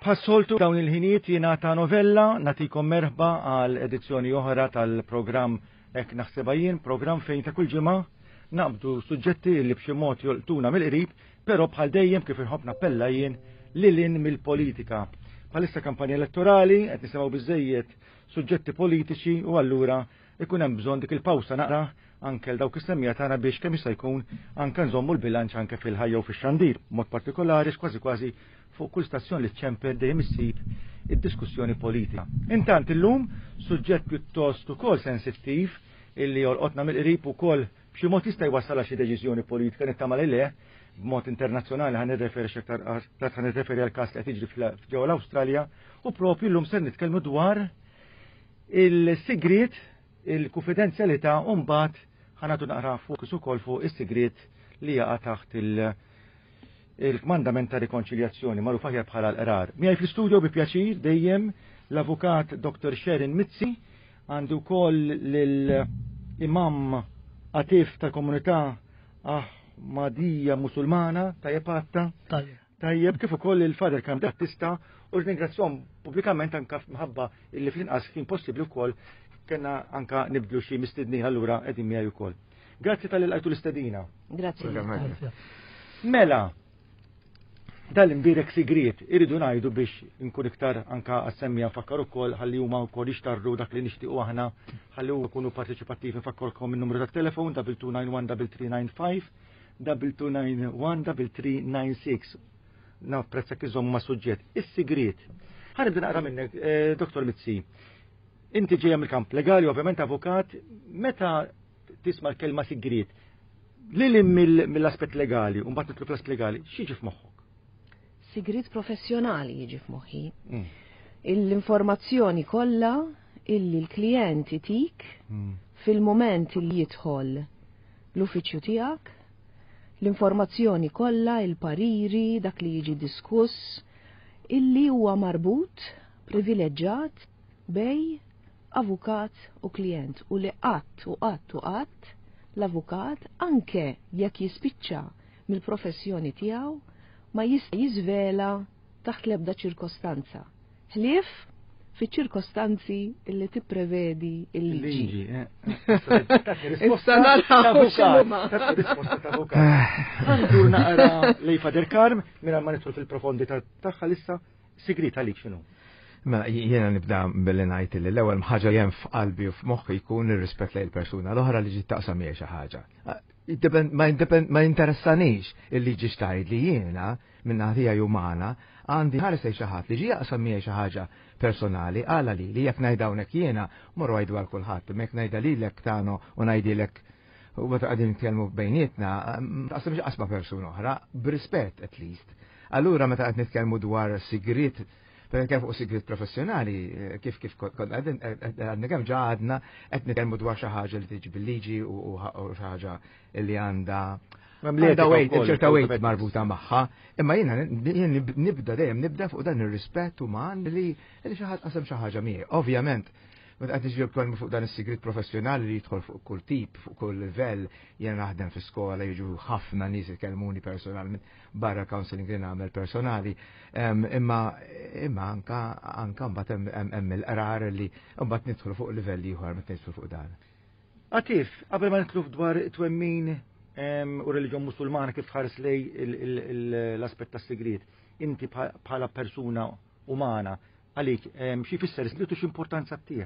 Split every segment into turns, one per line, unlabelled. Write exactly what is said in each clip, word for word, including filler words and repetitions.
Bħas-soltu dawn il-ħinijiet jiena ta' novella nagħtikom merħba għal edizzjoni oħra tal-programm Hekk Naħsibha Jien, programm fejn ta' kull ġimgħa naqbdu suġġetti li b'xi mod jolqtuna mill-qrib, però bħal dejjem kif inħobb nappella jien lil hinn mill-politika. Bħalissa kampanja elettorali qed nisimgħu biżejjed suġġetti politiċi u allura ikun hemm bżonn dik il-pawsa naqra anke l dawk is-semmija tagħna biex kemm jista' jkun anke nżommu l-bilanċ anke fil-ħajja u fix-xandir, mod partikolari kważi kważi fuq kull stazzjon li ċemper dejjem issib id-diskussjoni politika. Intant illum suġġett pjuttost ukoll sensittiv illi jolqotna mill-qrib ukoll b'xi mod jista' jwassal xi deċiżjoni politika nittama li le b'mod internazzjonali ħa nirreferi x'aktar tard ħa nirreferi għal każ li qed jiġri ġewwa l-Awstralja u propju llum ser nitkellmu dwar il-sigriet, il-konfidenzjalità u mbagħad ħa nagħtu naqra fokus ukoll fuq is-sigriet li jaqa' taħt il- il-kmandament ta' rikonċiljazzjoni magħruf aħjar bħala l-qrar. Miegħi fl-istudio bi pjaċir dejjem l-avukat Dr. Sharon Mizzi, għandu wkoll lill-imam Atif tal-komunità Ahmadija Musulmana, tajjeb għatta.
Tajjeb.
Tajjeb kif ukoll il-Father Kam Battista u ringrazzjahom pubblikament anka mħabba illi fl-inqas kien possibbli wkoll kena anka nibdlu xi mistednin allura qegħdin miegħi wkoll. Grazzi talli lqajtu l-istedina.
Grazzi.
Mela, dal-imbirek sigriet irridu ngħidu biex nkun iktar anka għas-semmija nfakkar ukoll ħalli huma wkoll jixtarru dak li nixtiequ aħna ħalli huma jkunu parteċipattivi nfakkarkom in-numru tat-telefon double two nine one double three nine five double two nine one double three nine six. Napprezza kif iżommu ma' suġġett. Is-sigriet. Ħa nibda naqra minnek, eh, Dr. Mizzi. Inti ġejja mill-kamp legali, ovvjament avukat, meta tisma' l-kelma sigriet, lil mill-aspett legali, u mbagħad nitlu fl-aspett legali, x'jiġi f'moħħok?
Sigriet professjonali jiġi f'moħħi.
Mm.
L-informazzjoni kollha illi l-klient itik
Mm.
fil-moment li jidħol l-uffiċċju tiegħek, l-informazzjoni kollha, il-pariri, dak li jiġi diskuss, illi huwa marbut, privileġġat bejn avukat u klient u li qatt u qatt u qatt l-avukat anke jekk jispiċċa mill-professjoni tiegħu ma jista' jiżvela taħt l-ebda ċirkostanza. Ħlief fi ċirkostanzi illi tipprevedi il-liġi.
Il-liġi, eh.
Issa naraw x'inhuma.
Risposta ta' avukat. Għandu naqra lej Father Karm, minn ma nidħol fil-profondi tagħha lissa, sigriet għalik x'inhu?
Mela, jiena nibda billi ngħid li l-ewwel ħaġa li hemm f'qalbi u f'moħħi jkun ir-rispett lejn il-persuna l-oħra li ġiet taqsam miegħi xi ħaġa. Ma ma jinteressanix il-liġi x'tgħid li jiena minn naħa umana għandi ħares lejn xi ħadd li ġie jaqsam miegħi xi ħaġa personali għala li li jekk ngħid hawnhekk jiena morru għidu għal kulħadd, imma jekk ngħidha lilek tano u ngħidilek u meta qegħdin nitkellmu bejnietna, taqsamx qasma persuna oħra, b'rispett at least. Allura meta qed nitkellmu dwar sigriet Per nitkellmu fuq sigriet professjonali, kif kif konna għadna kemm ġa għadna qed nitkellmu dwar xi ħaġa li tiġi bil-liġi u xi ħaġa li għandha għandha weight, ċerta weight marbuta magħha. Imma jiena nibda dejjem nibda fuq dan ir-rispett uman li li xi ħadd qasam xi ħaġa miegħi. Ovvjament, meta qed niġi fuq dan is-sigriet professjonali li jidħol fuq kull tip, fuq kull livell, jiena naħdem fi skola, jiġu ħafna nies ikellmuni personalment barra counseling li nagħmel personali, imma imma anka anka mbagħad hemm il-qrar li mbagħad nidħlu fuq livell ieħor meta nidħlu fuq dan.
Atif, qabel ma nidħlu dwar twemmin u reliġjon musulmana kif tħares lej l-aspett tas-sigriet, inti bħala persuna umana, għalik xi jfisser sigriet u x'importanza ttih?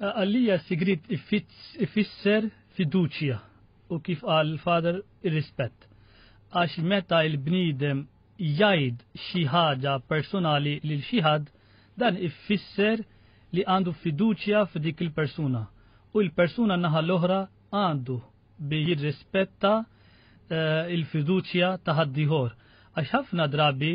Għalija sigriet ifisser fiduċja u kif qal il-father ir-rispett. Għax meta il-bniedem jgħid xi ħaġa personali lil xi ħadd, dan ifisser li għandu fiduċja f'dik il-persuna. U l-persuna naħa l-oħra għandu bi jirrispetta eh, il-fiduċja ta' ħaddieħor. Għax ħafna drabi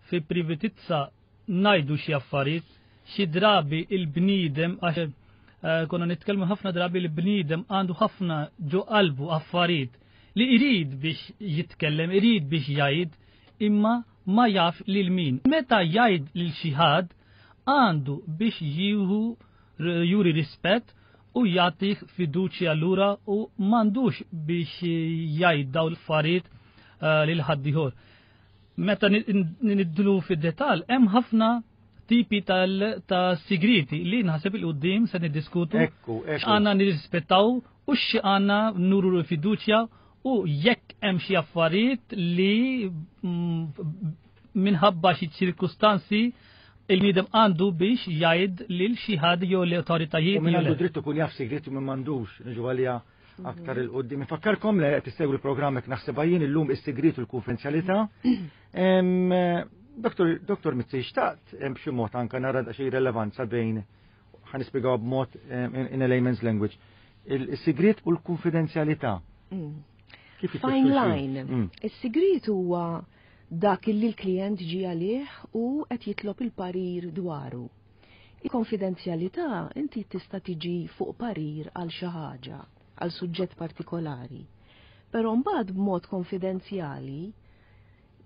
fi privatizza ngħidu xi affarijiet, xi drabi il-bniedem għax eh, konna nitkellmu ħafna drabi il-bniedem għandu ħafna ġo qalbu affarijiet li irid biex jitkellem, irid biex jgħid, imma ma jaf lil min. Meta jgħid lil xi ħadd għandu biex jieħu juri rispett u jagħtih fiduċja lura u m'għandux biex jgħid daw l-affarijiet eh, lil ħaddieħor. Meta nidħlu fid-dettall, hemm ħafna tipi ta' sigriti li naħseb 'il quddiem se niddiskutu.
Ekku, ekku.
Għandna nirrispettaw u xi għandna nuru fiduċja u jekk hemm xi affarijiet li mm, minħabba xi ċirkustanzi il-bniedem għandu biex jgħid lil xi ħadd jew l-awtoritajiet.
U min għandu dritt ikun jaf sigrit u min m'għandux, niġu għalija aktar 'il quddiem. Infakkarkom li qed issegwu l-programm Hekk Naħsibha Jien, illum is-sigrit u l-konfidenzjalità. Doktor Doktor Mizzi, xtaqt hemm b'xi mod anka nara xi relevanza bejn, ħa nispjegaw b'mod in a layman's language, il-sigrit u l-konfidenzjalità.
Mm.
Kif
Fine line.
Mm.
Is-sigrit huwa dak li l-klient ġi għalih u qed jitlob il-parir dwaru. Il-konfidenzjalità, inti tista' tiġi fuq parir għal xi ħaġa, għal suġġett partikolari. Però mbagħad b'mod konfidenzjali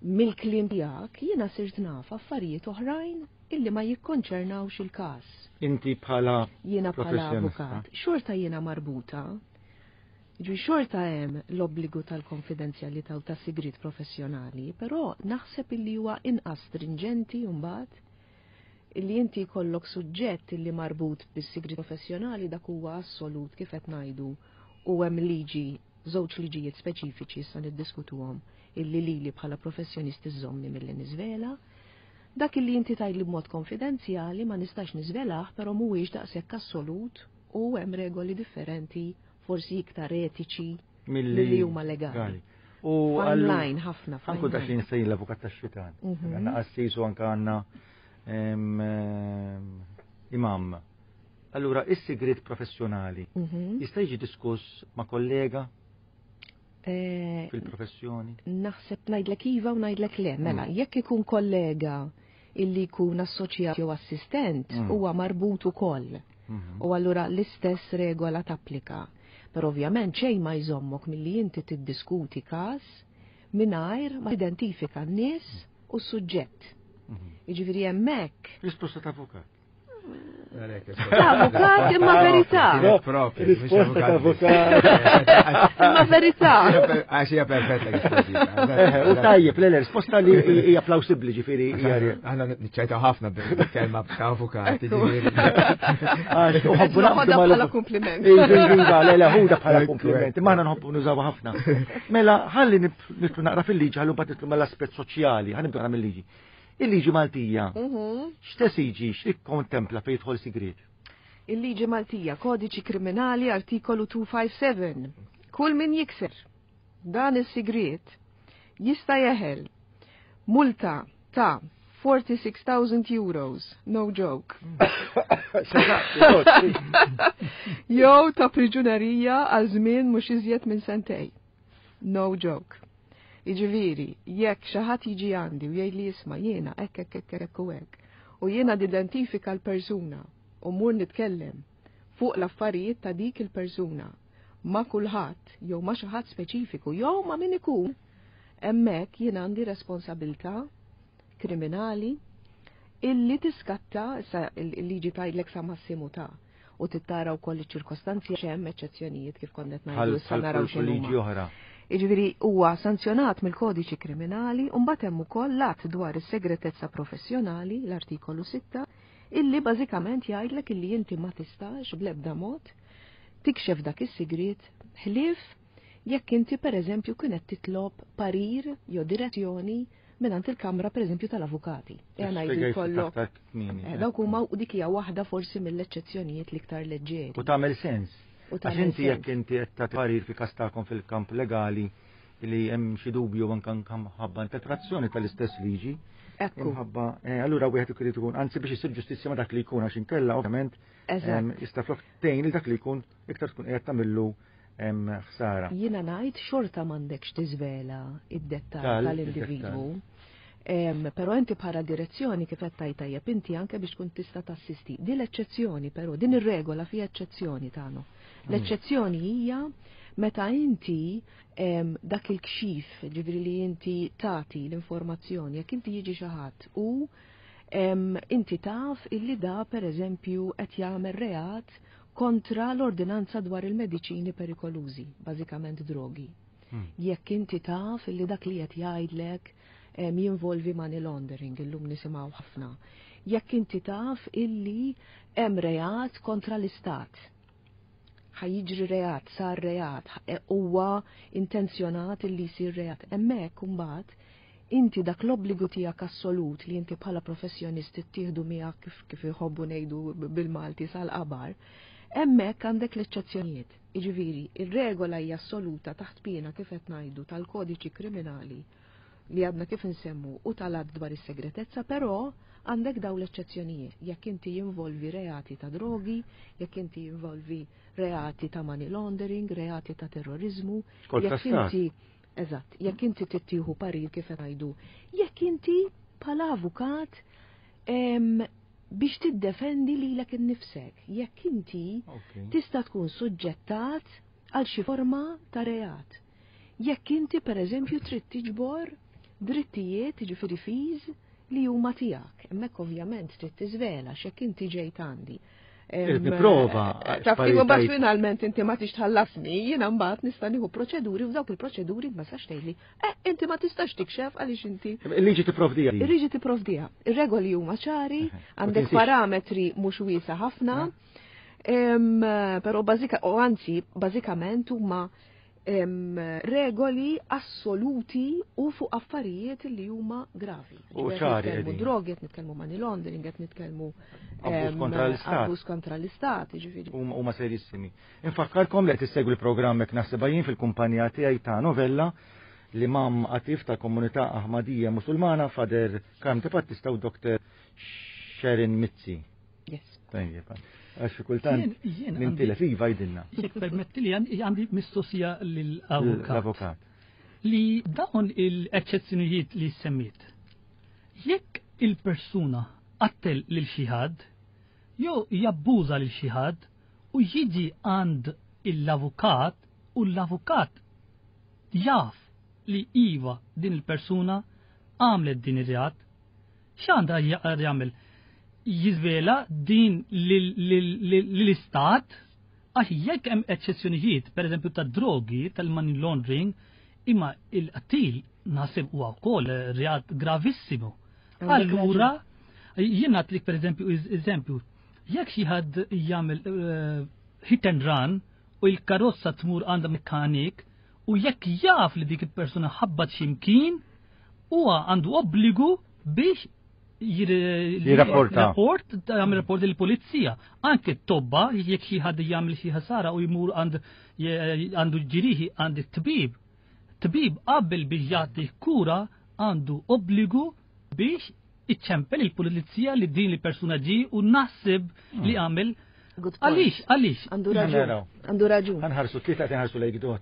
mill-kliem tiegħek jiena sirt naf affarijiet oħrajn illi ma jikkonċernawx il-każ.
Inti bħala
Jiena bħala
professjonista.
avukat, xorta jiena marbuta. Ġi xorta hemm l-obbligu tal-konfidenzjalità u tas-sigrit professjonali, però naħseb illi huwa inqas stringenti mbagħad illi inti jkollok suġġett illi marbut bis-sigrit professjonali, dak huwa assolut kif qed ngħidu u hemm liġi, żewġ liġijiet speċifiċi issa niddiskutuhom illi lili bħala professjonist iżomni milli niżvela. Dak illi inti tgħidli b'mod konfidenzjali ma nistax niżvelah, però mhuwiex daqshekk assolut u hemm regoli differenti, forsi iktar etiċi milli huma legali.
U
Fine line ħafna.
Anku
Fine
dak li
line.
nistejn l-avukat tax-xitan.
Mhm.
Għandna qassis u anka għandna em, em, imam. Allura, is-sigrit professjonali
Mhm.
jista' jiġi diskuss ma' kollega
Eh,
fil-professjoni?
Naħseb ngħidlek iva u ngħidlek le. Mela,
Mm.
jekk ikun kollega illi jkun assoċjat jew assistent,
Mm.
huwa marbut ukoll.
Mhm.
U allura l-istess regola tapplika. Però ovvjament xejn ma jżommok milli inti tiddiskuti każ mingħajr ma identifika n-nies u s-suġġett.
Mhm.
Jiġifieri hemmhekk
Risposta ta' avukat.
Ta' avukat imma verità.
Proprio.
Risposta ta' avukat.
Imma verità.
Għax hija perfetta
Eh, U tajjeb, le, le, risposta li hija plawsibbli, ġifieri hija.
Aħna niċċajtaw ħafna bil-kelma ta' avukati.
Ekku.
Ġifieri.
Għax uħobbu naqbdu
Noħodha
mal-
bħala kompliment.
Iva, iva, le, le, ħuda bħala
Ekku,
kompliment.
ekku.
Imma aħna nħobbu nużawha ħafna. Mela, ħalli nidħlu naqra fil-liġi, ħallu mbagħad nidħlu mal-aspett soċjali, ħa nibdu naqra mill-liġi. Il-liġi Maltija,
Mhm.
x'tesiġi, x'tikkontempla fejn jidħol sigriet?
Il-liġi Maltija, Kodiċi Kriminali, artikolu dmitejn u ħamsa u sebgħin. Kull min jikser dan is-sigriet jista' jeħel multa ta' sitta u erbgħin elf euros, no joke, jew ta' priġunerija għal żmien mhux iżjed minn sentej. No joke. Jiġifieri, jekk xi ħadd jiġi għandi u jgħid li jisma' jiena hekk hekk hekk hekk u hekk, u jiena nidentifika l-persuna u mur nitkellem fuq l-affarijiet ta' dik il-persuna ma' kulħadd jew ma' xi ħadd speċifiku jew ma' min ikun, hemmhekk jien għandi responsabilità kriminali illi tiskatta, issa il-liġi tgħidlek sa massimu ta' u tittara wkoll iċ-ċirkostanzi, hemm eċċezzjonijiet kif konna qed ngħidu, issa naraw
Bħal liġi
x'inhuma.
oħra.
Jiġifieri huwa sanzjonat mill-Kodiċi Kriminali u mbagħad hemm ukoll l-att dwar is-segretezza professjonali, l-artikolu sitta, illi bażikament jgħidlek illi inti ma tistax bl-ebda mod tikxef dak is-sigriet ħlief jekk inti pereżempju kienet titlob parir jew direzzjoni mingħand il-Kamra pereżempju tal-Avukati. Ejja ngħidu
Spjegajt
jkollok
aktar kmieni.
Eh, dawk huma u dik hija waħda forsi mill-eċċezzjonijiet l-iktar leġġeri.
U tagħmel sens.
U
Għax
tagħmel
inti jekk
sens.
inti qed tagħti parir fi każ tagħkom fil-kamp legali li hemm xi dubju anke ħabba interpretazzjoni tal-istess liġi,
Ekku,
imħabba, eh, allura wieħed irid ikun, anzi biex isir ġustizzja ma dak li jkun, għax inkella ovvjament
eżatt.
em, jista' flok tgħin lil dak li jkun iktar tkun qiegħed tagħmillu em, ħsara.
Jiena ngħid xorta m'għandekx tiżvela id-dettal
Tal-
tal-individwu. Em, Però inti bħala direzzjoni kif qed tgħid tajjeb inti anke biex tkun tista' tassisti. Din l-eċċezzjoni però, din ir-regola fiha eċċezzjoni tagħna. L-eċċezzjoni hija meta inti em, dak il-kxif, ġifieri li inti tagħti l-informazzjoni, jekk inti jiġi xi ħadd u em, inti taf illi da pereżempju qed jagħmel reat kontra l-ordinanza dwar il-mediċini perikolużi, bażikament drogi.
Hmm.
Jekk inti taf illi dak li qed jgħidlek jinvolvi money laundering, illum nisimgħu ħafna. Jekk inti taf illi hemm reat kontra l-istat. Ħa jiġri reat, sar reat, huwa intenzjonat illi jsir reat. Hemmhekk imbagħad inti dak l-obbligu tiegħek assolut li inti bħala professjonist ittieħdu miegħek kif kif iħobbu ngħidu bil-Malti sal-qabar, hemmhekk għandek l-eċċezzjonijiet. Jiġifieri, ir-regola hija assoluta taħt piena kif qed ngħidu tal-kodiċi kriminali li għadna kif nsemmu u tal-att dwar is-segretezza, però għandek daw l-eċċezzjonijiet. Jekk inti jinvolvi reati ta' drogi, jekk inti jinvolvi reati ta' money laundering, reati ta' terrorizmu, jekk inti eżatt, jekk inti tittieħu parir kif ngħidu, jekk inti bħala avukat biex tiddefendi lilek innifsek, jekk inti tista' tkun suġġettat għal xi forma ta' reat. Jekk inti per eżempju trid tiġbor drittijiet, ġifieri fees li huma tiegħek. Hemmhekk ovvjament trid tiżvela x'jekk inti ġejt għandi.
Prova.
Taf kif mbagħad finalment inti ma tix tħallasni, jiena mbagħad nista' nieħu proċeduri u dawk il-proċeduri ma sax tgħidli, eh inti ma tistax tikxef għaliex inti.
Il-liġi tipprovdija.
Il-liġi tipprovdija. Ir-regoli huma ċari, għandek parametri mhux wiesa ħafna, però bażika o anzi bażikament huma regoli assoluti u fuq affarijiet li huma gravi.
U ċari.
Nitkellmu drogi, qed nitkellmu money laundering, qed nitkellmu
abbuż kontra l-istat.
Abbuż kontra l-istat, jiġifieri.
Huma serissimi. Infakkarkom li qed issegwu l-programm hekk naħsibha jien fil-kumpanija tiegħi ta' novella l-Imam Atif tal-Komunità Ahmadija Musulmana Father Karm Battista u Doktor Sharon Mizzi.
Yes.
Tajjeb. Għax kultant nintilef iva jgħidilna.
Jekk permetti li għandi mistoqsija lill-avukat.
L-avukat.
Li dawn il-eċċezzjonijiet li semmit. Jekk il-persuna qattel lil xi ħadd, jew jabbuża lil xi ħadd u jiġi għand l-avukat u l-avukat jaf li iva din il-persuna għamlet din ir-reat, x'għandha jagħmel? Jiżvela din l-istat għax jekk hemm eċċezzjonijiet, pereżempju ta' drogi, tal-money laundering, imma il-qtil naħseb huwa wkoll reat gravissimu. Allura, jien nagħtik pereżempju eżempju, jekk xi ħadd jagħmel hit and run u l-karozza tmur għandha mekkanik u jekk jaf li dik il-persuna ħabbat x'imkien, huwa għandu obbligu biex
Jirrapporta.
Rapport, jagħmel rapport lill-pulizija. Anke t-tobba, jekk xi ħadd jagħmel xi ħsara u jmur għandu ġrieħi għand it-tbib. Tbib qabel biex jagħti kura għandu obbligu biex iċċempel il-pulizija li din il-persuna ġi u naħseb li għamel. Għalix, għalix.
Għandu raġun. Għandu raġun.
Ħa nħarsu, tlieta nħarsu lejk dot.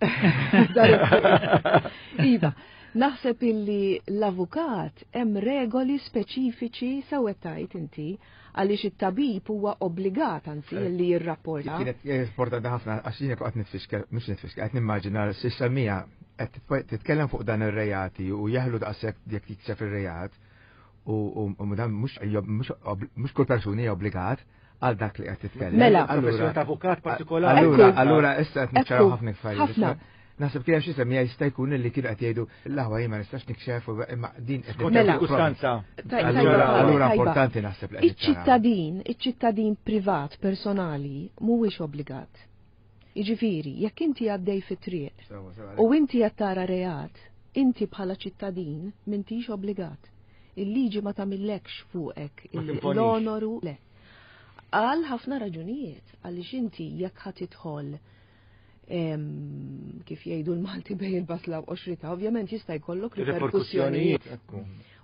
Iva, naħseb illi l-avukat hemm regoli speċifiċi sewwa tajt inti għaliex it-tabib huwa obbligat anzi eh, li jirrapporta.
Kienet importanti ħafna għax jiena qed nitfixkel, mhux nitfixkel, qed nimmaġina s'issa Mija qed titkellem fuq dan ir-reati u jeħlu daqshekk jekk jikseb ir-reat u dan mhux kull persuni hija obbligat għal dak li qed titkellem.
Mela,
allura avukat partikolari.
Allura, allura issa qed niċċaraw ħafna affarijiet. Naħseb kien xi semmija jista' jkun li kienu qed jgħidu l-aħwa jien ma nistax nikxef imma din qed
Mela.
ċirkustanza.
Allura importanti naħseb li
Iċ-ċittadin, iċ-ċittadin privat personali mhuwiex obbligat. Jiġifieri, jekk inti għaddej fit-triq u inti qed tara reat, inti bħala ċittadin m'intix obbligat. Il-liġi ma tagħmillekx fuqek l-onoru le. Għal ħafna raġunijiet, għaliex inti jekk ħa tidħol kif jgħidu l-Malti bejn il-basla u qoxritha, ovvjament jista' jkollok riperkussjonijiet.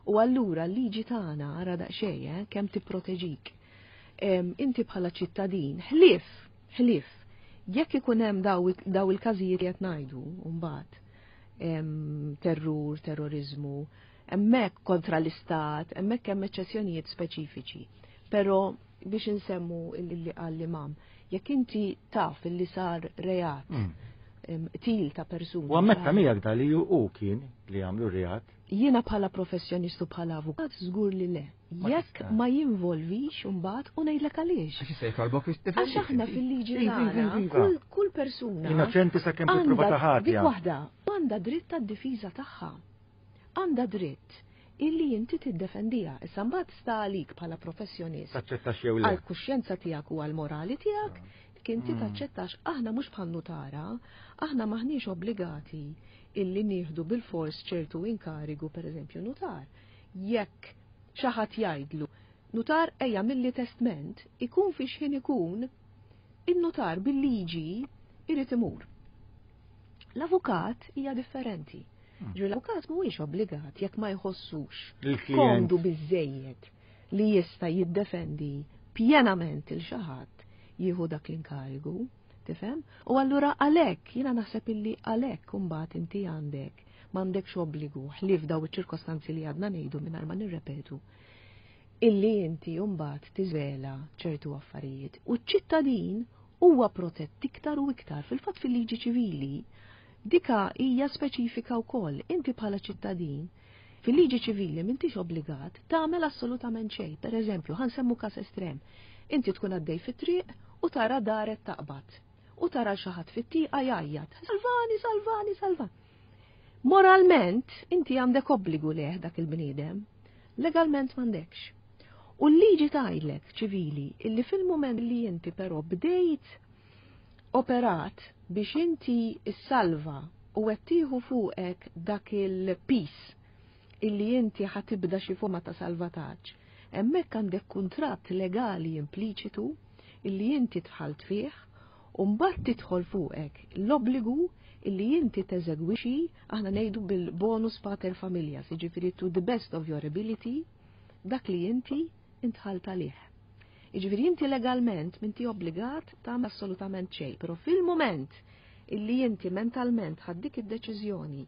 U allura l-liġi tagħna ara daqsxejn eh, kemm tipproteġik. Inti bħala ċittadin, ħlief, ħlief, jekk ikun hemm daw il-każijiet li qed ngħidu mbagħad terrur, terrorizmu, hemmhekk kontra l-istat, hemmhekk hemm eċċezzjonijiet speċifiċi. Però biex insemmu illi qal l-imam, jekk inti taf illi sar reat mm. til ta' persuna.
U ammetta miegħek da li hu kien li għamlu reat.
Jiena bħala professjonistu bħala avukat żgur li le. Jekk ma jinvolvix imbagħad u ngħidlek għaliex. Għax aħna fil-liġi tagħna kull persuna.
Innoċenti sakemm tipprova ta' ħatja.
Dik waħda għandha dritt tad-difiża tagħha. Għandha dritt illi inti tiddefendiha. Issa mbagħad sta għalik bħala professjonist.
Taċċettax jew le.
Għall-kuxjenza tiegħek u għall-morali tiegħek, inti
Mm.
taċċettax. Aħna mhux bħal nutara, aħna maħniex obbligati illi nieħdu bil-fors ċertu inkarigu, per eżempju, nutar. Jekk xi ħadd jgħidlu, "Nutar, ejja agħmilli testment," ikun fi xħin ikun, in-nutar bil-liġi irid imur. L-avukat hija differenti.
Hmm.
Ġu l-avukat mhuwiex obbligat jekk ma jħossux
Il-klient.
komdu biżejjed li jista' jiddefendi pjenament lil xi ħadd jieħu dak l-inkarigu, tifhem? U allura għalhekk jiena naħseb illi għalhekk imbagħad inti għandek m'għandekx obbligu ħlief daw iċ-ċirkostanzi li għadna ngħidu mingħajr ma nirrepetu illi inti mbagħad tiżvela ċertu affarijiet. U ċ-ċittadin huwa protett iktar u iktar. Fil-fatt, fil-liġi ċivili dika hija speċifika wkoll. Inti bħala ċittadin fil-liġi ċivili m'intix obbligat tagħmel assolutament xejn. Per eżempju, ħa nsemmu każ estrem. Inti tkun għaddej fit-triq u tara daret taqbad. U tara xi ħadd fit-tieqa jgħajjat: "Salvani, salvani, salvani." Moralment, inti għandek obbligu lejh dak il-bniedem, legalment m'għandekx. U l-liġi tgħidlek ċivili illi fil-moment li inti però bdejt operat biex inti issalva u qed tieħu fuqek dak il-piż illi inti ħa tibda xi forma ta' salvataġġ, hemmhekk għandek kuntratt legali impliċitu illi inti dħalt fih u mbagħad tidħol fuqek l-obbligu illi inti teżegwixi, aħna ngħidu bil-bonus pater familias, jiġifieri to the best of your ability, dak li inti intħalt għalih. Jiġifieri inti legalment m'inti obbligat tagħmel assolutament xejn, però fil-moment illi inti mentalment ħadt dik id-deċiżjoni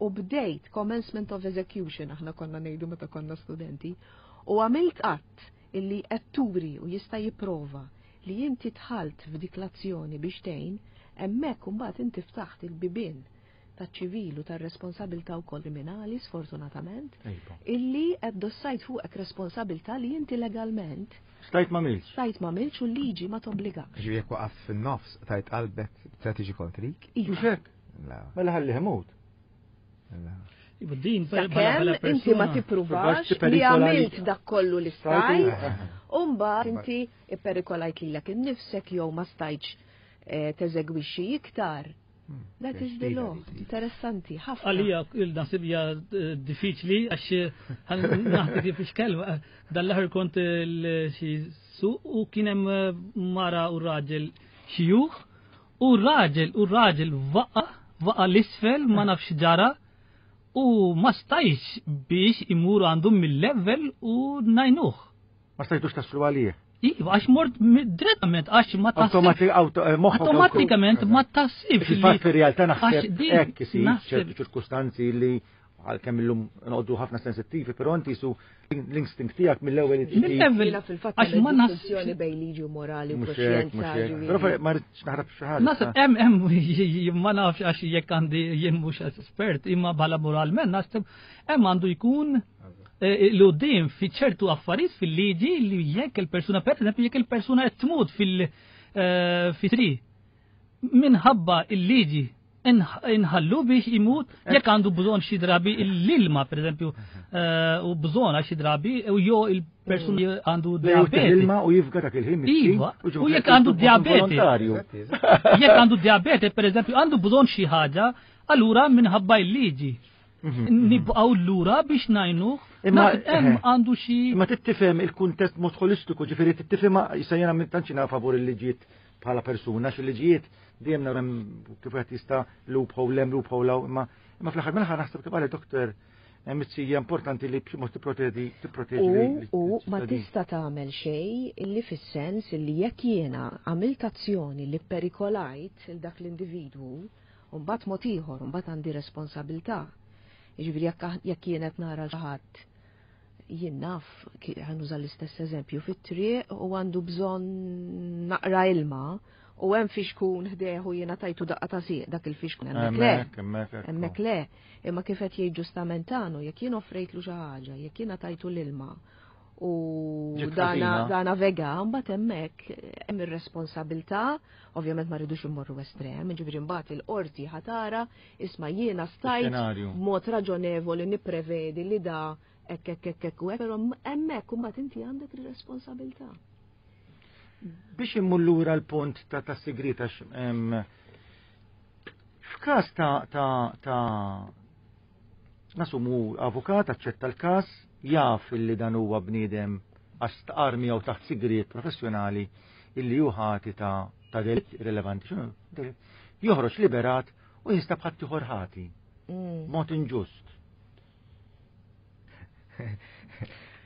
u bdejt commencement of execution, aħna konna ngħidu meta konna studenti, u għamilt att illi qed turi u jista' jipprova li inti dħalt f'dik l-azzjoni biex tgħin, hemmhekk imbagħad inti ftaħt il-bibien taċ-ċivil u tar-responsabilità wkoll kriminali, sfortunatament,
Ejba.
illi qed dossajt fuqek responsabilità li inti legalment
Stajt ma milx.
stajt ma milx u l-liġi ma tobbligakx.
Ġifieri jekk waqaf fin-nofs tajt qalbek se tiġi kontrik?
Iva.
Mhux hekk.
La.
Mela ħalli imut.
la.
Iva, din bħala
Sakemm inti ma
persuna.
tippruvax
Tippruvx
li
tipperikola
għamilt
li-
dak kollu li
Stajt,
stajt, u mbagħad inti ipperikolajt lilek innifsek jew ma stajtx eh, teżegwixxi iktar.
Hmm.
That is the law. Interessanti, ħafna.
Għalija il-nasib hija eh, diffiċli għax naħti kif ixkel. Dal-aħħar kont il- xi suq u kien hemm eh, mara u raġel xjuħ u raġel u raġel waqa waqa l-isfel, ma nafx ġara, u ma stajx biex imur għandhom mill-level u ngħinuh.
Ma stajtux taslu għalih.
Iva, għax mort mi- direttament, għax ma taħsibx.
Automatik, auto, eh, moħħok
Automatikament ma taħsibx.
Fil-fatt
li-
fir-realtà
għax
naħseb
din
hekk isir
naħseb-
ċertu ċirkustanzi li għalkemm illum noqogħdu ħafna sensittivi, però inti su l-instinct tiegħek mill-ewwel
Mill-ewwel.
Jiena fil-fatt
Għax ma
hemm
naħsibx-
distinzjoni bejn liġi u morali u
Mhux hekk, mhux
kuxjenza.
hekk.
Ġifieri.
Però ma rridx naħrab xi ħaġa.
Naħseb hemm hemm ma nafx għax jekk għandi jien mhux espert, imma bħala moralment naħseb hemm għandu jkun eh, l-qudiem fi ċertu affarijiet fil-liġi li jekk il-persuna, per eżempju, jekk il-persuna qed tmut fil eh, fi tri minħabba il-liġi inħallu biex imut jekk għandu bżonn xi drabi l-ilma, per eżempju, eh, u bżonn għax xi drabi u jew il-persuna għandu diabete.
L-ilma u jifga dak il-ħin.
Iva, u jekk għandu diabete.
Volontarju.
Jekk għandu diabete, per eżempju, għandu bżonn xi ħaġa, allura minħabba il-liġi. Nibqgħu lura biex ngħinuh.
Imma-
Naħseb hemm għandu xi
Imma tittifhem il-kuntest mod holistiku, ġifieri tittifhem issa jiena minn tantx favur il-liġijiet bħala persuna, xi liġijiet dejjem nara kif qed jista' loophole hemm, loophole hawn, imma imma fl-aħħar mill-aħħar naħseb kif qal doktor Mizzija importanti li b'xi mod tipproteġi tipproteġi
U, u ma tista' tagħmel xejn illi fis-sens illi jekk jiena għamilt azzjoni li perikolajt il dak l-individwu, u mbagħad mod ieħor, u mbagħad għandi responsabilità. Jiġifieri jekk jekk jien qed nara xi ħadd, jien naf, ħa nuża l-istess eżempju, fit-triq u għandu bżonn naqra ilma u hemm fixkun ħdejh u jiena tajtu daqqa ta' sieq dak il-fixkun, hemmhekk le.
Hemmhekk, hemmhekk.
Hemmhekk le, imma kif qed jgħid ġustament għanu, jekk jien offrejtlu xi ħaġa, jekk jiena tajtu l-ilma u
Ġiet
dana,
ħażina.
dana vega, mbagħad hemmhekk hemm ir-responsabilità, ovvjament ma rridux immorru estrem, ġifieri mbagħad il-qorti ħa tara, isma' jiena stajt
Xenarju.
b'mod raġonevoli nipprevedi li da Hekk hekk hekk hekk u hekk, però hemmhekk imbagħad inti għandek ir-responsabilità.
Biex immur lura l-punt ta' ta' sigriet għax f'każ ta' ta' ta' nasumu avukat aċċetta l-każ, jaf illi dan huwa bniedem għax stqar miegħu taħt sigriet professjonali illi hu ħati ta' ta' delitt rilevanti, x'inhu delitt, joħroġ liberat u jinstab ħadd ieħor ħati,
Mm.
mod inġust.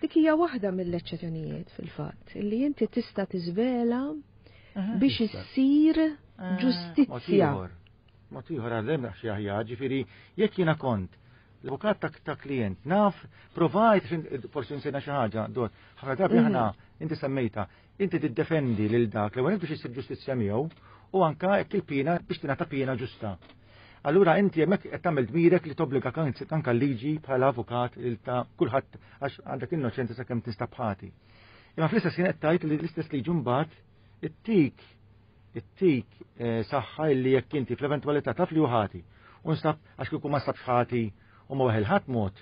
Dik hija waħda mill-eċċezzjonijiet fil-fatt, illi inti tista' tiżvela biex issir
Mod
ġustizzja.
ieħor. Mod ieħor għal xi aħjar, ġifieri jekk jiena kont l-avukat ta' ta' klient naf provajt forsi nsejna xi ħaġa, dot, ħafna drabi
Mhm.
aħna inti semmejta, inti tiddefendi lil dak l-ewwel biex issir ġustizzja miegħu u anka jekk il-pina biex tingħata pina ġusta. Allura inti hemmhekk qed tagħmel dmirek li tobbliga anka l-liġi bħala avukat il ta' kulħadd għax għandek innoċenza sakemm tinstab ħati. Imma fl-istess ħin qed tgħid li l-istess liġi mbagħad ittik ittik eh, saħħa illi jekk inti fl-eventwalità taf li hu ħati. U nstab għax kieku ma nstabx ħati u ma weħel ħadd mod.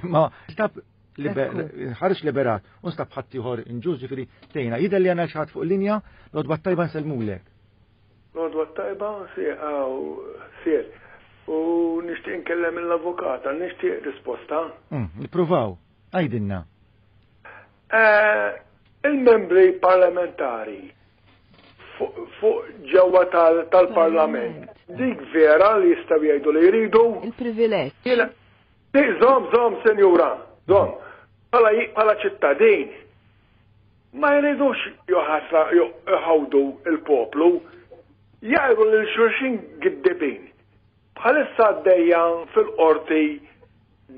Ma nstab
Ekku.
ħareġ liberat u nstab ħadd ieħor inġust ġifieri tgħinna. Jidher li għandna xi ħadd fuq linja l-għodwa tajba nsellmulek.
L-għodwa tajba, sir. U nixtieq nkellem l-avukata, nixtieq risposta.
Mm, Nippruvaw, għajdinna.
Eh, Il-membri parlamentari fuq fuq ġewwa tal- tal-parlament, dik vera li jistgħu jgħidu li jridu?
Il-privileġġ.
Jiena- Di, Żomm, żomm, senjura, żomm. Bħala bħala ċittadin, ma jridux joħasra jħawdu il-poplu, jgħidu lil xulxin giddibin. Bħalissa għaddejja fil-qorti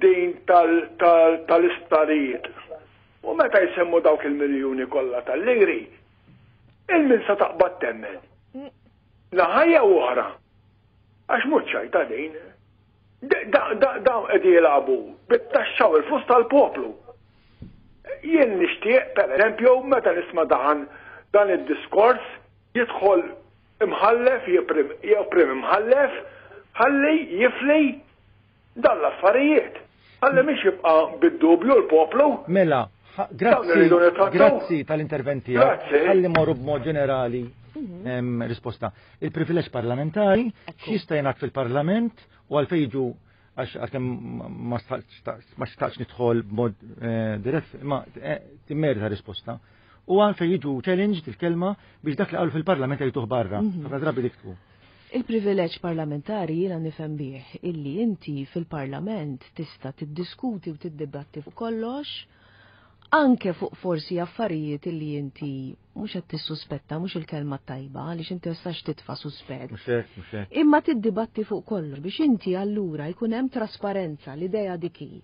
din tal- tal- tal-isptarijiet. U meta jsemmu dawk il-miljuni kollha tal-liri, il-min sa taqbad temmen. Naħa jew oħra. Għax mhux ċajta din. Dawn qegħdin jilagħbu bit-taxxa u l-flus tal-poplu. Jien nixtieq, per eżempju, meta nisma' dan dan id-diskors jidħol imħallef jew prim imħallef ħalli jifli dan l-affarijiet. Ħalli mhix jibqa' bid-dubju l-poplu.
Mela, ħa-
Dawn
grazzi,
irridu nittrattaw.
grazzi tal-intervent tiegħek.
Grazzi.
Ħalli morru b'mod ġenerali em, risposta. Il-privileġġ parlamentari x'jista' jingħad fil-parlament u għalfejn jiġu għax għalkemm ma staqx ma xtaqx nidħol b'mod eh, dirett, ma eh, timmerita risposta. U għalfejn jiġu challenge il-kelma biex dak li qalu fil-parlament jgħiduh barra. Ħafna drabi dik tkun.
Il-privileġġ parlamentari jiena nifhem bih illi inti fil-parlament tista' tiddiskuti u tiddibatti fuq kollox, anke fuq forsi affarijiet illi inti mhux qed tissuspetta, mhux il-kelma tajba, għaliex inti tistax titfa' suspett.
Mhux hekk, mhux hekk.
Imma tiddibatti fuq kollox biex inti allura jkun hemm trasparenza l-idea dik hi.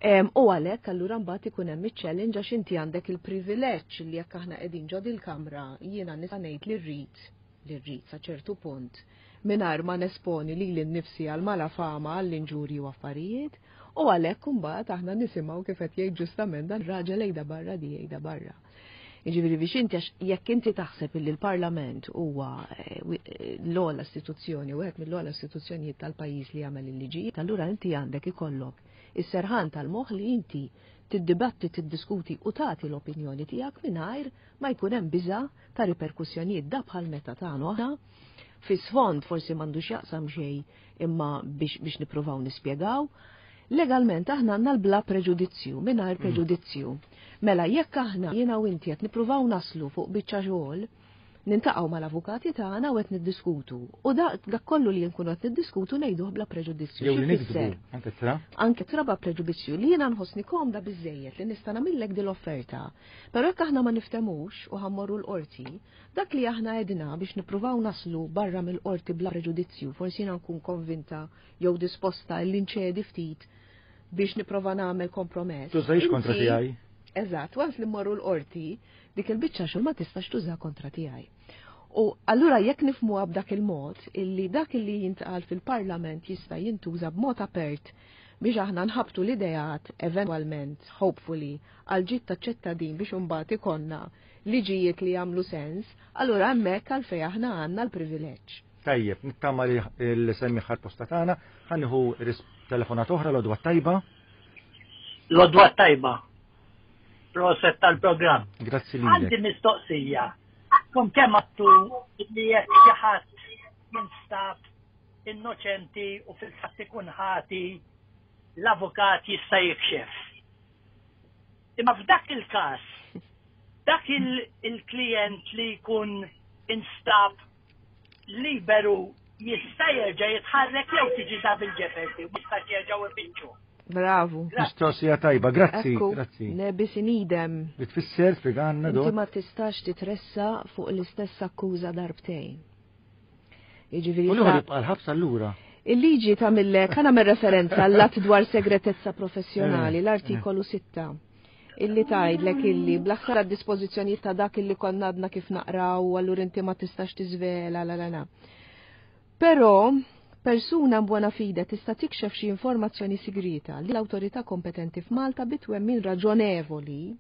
Em, U għalhekk allura mbagħad ikun hemm iċ-challenge għax inti għandek il-privileġġ li jekk aħna qegħdin ġo il-kamra jiena nista' ngħid li rrid li rrid sa ċertu punt mingħajr ma nesponi lili nnifsi għal malafama għall-inġurji u affarijiet u għalhekk imbagħad aħna nisimgħu kif qed jgħid ġustament dan raġel ejda barra di ejda barra. Jiġifieri biex inti għax jekk inti taħseb illi l-Parlament huwa eh, wi- eh, l-ogħla istituzzjoni u wieħed mill-ogħla istituzzjonijiet tal-pajjiż li jagħmel il-liġijiet, allura inti għandek ikollok is-serħan tal-moħħ li inti tiddibatti, tiddiskuti u tagħti l-opinjoni tiegħek mingħajr ma jkun hemm biża' ta' riperkussjonijiet da bħal meta tagħnu aħna fi sfond forsi m'għandux jaqsam xejn imma biex, biex nippruvaw nispjegaw. Legalment aħna għandna l-bla preġudizzju, mingħajr preġudizzju. Mela jekk aħna jiena u inti qed nippruvaw naslu fuq biċċa xogħol, niltaqgħu mal-avukati tagħna u qed niddiskutu. U dak dak kollu li nkunu qed niddiskutu ngħiduh bla preġudizzju.
Jew
Xi
li niktbu,
jfisser?
anke tra.
Anke tra bla preġudizzju li jiena nħossni komda biżejjed li nista' nagħmillek din l-offerta. Però jekk aħna ma niftemux u ħa mmorru l-qorti, dak li aħna għedna biex nippruvaw naslu barra mill-qorti bla preġudizzju, forsi jiena nkun konvinta jew disposta li nċedi ftit biex nipprova nagħmel kompromess.
Tużajx kontra
Inti-
tiegħi.
Eżatt, once li mmorru l-qorti, dik il-biċċa xogħol ma tistax tuża kontra tiegħi. U allura jekk nifhmuha b'dak il-mod illi dak illi jintqal fil-Parlament jista' jintuża b'mod apert biex aħna nħabtu l-ideat eventwalment, hopefully, għal ġid taċ-ċittadin biex imbagħad ikollna liġijiet li jagħmlu sens, allura hemmhekk għalfejn aħna għandna l-privileġġ.
Tajjeb, nittama li l-semmi ħar posta tagħna, ħa nieħu telefonat oħra l-għodwa tajba.
L-għodwa t-tajba. Proset tal-programm.
Grazzi lilek.
Għandi mistoqsija. Kom kemm għattu li jekk xi ħadd jinstab innoċenti u fil-fatt ikun ħati, l-avukat jista' jikxef. Imma f'dak il-każ, dak il-klient li jkun instab liberu jista' jerġa' jitħarrek jew tiġi double jeopardy u jista' jerġgħu ifittxu.
Bravu.
Mistoqsija tajba, grazzi,
Ekku,
grazzi.
Ne bis in idem.
Li tfisser spjegalna
Inti
dot.
ma tistax titressa fuq l-istess akkuża darbtejn. Jiġifieri
U l-ieħor
sa-
jibqa' l-ħabs allura.
Il-liġi tagħmillek, ħa nagħmel referenza għall-att dwar segretezza professjonali,
Eh,
l-artikolu sitta, illi tgħidlek illi bla ħsara dispożizzjonijiet ta' dak illi konna għadna kif naqraw, allura inti ma tistax tiżvela, la la la. Però persuna buona fide tista' tikxef xi informazzjoni sigrita li l-awtorità kompetenti f'Malta bitwemmin raġonevoli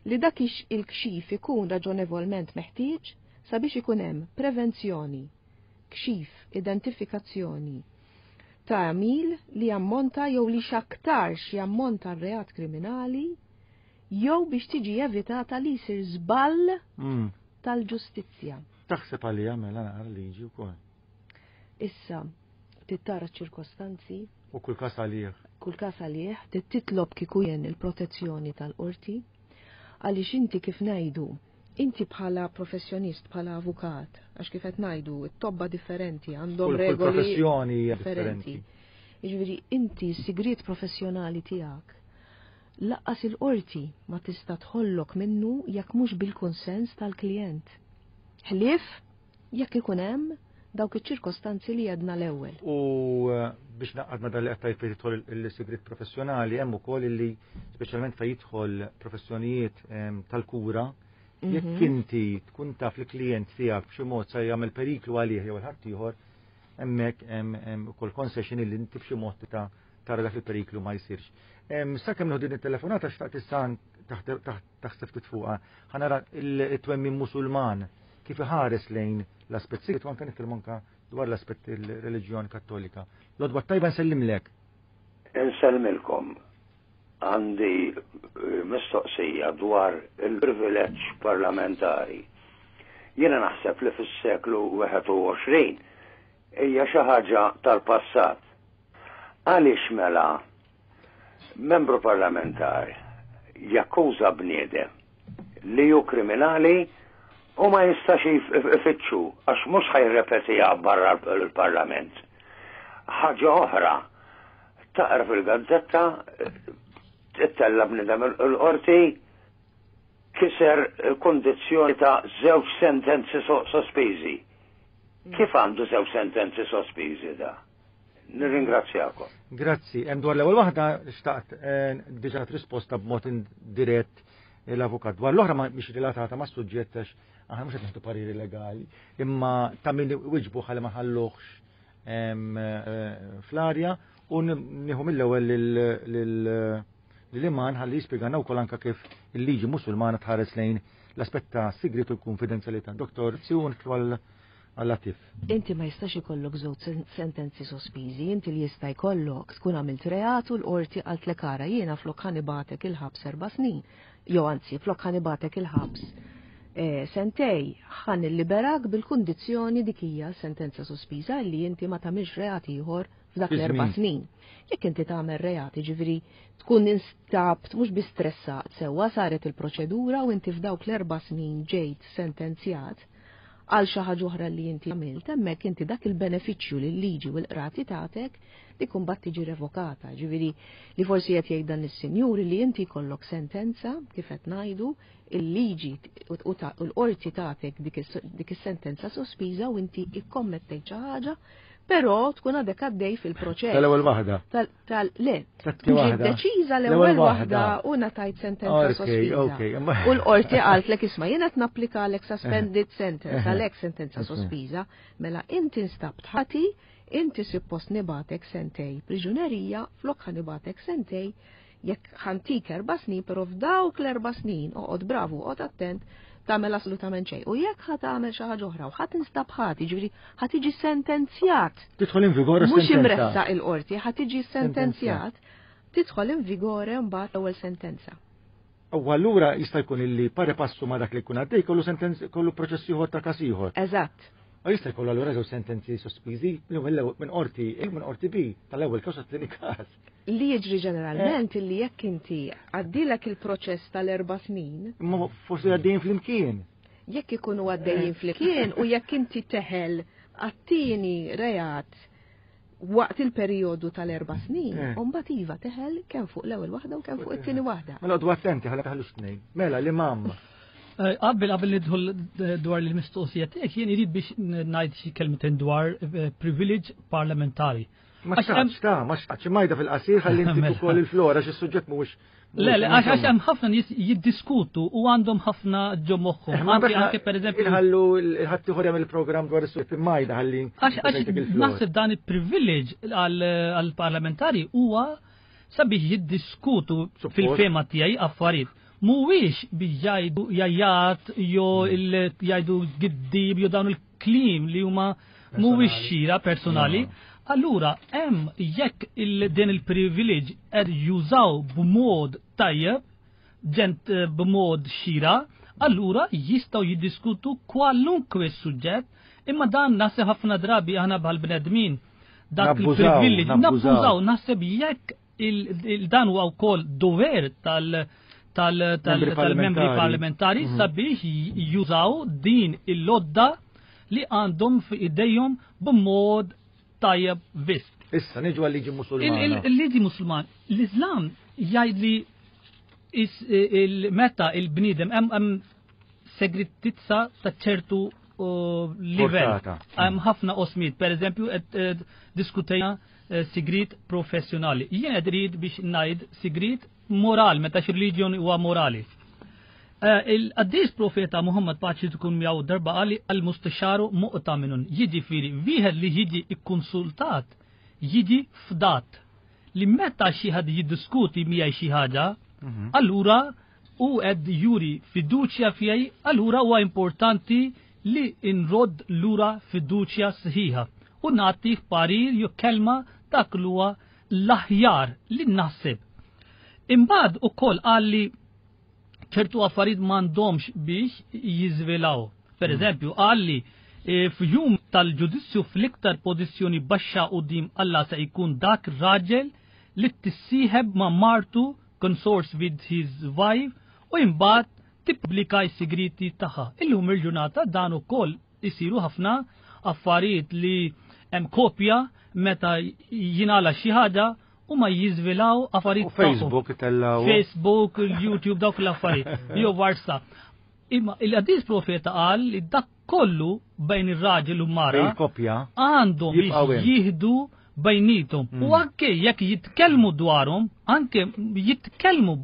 li dak ix- il-kxif ikun raġonevolment meħtieġ sabiex ikun hemm prevenzjoni, kxif, identifikazzjoni ta' għamil li jammonta jew li x'aktarx jammonta reat kriminali jew biex tiġi evitata li jsir żball
Mm.
tal-ġustizzja.
Taħseb għalija mela naqra liġi wkoll.
Issa, tittara ċirkostanzi,
U kull każ għalih.
Kull każ għalih, titlob kieku jien il-protezzjoni tal-qorti, għaliex inti kif ngħidu, inti bħala professjonist, bħala avukat, għax kif qed ngħidu, it-tobba differenti għandhom
Kull kull
regoli
professjoni hija
differenti.
differenti.
Jiġifieri inti s-sigriet professjonali tiegħek lanqas il-qorti ma tista' tħollok minnu jekk mhux bil-konsens tal-klijent. Ħlief jekk ikun hemm dawk iċ-ċirkostanzi li għedna l-ewwel.
U eh, biex naqqad ma dal li qed fejn jidħol il-sigriet professjonali, hemm ukoll illi speċjalment fejn jidħol professjonijiet em, tal-kura, jekk
Mhm.
inti tkun taf li klient tiegħek b'xi mod se jagħmel periklu għalih jew il-ħadd ieħor, hemmhekk hemm hemm ukoll concession illi inti b'xi mod ta' tara dak il-periklu ma jsirx. Em, Sakemm nieħu din it-telefonata xtaqt issa taħt- taħt- taħseb ftit fuqha, ħa nara il-twemmin Musulman kif iħares lejn l-aspett sigriet u anke nitkellmu anke dwar l-aspett il-reliġjon Kattolika. L-għodwa t-tajba, nsellimlek.
Insellmilkom. Għandi eh, mistoqsija dwar il-privileġġ parlamentari. Jiena naħseb li fis-seklu wieħed u għoxrin hija xi ħaġa tal-passat. Għaliex mela membru parlamentari jakkuża bniedem li hu kriminali u ma jistax ifittxu għax mhux ħa jirrepetiha barra l-parlament? Ħaġa oħra, taqra fil-gazzetta, ittella bnidem il-qorti kiser kondizzjoni ta' żewġ sentenzi sospiżi. Kif għandu żewġ sentenzi sospiżi da? Nirringrazzjakom.
Grazzi. Hemm dwar l-ewwel waħda xtaqt eh, diġà risposta b'mod indirett l-avukat. Dwar l-oħra ma mhix relatata ma' suġġett għax aħna mhux qed nieħdu pariri legali, imma ta' min wiġbu ħalli ma ħalluhx em, eh, fl-arja u nieħu mill-ewwel lil-iman ħalli jispjegana wkoll anke kif il-liġi Musulmana tħares lejn l-aspett ta' sigriet u l-konfidenzjalità. Doktor, Siun għal għal-latif.
Inti ma jistax ikollok żewġ sen- sentenzi sospiżi, inti li jista' jkollok tkun għamilt reat u l-qorti qaltlek, "Ara, jiena flok ħa nibagħtek il-ħabs erba' snin, jew anzi flok ħa nibagħtek il-ħabs eh, sentejn, ħa nilliberak bil-kundizzjoni." Dik hija sentenza sospiża, li inti ma tagħmilx reat ieħor f'dak
Fi
l-erba'
żmien.
snin. Jekk inti tagħmel reat, jiġifieri tkun instabt mhux bi stressat sewwa, saret il-proċedura u inti f'dawk l-erba' snin ġejt sentenzjat għal xi ħaġa oħra li inti għamilt, hemmhekk inti dak il-benefiċċju li l-liġi u l-qrati tagħtek dik imbagħad tiġi revokata. Ġifieri li forsi qed jgħid dan is-sinjur li inti jkollok sentenza, kif qed ngħidu, il-liġi u u ta- u l-qorti tagħtek dik is- dik is-sentenza sospiża u inti ikkommettejt xi ħaġa, però tkun għadek għaddej fil-proċess.
Tal-ewwel waħda.
Tal, tal, le,
Tat-tieni
ġiet
waħda.
deċiża
L-ewwel
l-ewwel waħda
waħda.
u ngħatajt sentenza
Ok,
sospiża.
ok. imma-
U l-qorti qaltlek, "Isma', jiena qed napplikalek suspended sentence,
Eh.
għalhekk sentenza
Ok.
sospiża, mela inti nstabt ħati, inti suppost nibagħtek sentejn priġunerija, flok ħa nibagħtek sentejn, jekk ħa ntik erba' snin, però f'dawk l-erba' snin oqgħod bravu, oqgħod attent, tagħmel assolutament xejn. U jekk ħa tagħmel xi ħaġa oħra u ħa tinstab ħati, ġifieri ħa tiġi sentenzjat
Tidħol in vigor
mhux
sentenza.
imressaq il-qorti, ħa tiġi sentenzjat, Tidħol in vigore mbagħad l-ewwel sentenza.
U allura jista' jkun illi pari passu ma' dak li jkun għaddej kollu sentenz kollu proċess ieħor ta' każ ieħor.
Eżatt.
U jista' jkollu allura żewġ sentenzi sospiżi minn qorti A minn qorti B tal-ewwel każ għat-tieni każ.
Li jiġri ġeneralment illi jekk inti għaddilek il-proċess tal-erba' snin.
Imma forsi għaddejjin flimkien.
Jekk ikunu għaddejjin flimkien u jekk inti teħel għat-tieni reat waqt il-perjodu tal-erba' snin, u mbagħad iva teħel kemm fuq l-ewwel waħda u kemm fuq it-tieni waħda.
Mela għodu attenti ħalli teħlux tnejn. Mela l-imam.
Qabel qabel nidħol dwar l-mistoqsija tiegħek jien irid biex ngħid xi kelmtejn dwar privilege parlamentari.
Ma xtaqx ta' ma xtaqx majda fil-qasir ħalli inti ukoll il-flora xi suġġett mhuwiex.
Le, le, għax hemm ħafna nies jiddiskutu u għandhom ħafna ġo moħħhom. Anke anke pereżempju
inħallu l-ħadd ieħor jagħmel il-programm dwar is-suġġett imajda ħalli.
Għax naħseb dan il-privilege għall-parlamentari huwa sabiex jiddiskutu fil-fema tiegħi affarijiet. Mhuwiex biex jgħidu jajjat jew jgħidu giddib jew dawn il-kliem li huma mhuwiex xira personali. Allura, hemm jekk din il-privileġġ qed jużaw b'mod tajjeb, ġent b'mod xira, allura jistgħu jiddiskutu kwalunkwe suġġett, imma dan naħseb ħafna drabi aħna bħal bnedmin dak il-privileġġ nabbużaw, naħseb jekk dan huwa wkoll dover tal- tal-membri parlamentari sabiex jużaw din il-lodda li għandhom f'idejhom b'mod tajjeb biss.
Issa niġu għal-liġi Musulmana.
Il-liġi Musulman, l-Islam jgħid li meta il-bniedem hemm segretizza ta' ċertu livell. Hemm ħafna osmiet, pereżempju qed diskutejna sigrit professjonali. Jien qed irid biex ngħid sigrit moral, meta xi reliġjon huwa morali. Il-qaddis profeta Muhammad paċi tkun miegħu darba qali al-mustasharu mu'taminun, jiġifieri wieħed li jiġi ikkonsultat jiġi fdat. Li meta xi ħadd jiddiskuti miegħi xi ħaġa, allura hu qed juri fiduċja fijaj, allura huwa importanti li nrodd lura fiduċja sħiħa u nagħtih parir jew kelma dak li huwa l-aħjar li naħseb. Imbagħad ukoll qal li ċertu affarijiet m'għandhomx biex jiżvelaw. Per eżempju, qal li f'jum tal-ġudizzju fl-iktar pożizzjoni baxxa quddiem Alla se jkun dak raġel li tissieħeb ma' martu consorts with his wife u imbagħad tippubblika s-sigriti tagħha. Illum il-ġurnata dan ukoll isiru ħafna affarijiet li hemm kopja meta jingħala xi ħaġa u ma jiżvilaw affarijiet
Facebook itellaw.
Facebook, YouTube, dawk l-affarijiet. Jew WhatsApp. Imma il-qaddis profeta qal li dak kollu bejn ir-raġel u mara għandhom jieħdu bejnietom. U anke jekk jitkellmu dwarhom, anke jitkellmu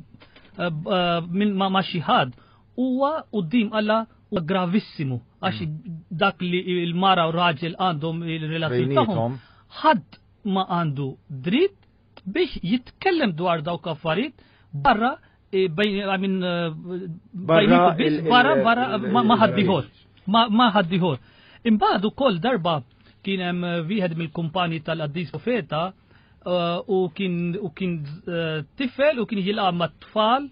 minn ma' xi ħadd, huwa quddiem Alla huwa gravissimu għax dak li l-mara u raġel għandhom il-relazzjoni tagħhom ħadd ma għandu dritt biex jitkellem dwar dawk affarijiet barra bejn barra barra barra ma ħaddieħor ma ħaddieħor. Imbagħad ukoll darba kien hemm wieħed mill-kumpani tal-qaddis profeta u kien u kien tifel u kien jilgħab mat-tfal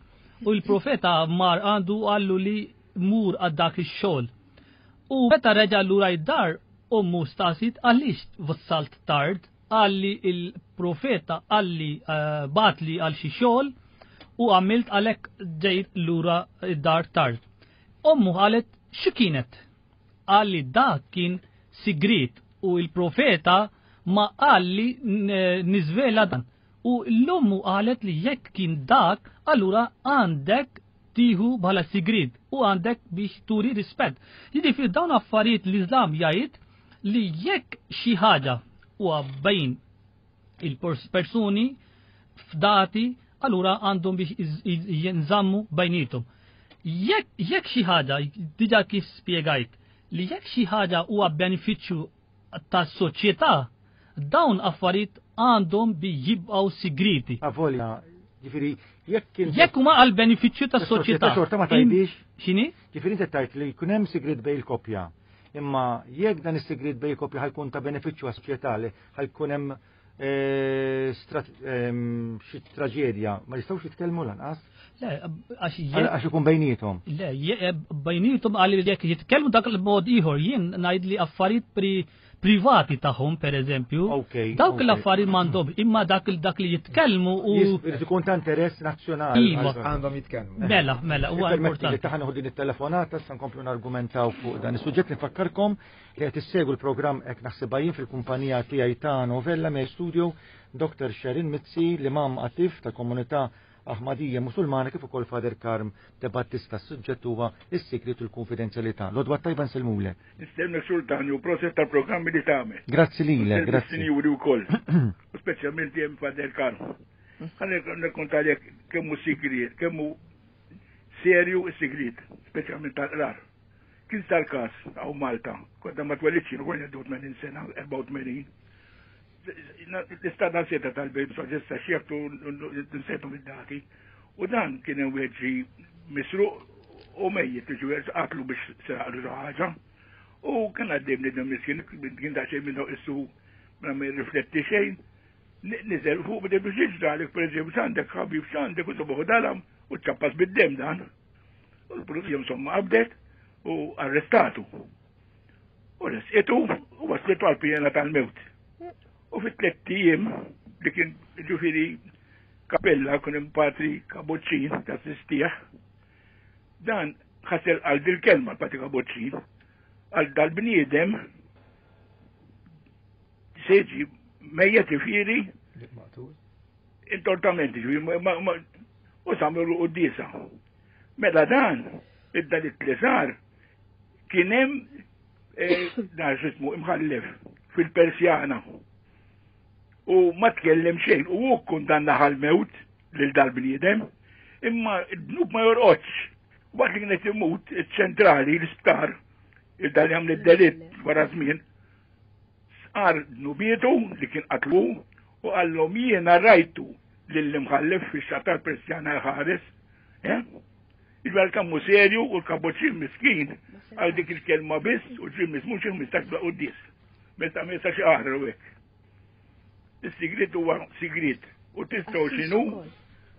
u l-profeta mar għandu qallu li mur għal dak ix-xogħol. U meta reġa' lura id-dar ommu staqsit għaliex wassalt tard, għalli il-profeta għalli batli għal xi xogħol u għamilt għalhekk ġejt lura id-dar tard. Ommu qalet xi kienet? Għalli dak kien sigrit u il-profeta ma għalli niżvela dan. U l-ommu qalet li jekk kien dak, allura għandek tieħu bħala sigrit u għandek biex turi rispett. Jiġifieri dawn affarijiet l-Islam jgħid li jekk xi ħaġa huwa bejn il-persuni fdati, allura għandhom biex jinżammu bejnietom. Jekk xi ħaġa, diġà kif spjegajt, li jekk xi ħaġa huwa benefiċċju tas-soċjetà, dawn affarijiet għandhom bi jibqgħu sigriti.
Avolja, ġifieri jekk
jekk huma għal benefiċċju tas-soċjetà.
Xorta ma tgħidix.
X'inhi?
Ġifieri inti tgħid li jkun hemm sigrit bejn il-koppja. Imma jekk dan is-sigrit bejn il-koppja ħajkun ta' benefiċċju għas-soċjetà li ħajkun hemm eh, xi traġedja, ma jistgħux jitkellmu lanqas?
Le, għax
Għax ikun bejniethom.
Le, bejniethom għal jekk jitkellmu dak il-mod ieħor, jien ngħid li affarijiet pri privati tagħhom pereżempju. Dawk l-affarijiet m'għandhom, imma dak dak li jitkellmu u
Irid ikun ta' interess nazzjonali.
Iva.
Għandhom jitkellmu.
Mela, mela, huwa
importanti. Taħna nieħu din it-telefonata issa nkomplu nargumentaw fuq dan is-suġġett. Nfakkarkom li qed issegwu l-programm Hekk Naħsibha Jien fil-kumpanija tiegħi ta' Novella me studio Doktor Sharon Mizzi, l-imam attiv tal-komunità Ahmadija Musulmana, kif ukoll Father Karm De Battista. S-suġġett huwa is-sigriet u l-konfidenzjalità. L-għodwa tajba, nsellmulek.
Nistenna Sultan u proset tal-programmi li tagħmel.
Grazzi lilek, grazzi.
Sinjuri wkoll. U speċjalment hemm Father Karm. Ħa nirrakkontalek kemm hu sigriet, kemm hu serju s-sigriet, speċjalment tal-qrar. Kien sar każ hawn Malta, konna ma twelidx, konna tmenin sena, erbgħa u tmenin. L-istat seta tal-bejt soġesta xieftu nsetu mid-dati. U dan kien hemm wieħed ġi misruq u mejjet, ġi qatlu biex seraqlu xi ħaġa. U kien għaddej bniedem miskin, kien daqsxejn minnu issu ma jirrifletti xejn. Niżel fuq bidej biex jiġralek, per eżempju, x'għandek ħabib, x'għandek, u sobuħu dalam u ċappas bid-dem dan. U l-pulizija insomma qabdet u arrestatu. U resqitu u waslitu għal-pjena tal-mewt. U fit tliet ijiem li kien ġifieri kapella kun hemm patri Kabuċċin ta' sistieħ, dan ħasel għal dil-kelma patri Kabuċċin, għal dal-bniedem seġi mejjet ġifieri intortament ġifieri u samlu quddiesa. Mela dan, id-dalit li sar, kien hemm eh, dan x'ismu imħallef fil-Persjana. U ma tkellem xejn, u hu kundanna għal-mewt lil dal-bniedem, imma d-dnub ma jorqodx. Waqt li kienet imut, iċ-ċentrali, l-isptar, il-dal jagħmel id-delitt wara żmien, sar dnubietu li kien qatlu u qallhom jiena rajtu lill-imħallef fix-xatar Persjana ħares, eh? Il-għal kammu serju u l-kaboċin miskin għal dik il-kelma biss u ġim mhux mistax bla quddis. Meta meta xi aħra u hekk. Is-sigriet huwa sigriet u tistgħu x'inhu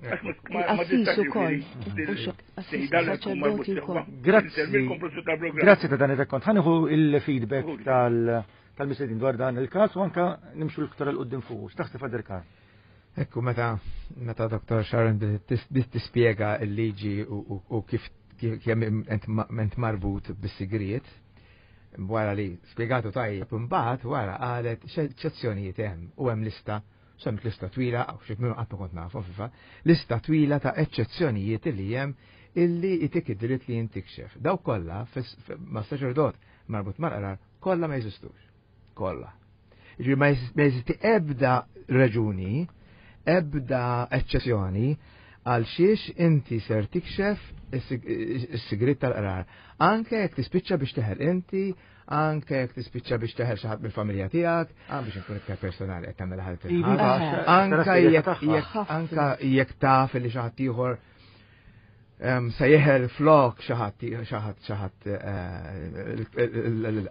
għax ma tistax
Grazzi. Grazzi ta' dan ir-rekkont. Ħa nieħu il-feedback tal tal-mistednin dwar dan il-każ u anka nimxu l-iktar 'il quddiem fuq. X'taħseb, Father Karm?
Ekku, meta meta Doktor Sharon bdiet tispjega l-liġi u kif kemm int marbut bis-sigriet, wara li spjegatu tajjeb, imbagħad wara qalet x'eċċezzjonijiet hemm u hemm lista, semmt lista twila, għaw xi minnu qatt ma kont nafu fifa, lista twila ta' eċċezzjonijiet li hemm illi jtik id-dritt li jintikxef. Daw kollha ma' saċerdot marbut mal-qrar kollha ma jeżistux. Kollha. Ġifieri ma jeżisti ebda raġuni, ebda eċċezzjoni għal xiex inti ser tikxef is-sigrit tal-qrar. Anke jekk tispiċċa biex teħel inti, anke jekk tispiċċa biex teħel xi ħadd mill-familja tiegħek, anke biex nkun iktar personali qed tagħmel ħadd
Iva,
Anke jekk anke jekk taf li xi ħadd ieħor se jeħel flok xi ħadd xi ħadd xi ħadd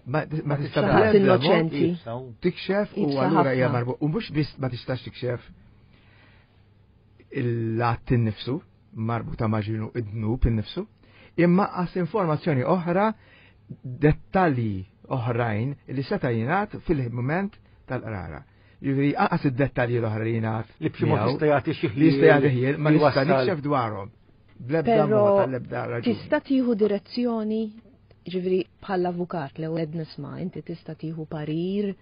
ma tista'
innoċenti.
tikxef u allura hija marbut u mhux biss ma tistax tikxef l-att innifsu marbuta ma' ġinu id-dnub innifsu, imma għas informazzjoni oħra, dettalji oħrajn li seta' jingħad fil-moment tal-qrara. Ġifieri għas id-dettalji l-oħra li jingħad
li b'xi mod jista' jagħti xi
li jista' jagħti ħjiel, ma nista' nikxef dwarhom. Bl-ebda
Però
mod, għall-ebda raġuni.
tista' tieħu direzzjoni, ġifieri bħall-avukat l ewwel nisma', inti tista' tieħu parir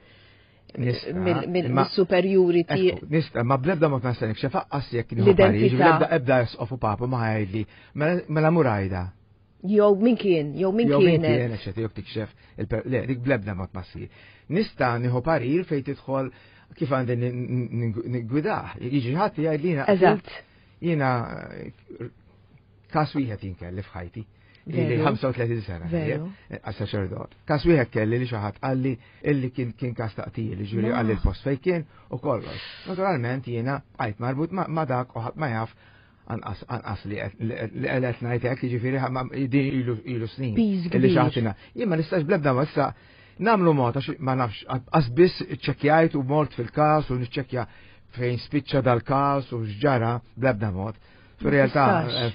Nista',
mill-
imma-
mis-superjuri
Ekku, nista', ma bl-ebda mod ma nista' nikxef aqqas jekk nieħu parir,
L-identità.
ġifieri ebda ebda isqof u papa ma jgħidli, mela mela murajda.
Jew min kien, jew min
Jew min
kienet.
kien, eċetera, jew tikxef il-per- le, dik bl-ebda mod ma ssir. Nista' nieħu parir fejn tidħol kif għandi nigwidah. Jiġi ħadd jgħid li jiena
Eżatt.
jiena eh, każ wieħed jien kelli f'ħajti. Ili
Veru.
ħamsa u tletin sena.
Veru.
Għas saċerdot. Każ wieħed kelli li xi ħadd qalli illi kien kien każ taqtil, ġifieri
Ma.
qalli l-post fejn kien u kollox. Naturalment jiena bqajt marbut ma ma dak u ħadd ma jaf anqas anqas li qed- li qed ngħid hekk, jiġifieri ma- din ilu ilu snin.
Piż
Illi
kbir.
xi ħadd Jien ma nistax bl-ebda ma issa Nagħmlu mod għax ma nafx qas biss iċċekkjajt u mort fil-każ u niċċekkja fejn spiċċa dal-każ u x'ġara bl-ebda mod. Fir-realtà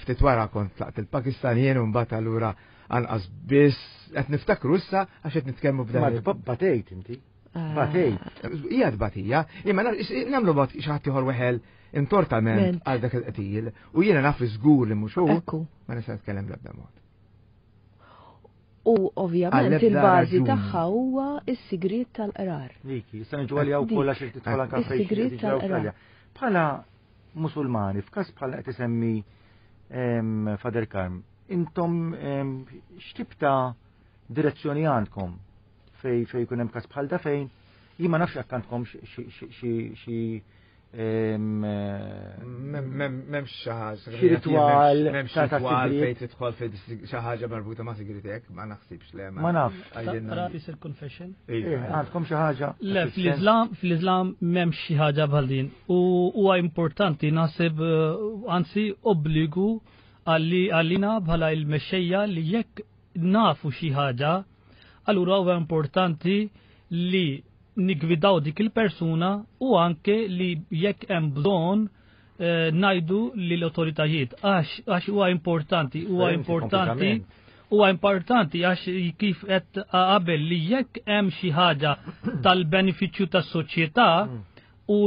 ftit wara kont tlaqt il-Pakistan jien u mbagħad allura anqas biss qed niftakru issa għax qed nitkellmu b'dan.
Ma batejt inti. Batejt.
Hija tbatija, imma nagħmlu mod xi ħadd ieħor weħel intortament għal dak il-qtil u jiena naf żgur li mhux hu, ma nista' nitkellem bl-ebda mod.
U ovvjament il-bażi tagħha huwa s-sigriet tal-qrar.
Dik, issa niġu għalija wkoll għax irid tidħol anke fejn.
Is-sigriet tal-qrar.
Bħala Musulmani, f'każ bħala qed isemmi Father Karm, intom x'tip ta' direzzjoni għandkom fej fej jkun hemm każ bħal da fejn jien ma nafx jekk għandkom xi
M'hemmx xi ħaġa.
Xi ritwal,
m'hemmx ritwal fejn tidħol fejn xi ħaġa marbuta ma' sigritek, ma naħsibx le.
Ma nafx.
Tara isir confession?
Għandkom xi ħaġa?
Le, fl-Islam fl-Islam m'hemmx xi ħaġa bħal din. U huwa importanti naħseb anzi obbligu għalina bħala il-mexxejja li jekk nafu xi ħaġa, allura huwa importanti li nigwidaw dik il-persuna u anke li jekk hemm bżonn eh, ngħidu lill autoritajiet għax għax huwa importanti huwa importanti huwa importanti għax kif qed qabel li jekk hemm xi ħaġa tal-benefiċċju tas-soċjetà u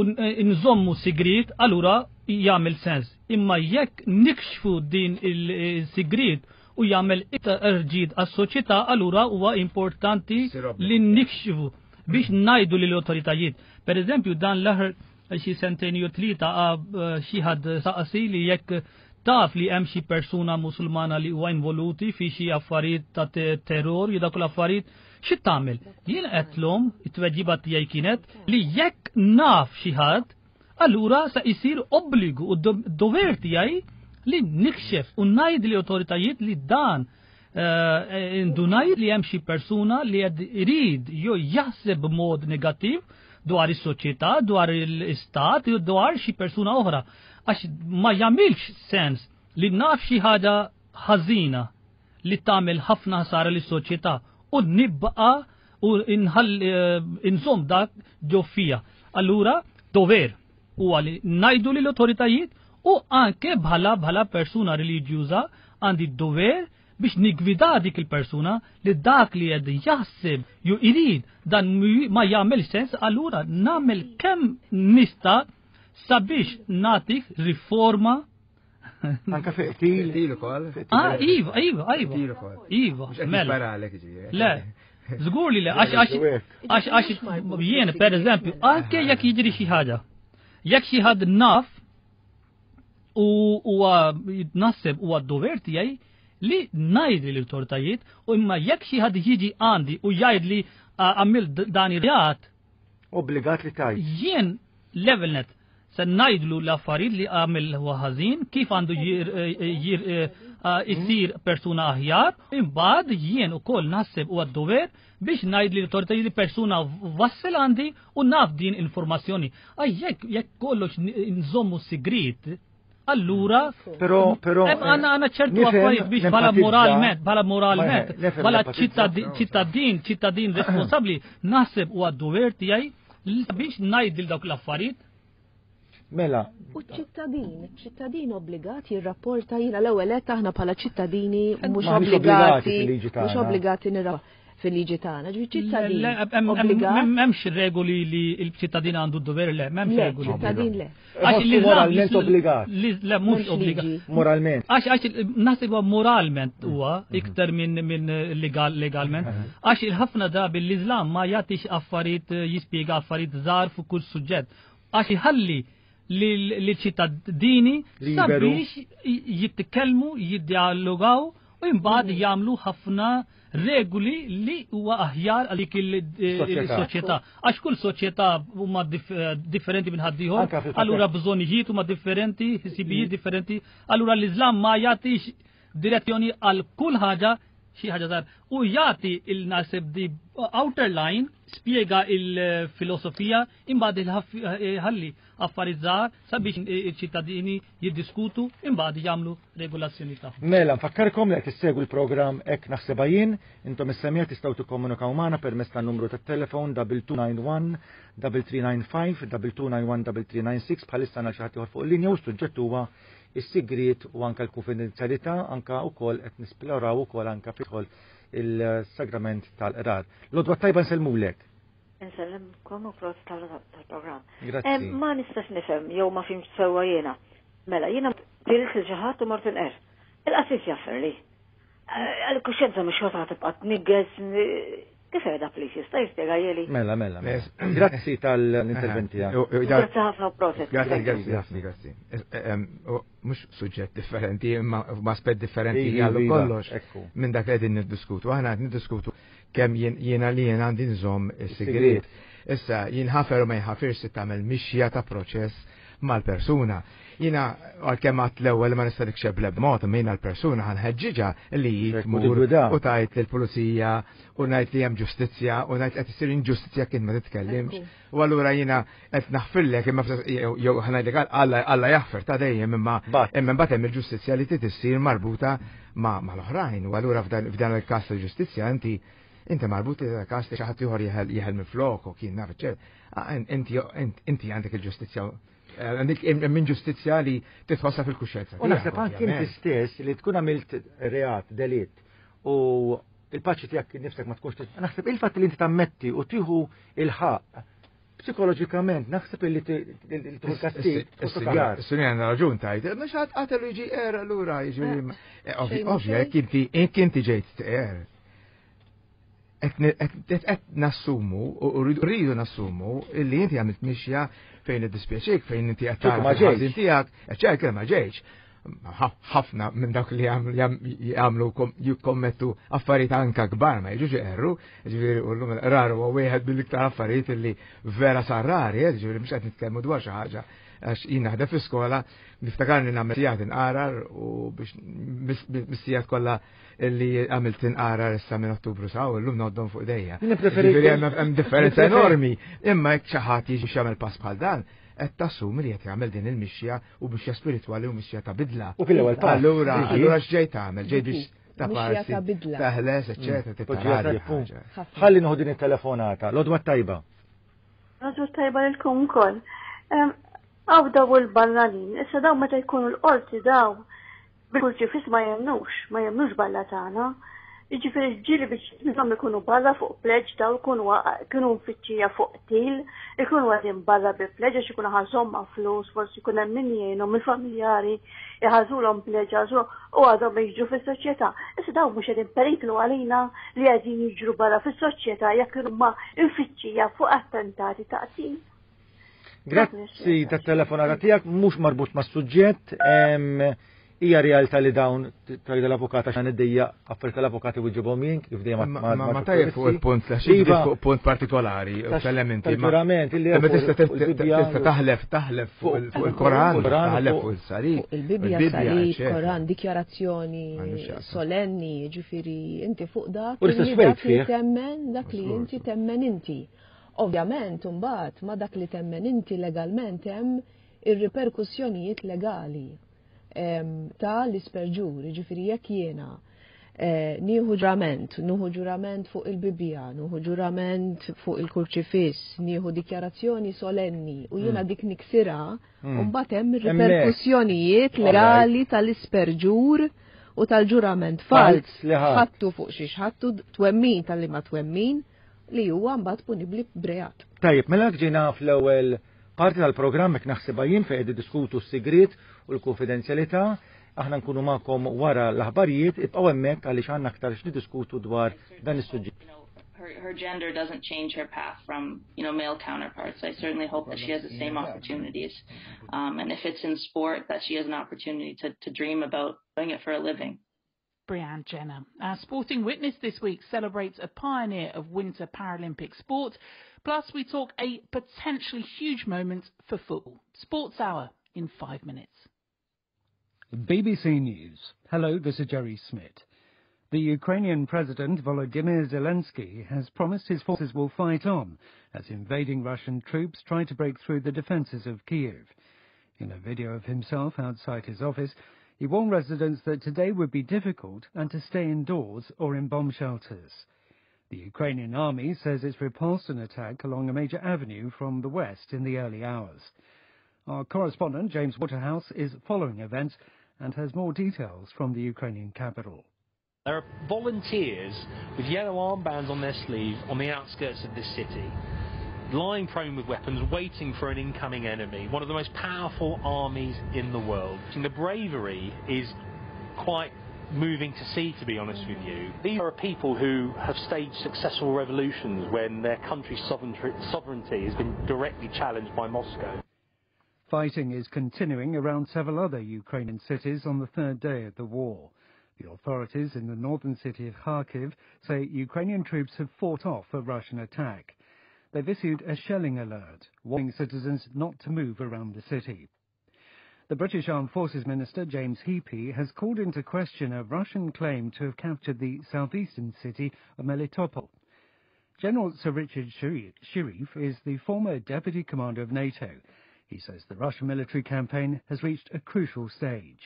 nżommu sigriet allura jagħmel sens. Imma jekk nikxfu din il-sigriet u jagħmel iktar ġid għas-soċjetà allura huwa importanti li nikxfu biex ngħidu lill autoritajiet. Per eżempju, dan l-aħħar xi sentejn jew tlieta xi ħadd saqsi li jekk taf li hemm xi persuna Musulmana li huwa involuti fi xi affarijiet ta' terror jew dak l-affarijiet, xi tagħmel? Jien qedlhom it-tweġiba tiegħi kienet li jekk naf xi ħadd, allura sa jsir obbligu u dover tiegħi li nikxef u ngħid lill autoritajiet li dan indunaj li hemm xi persuna li qed irid jew jaħseb b'mod negattiv dwar is-soċjetà, dwar l-istat, jew dwar xi persuna oħra. Għax ma jagħmilx sens li naf xi ħaġa ħażina li tagħmel ħafna ħsara lis-soċjetà u nibqa' u inżomm dak ġo fija. Allura dover huwa li ngħidu lill autoritajiet u anke bħala bħala persuna reliġjuża għandi d-dover biex nigwida dik il-persuna li dak li qed jaħseb jew irid dan ma jagħmel sens, allura nagħmel kemm nista' sabiex nagħtik riforma.
Anka fi qtil.
Qtil ukoll.
Ah, iva, iva, iva. Iva, mela. Le, żgur li le, għax għax għax jien per eżempju, anke jekk jiġri xi ħaġa, jekk xi ħadd naf u huwa naħseb huwa d-dover tiegħi li ngħid lill autoritajiet u imma jekk xi ħadd jiġi għandi u jgħid li għamil dan ir-reat,
obbligat li tajt.
Jien level net se ngħidlu l-affarijiet li għamil huwa ħażin, kif għandu jsir persuna aħjar, imbagħad jien ukoll naħseb huwa d-dover biex ngħid lill autoritajiet li persuna wassel għandi u naf din informazzjoni. Għaj jekk jekk kollox nżommu sigriet, allura,
però, però,
għanna għanna ċertu affarijiet biex bħala moralment, bħala moralment, bħala ċittadin, ċittadin responsabbli, naħseb u għad-dover tiegħi biex ngħid lil dawk l-affarijiet.
Mela.
U ċittadin, ċittadin obbligat jirrapporta jiena l-ewwel qed aħna bħala ċittadini mhux obbligati, mhux obbligati nirra fil-liġi tagħna. Ġifieri ċittadin obbligat.
M'hemmx regoli li l-ċittadin għandu d-dover le, m'hemmx regoli.
Ċittadin le.
Għax
moralment obbligat.
Le mhux obbligat.
Moralment.
Għax għax naħseb moralment huwa iktar minn minn legal legalment. Għax il-ħafna drabi l-Iżlam ma jagħtix affarijiet jispjega affarijiet żgħar fuq kull suġġett. Għax iħalli lill-ċittadini sabiex jitkellmu, jiddialogaw u imbagħad jagħmlu ħafna regoli li huwa aħjar għal dik il-soċjetà. Għax kull soċjetà huma differenti minn ħaddieħor, allura bżonnijiet huma differenti, ħsibijiet differenti, allura l-Iżlam ma jagħtix direzzjoni għal kull ħaġa xi ħaġa żgħar u jagħti il-nasib di outer line, spjega il-filosofija, imbagħad il-ħalli affarijiet żgħar sabiex iċ-ċittadini jiddiskutu, imbagħad jagħmlu regolazzjoni tagħhom.
Mela, nfakkarkom li qed issegwu l-programm Hekk Naħsibha Jien, intom is-semmiegħa tistgħu tikkomunikaw magħna permezz tan-numru tat-telefon double two nine one double three nine five double two nine one double three nine six. Bħalissa għandna xi ħadd ieħor fuq il-linja u s-suġġett huwa is-sigriet u anka l-konfidenzjalità, anka wkoll qed nisploraw ukoll anka fidħol il-sagrament tal-qrar. L-għodwa tajba, nsellmulek.
Nsellimkom u prosit tal-programm.
Grazzi.
Ma nistax nifhem jew ma fhimtx sewwa jiena. Mela, jiena qtilt lil xi ħadd u mort inqer. Il-qassis jaħfirli. Għal-kuxjenza mhux xorta tibqa' tniggeż, kif qiegħda, please, jista' jispjega
Mela, mela, mela. Grazzi tal-interventi.
Grazzi ħafna u prosit.
Grazzi, grazzi, grazzi, grazzi. Mhux suġġett differenti, imma aspett differenti għallu kollox minn dak li qegħdin niddiskutu. Aħna qed niddiskutu kemm jiena li jiena għandi nżomm is-sigriet. Issa jinħafer u ma jinħafirx se tagħmel mixja ta' proċess mal-persuna. Jiena għalkemm għat l-ewwel ma nista' nikxeb bl mod, imma jiena l-persuna ħa nħeġġiġha li tmur u tgħid lill-pulizija u ngħid li hemm ġustizzja u ngħid qed issir inġustizzja kien ma titkellimx. U allura jiena qed naħfirlek, imma jew ħa ngħidlek Alla Alla jaħfer ta' dejjem, imma imma mbagħad hemm il-ġustizzja li trid issir marbuta ma' mal-oħrajn. U allura f'dan il-każ tal-ġustizzja inti inti marbut li każ li xi ħadd ieħor jeħel minn flok u kien naf, inti inti għandek il-ġustizzja, għandek minn ġustizzja li titħossa fil-kuxjenza.
U naħseb anke inti stess li tkun għamilt reat, delitt, u il-paċi tiegħek nifsek ma tkunx, naħseb il-fatt li inti tammetti u tieħu il-ħaqq psikoloġikament naħseb li tieħu kastig.
Is-sinjora għandha raġun tajt, ma xi ħadd qatel jiġi er allura jiġi ovvja jekk inti ġejt er. Qed nassumu u rridu nassumu illi inti għamilt mixja fejn iddispjaċik, fejn inti qed tara ħażin tiegħek, eċċetera, ma ġejx. Ħafna minn dawk li jagħmlu jikkommettu affarijiet anka kbar ma jiġux iqerru, ġifieri u llum il-qrar huwa wieħed mill-iktar affarijiet illi vera sar rari, eh, ġifieri mhux qed nitkellmu dwar xi ħaġa, għax jien naħdem fi skola, niftakarni nagħmel sigħat inqarar u biex mis-sigħat kollha illi għamilt inqarar issa minn Ottubru sa u llum ngħoddhom fuq idejja. Ġifieri hemm differenza enormi, imma jekk xi ħadd jiġi jagħmel pass bħal dan, qed tassumi li qed jagħmel din il-mixja u mixja spiritwali u mixja ta' bidla.
U fil-ewwel pass.
Allura, allura x'ġej tagħmel? Ġej biex ta'
Mixja
parsi,
ta' bidla.
taħles, eċċetera, tittaradi.
Ħalli nieħu din it-telefonata. L-għodwa tajba.
L-għodwa tajba lilkom ukoll. Għaw daw il-barranin, issa daw meta jkunu l-qorti daw bil-kurċifiss ma jemnux, ma jemnux balla tagħna. Jiġifieri ġieli biex minnhom ikunu barra fuq pleġ, daw ikunu kienu mfittxija fuq qtil, ikunu għadin barra bi pleġ għax ikunu ħażhom ma' flus, forsi jkun hemm min jgħinhom il-familjari jħażulhom pleġ u għadhom jiġru fis-soċjetà. Issa daw mhux qegħdin periklu għalina li qegħdin jiġru barra fis-soċjetà jekk huma mfittxija fuq attentati ta' qtil.
Grazzi tat-telefonata tiegħek, mhux marbut mas-suġġett, hija realtà li dawn tgħid l-avukata xan id-dejja affarijiet tal-avukati wiġibhom jien kif dejjem
ma ma tajjeb fuq il-punt la xi
Iva.
fuq punt partikolari u tal-elementi
tal-ġurament illi
Ma tista' tista' taħlef taħlef fuq il-Koran, taħlef fuq il-salib.
Fuq il-Bibja, salib, Koran, dikjarazzjoni solenni, ġifieri inti fuq dak
U l-istess
li
wejt
dak li
fih.
temmen, dak li inti temmen inti. Ovvjament, imbagħad ma dak li temmen inti legalment hemm ir-riperkussjonijiet legali em, ta' l-isperġur, ġifieri jekk jiena eh, nieħu ġurament, nieħu ġurament fuq il-Bibja, nieħu ġurament fuq il-kurċifiss, nieħu dikjarazzjoni solenni u jiena
Mm.
dik niksira,
Mm.
u mbagħad hemm
Hemmhekk.
ir-riperkussjonijiet legali tal-isperġur u tal-ġurament
Falz
falz
li ħadd.
ħattu fuq xiex ħattu twemmin tal-li ma twemmin li huwa mbagħad punibbli b'reat.
Tajjeb, mela ġejna fl-ewwel parti tal-programm Hekk Naħsibha Jien fejn qed diskutu s-sigriet u l-konfidenzjalità. Aħna nkunu magħkom wara l-aħbarijiet, ibqgħu hemmhekk għaliex għandna aktar x'niddiskutu dwar dan is-suġġett.
Her, her gender doesn't change her path from, you know, male counterparts. I certainly hope that she has the same opportunities. Um, and if it's in sport, that she has an opportunity to, to dream about doing it for a living.
Brianne Jenner. Our sporting witness this week celebrates a pioneer of winter Paralympic sport. Plus, we talk a potentially huge moment for football. Sports Hour in five minutes.
B B C News. Hello, this is Jerry Smith. The Ukrainian President Volodymyr Zelensky has promised his forces will fight on as invading Russian troops try to break through the defenses of Kyiv. In a video of himself outside his office, he warned residents that today would be difficult and to stay indoors or in bomb shelters. The Ukrainian army says it's repulsed an attack along a major avenue from the west in the early hours. Our correspondent, James Waterhouse, is following events and has more details from the Ukrainian capital.
There are volunteers with yellow armbands on their sleeve on the outskirts of this city, lying prone with weapons, waiting for an incoming enemy, one of the most powerful armies in the world. And the bravery is quite moving to see, to be honest with you. These are people who have staged successful revolutions when their country's sovereignty has been directly challenged by Moscow.
Fighting is continuing around several other Ukrainian cities on the third day of the war. The authorities in the northern city of Kharkiv say Ukrainian troops have fought off a Russian attack. They've issued a shelling alert, warning citizens not to move around the city. The British Armed Forces Minister, James Heappey, has called into question a Russian claim to have captured the southeastern city of Melitopol. General Sir Richard Shirreff is the former deputy commander of NATO. He says the Russian military campaign has reached a crucial stage.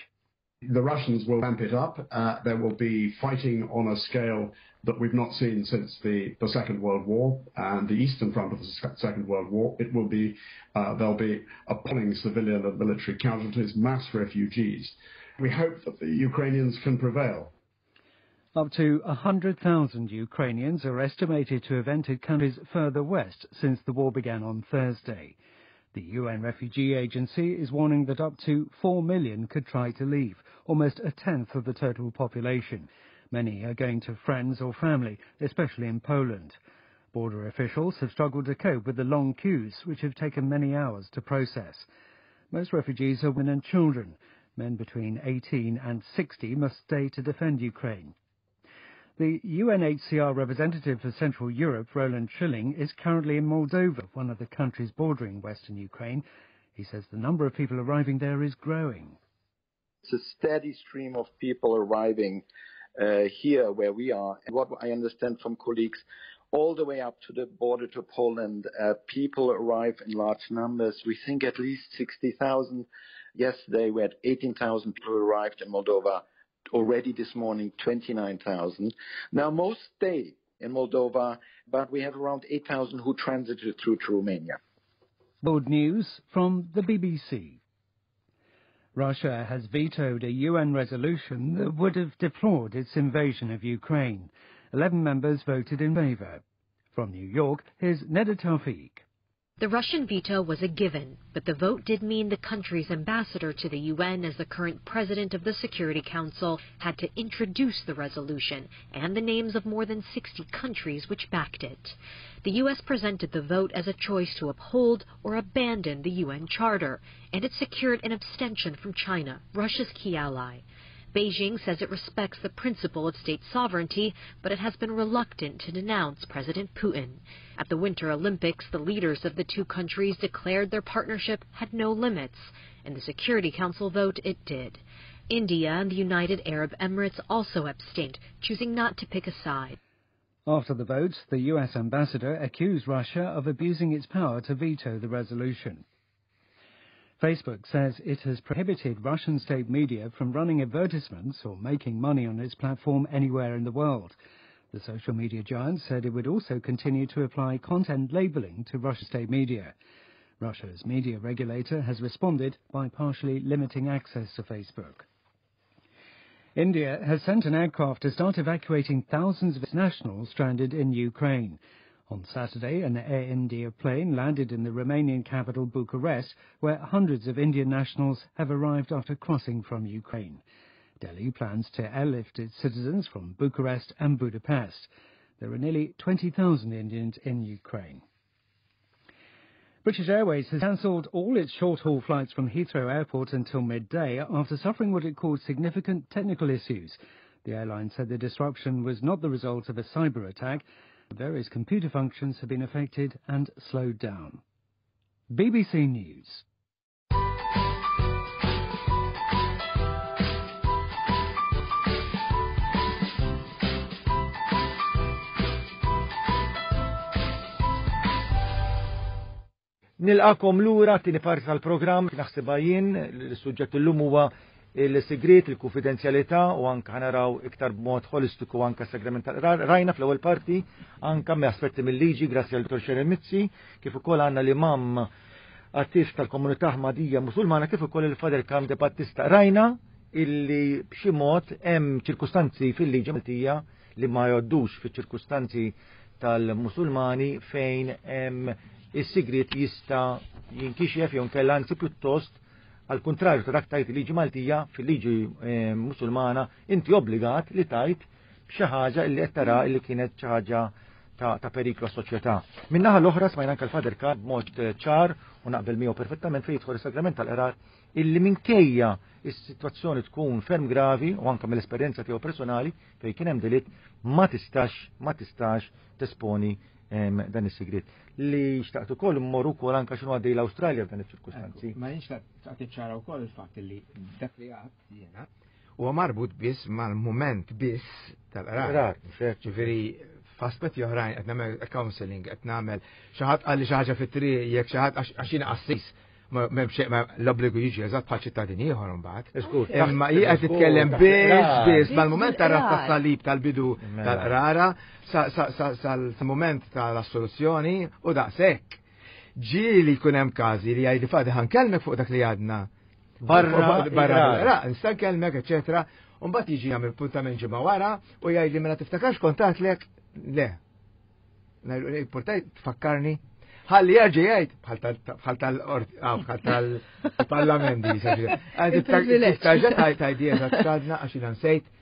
The Russians will ramp it up. Uh, there will be fighting on a scale that we've not seen since the, the Second World War and the Eastern Front of the Second World War. It will be, uh, there'll be appalling civilian and military casualties, mass refugees. We hope that the Ukrainians can prevail.
Up to one hundred thousand Ukrainians are estimated to have entered countries further west since the war began on Thursday. The U N Refugee Agency is warning that up to four million could try to leave, almost a tenth of the total population. Many are going to friends or family, especially in Poland. Border officials have struggled to cope with the long queues, which have taken many hours to process. Most refugees are women and children. Men between eighteen and sixty must stay to defend Ukraine. The U N H C R representative for Central Europe, Roland Schilling, is currently in Moldova, one of the countries bordering Western Ukraine. He says the number of people arriving there is growing.
It's a steady stream of people arriving uh, here where we are. And what I understand from colleagues, all the way up to the border to Poland, uh, people arrive in large numbers. We think at least sixty thousand. Yesterday we had eighteen thousand people who arrived in Moldova. Already this morning, twenty-nine thousand. Now, most stay in Moldova, but we have around eight thousand who transited through to Romania.
World news from the B B C. Russia has vetoed a U N resolution that would have deplored its invasion of Ukraine. Eleven members voted in favour. From New York, here's Neda Tawfiq.
The Russian veto was a given, but the vote did mean the country's ambassador to the U N as the current president of the Security Council had to introduce the resolution and the names of more than sixty countries which backed it. The U S presented the vote as a choice to uphold or abandon the U N Charter, and it secured an abstention from China, Russia's key ally. Beijing says it respects the principle of state sovereignty, but it has been reluctant to denounce President Putin. At the Winter Olympics, the leaders of the two countries declared their partnership had no limits. In the Security Council vote, it did. India and the United Arab Emirates also abstained, choosing not to pick a side.
After the vote, the U S ambassador accused Russia of abusing its power to veto the resolution. Facebook says it has prohibited Russian state media from running advertisements or making money on its platform anywhere in the world. The social media giant said it would also continue to apply content labeling to Russian state media. Russia's media regulator has responded by partially limiting access to Facebook. India has sent an aircraft to start evacuating thousands of its nationals stranded in Ukraine. On Saturday, an Air India plane landed in the Romanian capital Bucharest, where hundreds of Indian nationals have arrived after crossing from Ukraine. Delhi plans to airlift its citizens from Bucharest and Budapest. There are nearly twenty thousand Indians in Ukraine. British Airways has cancelled all its short-haul flights from Heathrow Airport until midday after suffering what it called significant technical issues. The airline said the disruption was not the result of a cyber attack. Various computer functions have been affected and slowed down. B B C News.
Nilqakom lura tieni parti tal-programm naħsibha jien, l-suġġett illum huwa il-sigriet, il-konfidenzjalità u anka naraw iktar b'mod holistiku anka sagrament rajna fl-ewwel parti anka me aspetti mill-liġi grazzi għal Dottor Sharon Mizzi, kif ukoll għandna l-imam attiv tal-komunità Ahmadija Musulmana kif ukoll il-Father Karm De Battista. Rajna illi b'xi mod hemm ċirkustanzi fil-liġi Maltija li ma jgħoddux fiċ-ċirkustanzi tal-Musulmani fejn hemm is-sigriet jista' jinkixef jew nkella anzi pjuttost għal kontrarju ta' dak tajt il-liġi Maltija fil-liġi eh, Musulmana inti obbligat li tajt b'xi ħaġa li qed tara li kienet xi ħaġa ta', ta periklu għas-soċjetà. Min-naħa l-oħra smajna anke l-Father Karm b'mod eh, ċar u naqbel miegħu perfettament fejn jidħol is-sagrament tal-qrar illi minkejja is-sitwazzjoni tkun ferm gravi u anke mill-esperjenza tiegħu personali fejn kien hemm delitt ma tistax ma tistax tesponi em, dan is-sigriet. Li xtaqt ukoll mmorru wkoll anke x'inhu għaddej l-Awstralja f'dan iċ-ċirkustanzi.
Ma jinx tagħti ċara wkoll il-fatt li dak li għadt jiena huwa marbut biss mal-mument biss tal-qrar.
Qrar, mhux hekk.
Ġifieri f'aspetti oħrajn qed nagħmel counseling, qed nagħmel xi ħadd qalli xi ħaġa fit-triq jekk xi ħadd għax jiena qassis m'hemm xejn ma l-obbligu jiġi eżatt bħal ċittadin ieħor imbagħad.
Żgur,
Imma
taħt-
hi qed titkellem
taħt
biss
il-qrar.
biss mal-mument tar-ras
Il-qrar.
tas-salib tal-bidu
Mela.
tal-qrara sal-mument tal-assoluzzjoni u daqshekk. Ġieli jkun hemm każi li jgħidu Father ħa nkellmek fuq dak li għadna.
Barra
Barra,
il-qrar.
barra, nista' nkellmek, eċetera. U mbagħad jiġi jagħmel puntament ġimgħa wara u jgħidli mela tiftakarx kontatlek le. Ngħidlu portaj tfakkarni. Ħalli jerġa' jgħid bħal tal- bħal tal-parlament di.
Il-privileġġ.
Tiftaġa tajdi eżatt xadna għax jiena nsejt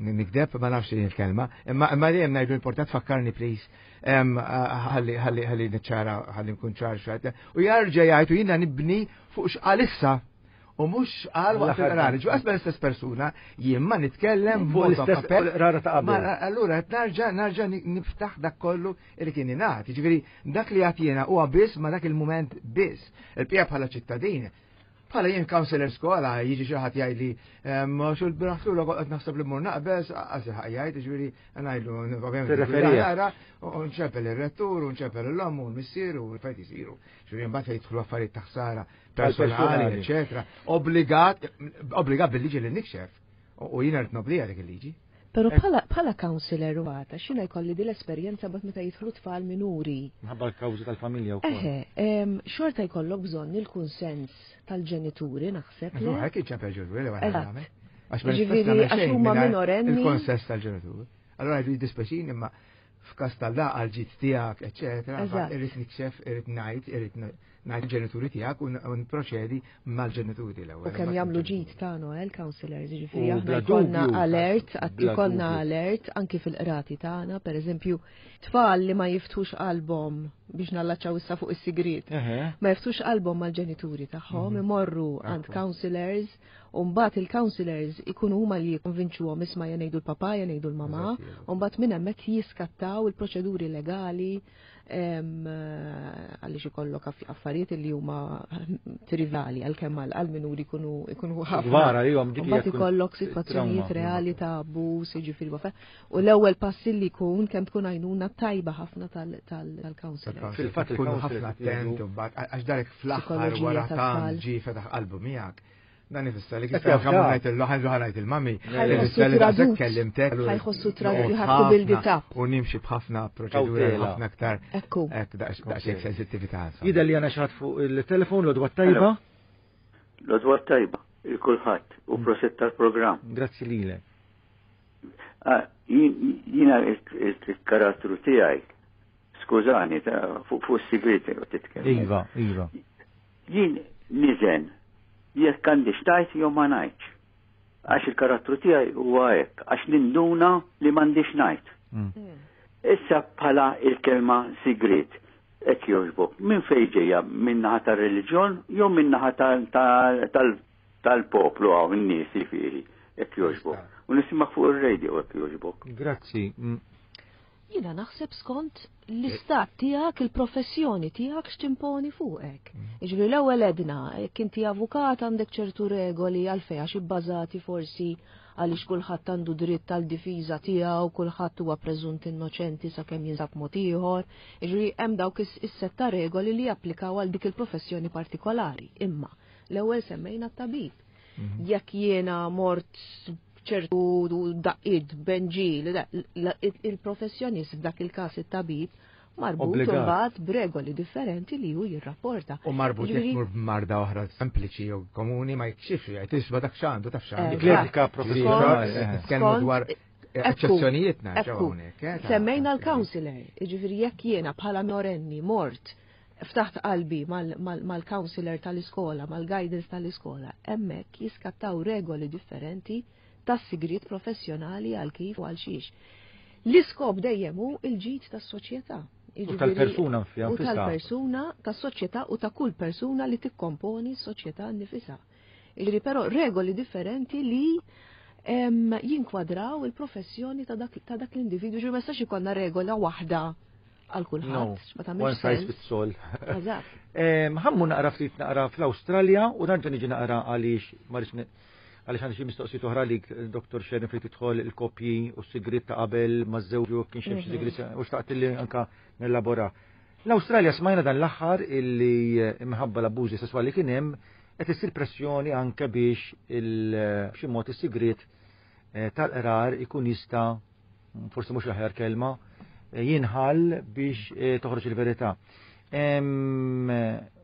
nikdeb ma nafx il-kelma, imma imma dejjem ngħidu important fakkarni please. Em, Ħalli ħalli ħalli niċċara ħalli nkun ċar x'għedt. U jerġa' jgħid u jiena nibni fuq x'qal issa. U mhux qal waqt il-qrar. Ġu qasma l-istess persuna, jien ma nitkellem
Fuq l-istess qrara ta' qabel.
Ma allura qed narġa' narġa' niftaħ dak kollu li kien ingħad. Jiġifieri dak li għad jiena huwa biss ma dak il-mument biss. Il-pija bħala ċittadin. Bħala jien counselor skola, jiġi xi ħadd jgħidli, xu l-biraħ qed naħseb li mmur naqbeż, qasi ħaq jgħid, jiġifieri ngħidlu ovvjament
Tirreferija.
nara, u nċempel ir-rettur, u nċempel l-omm u l-missier u l-fejt isiru. Ġifieri mbagħad fejn jidħlu affarijiet ta' ħsara personali,
Personali.
eċetera. Obbligat, obbligat bil-liġi li nikxef. U jiena rrid noblija dik il-liġi.
Pero bħala bħala counselor u għata, xina jkolli di l-esperjenza bat meta jidħlu tfal minuri.
Minħabba l-kawżi tal-familja wkoll.
Eħe, em, xorta jkollok bżonn il-kunsens tal-ġenituri, naħseb. le?
Hekk iċempel ġenituri li
Eżatt.
nagħmel. Għax ma
Ġifieri,
nistax nagħmel
għax
xejn
huma
mingħajr
minorenni.
Il-konsens tal-ġenituri. Allora jgħidu jiddispjaċini imma f'każ tal-da għal-ġid tiegħek, eċetera,
Eżatt.
irrid nikxef, irrid ngħid, irrid ngħid il-ġenituri tiegħek u nproċedi mal-ġenituri l-ewwel.
U kemm jagħmlu ġid ta' Noel counselors, jiġifieri
U
aħna
bla
jkollna
dubju,
alert, għad
bla
jkollna
dubju.
alert anki fil-qrati tagħna, pereżempju, tfal li ma jiftux qalbhom biex nallaċċaw issa fuq is-sigriet.
Eħe.
Ma jiftux qalbhom mal-ġenituri tagħhom, imorru għand
Ekku.
counselors, u mbagħad il-counselors ikunu huma li jikkonvinċuhom isma' ja ngħidu l-papà, ja ngħidu l-mamà,
Eżatt,
u mbagħad minn hemmhekk jiskattaw il-proċeduri legali em, eh, għaliex ikollok aff- affarijiet li huma trivali għalkemm għal għal minuri ikunu ikunu ħafna.
Kbar għalihom dik hija
Mbagħad
tkun
ikollok sitwazzjonijiet
trauma.
reali ta' abbuż, jiġifieri wafa. U l-ewwel pass li jkun kemm tkun għajnuna tajba ħafna tal-counselor.
Fil-fatt
tkunu
il-counselor
ħafna attent u mbagħad għax darek fl-aħħar
Psikoloġija
wara
tat-tfal.
tant ġie fetaħ qalbu miegħek. Dan ifisser li
Qed
kif kemm
jafda.
ngħid il-ħan ngħid il-mami.
Ħajħossu
Ifisser li daqshekk
tradut.
kellimtek.
Ħajħossu tradut, you have
Noqgħod
to build it
ħafna
up.
U nimxi b'ħafna proċeduri
Kawtela.
ħafna aktar
Ekku.
hekk daqsxejn sensittività. insomma.
Jidher li għandna xi ħadd fuq il-telefon l-għodwa tajba.
L-għodwa tajba, il-kulħadd u prosit tal-programm.
Grazzi lilek.
Ah, jien- Jiena il-karattru tiegħi, skużani, ta' fuq fuq is-sigriet titkellem.
Iva, iva.
Jien niżen jekk għandi xtajt jew ma ngħidx. Għax il-karattru tiegħi huwa hekk, għax ninduna li m'għandix ngħid.
Mm.
Issa bħala il-kelma sigriet, hekk jogħġbok, minn fejn ġejja minn naħa tar-reliġjon jew minn naħa tal- tal- tal- tal-poplu hawn in-nies jifieri, hekk jogħġbok. U nisimak fuq ir-radio hekk jogħġbok.
Grazzi. Mm.
Jiena naħseb skont l-istat tiegħek, il-professjoni tiegħek x'timponi fuqek. Jiġifieri l-ewwel edna, jekk inti avukat għandek ċertu regoli għalfejn għax ibbażati forsi għaliex kulħadd għandu dritt tal-difiża tiegħu, kulħadd huwa preżunt innoċenti sakemm jinsab mod ieħor. Jiġifieri hemm dawk is-sett ta' regoli li japplikaw għal dik il-professjoni partikolari. Imma l-ewwel semmejna t-tabib. Mhm. Jekk jiena mort ċertu daqqiet benġil, il-professjonist f'dak il-każ it-tabib marbut imbagħad b'regoli differenti li hu jirrapporta.
U marbut jekk mur b'marda oħra sempliċi jew komuni ma jikxifx jgħid isma' dak x'għandu taf x'għandu.
L-etika professjonali.
Nitkellmu dwar eċċezzjonijiet nerġgħu hawnhekk. Eh,
Semmejna l-counselor, jiġifieri jekk jiena bħala minorenni mort ftaħt qalbi mal-counselor tal-iskola, mal-guidance tal-iskola, hemmhekk jiskattaw regoli differenti tas-sigriet professjonali għal kif u għal xiex. L-iskop dejjem hu il-ġid tas-soċjetà.
U tal-persuna
U tal-persuna, tas-soċjetà u ta' kull persuna li tikkomponi s-soċjetà nnifisha. Jiġifieri però regoli differenti li jinkwadraw il-professjoni ta' dak l-individwu, ġifieri ma jistax ikollna regola waħda għal kulħadd,
ma tagħmilx One size fits all. Eżatt. Ħammu naqra ftit naqra fl-Awstralja u nerġa' niġi naqra għaliex ma għaliex għandi xi mistoqsijiet oħra lik Dr. Sharon fejn tidħol il-koppji u s-sigriet ta' qabel ma' żewġu kien xi mhm. sigriet u xtaqt li anka nellabora. L-Awstralja smajna dan l-aħħar illi imħabba l-abbużi sesswali kien hemm qed issir pressjoni anke biex b'xi mod is-sigriet eh, tal-qrar ikun jista' forsi mhux l-aħjar kelma, eh, jinħall biex eh, toħroġ il-verità.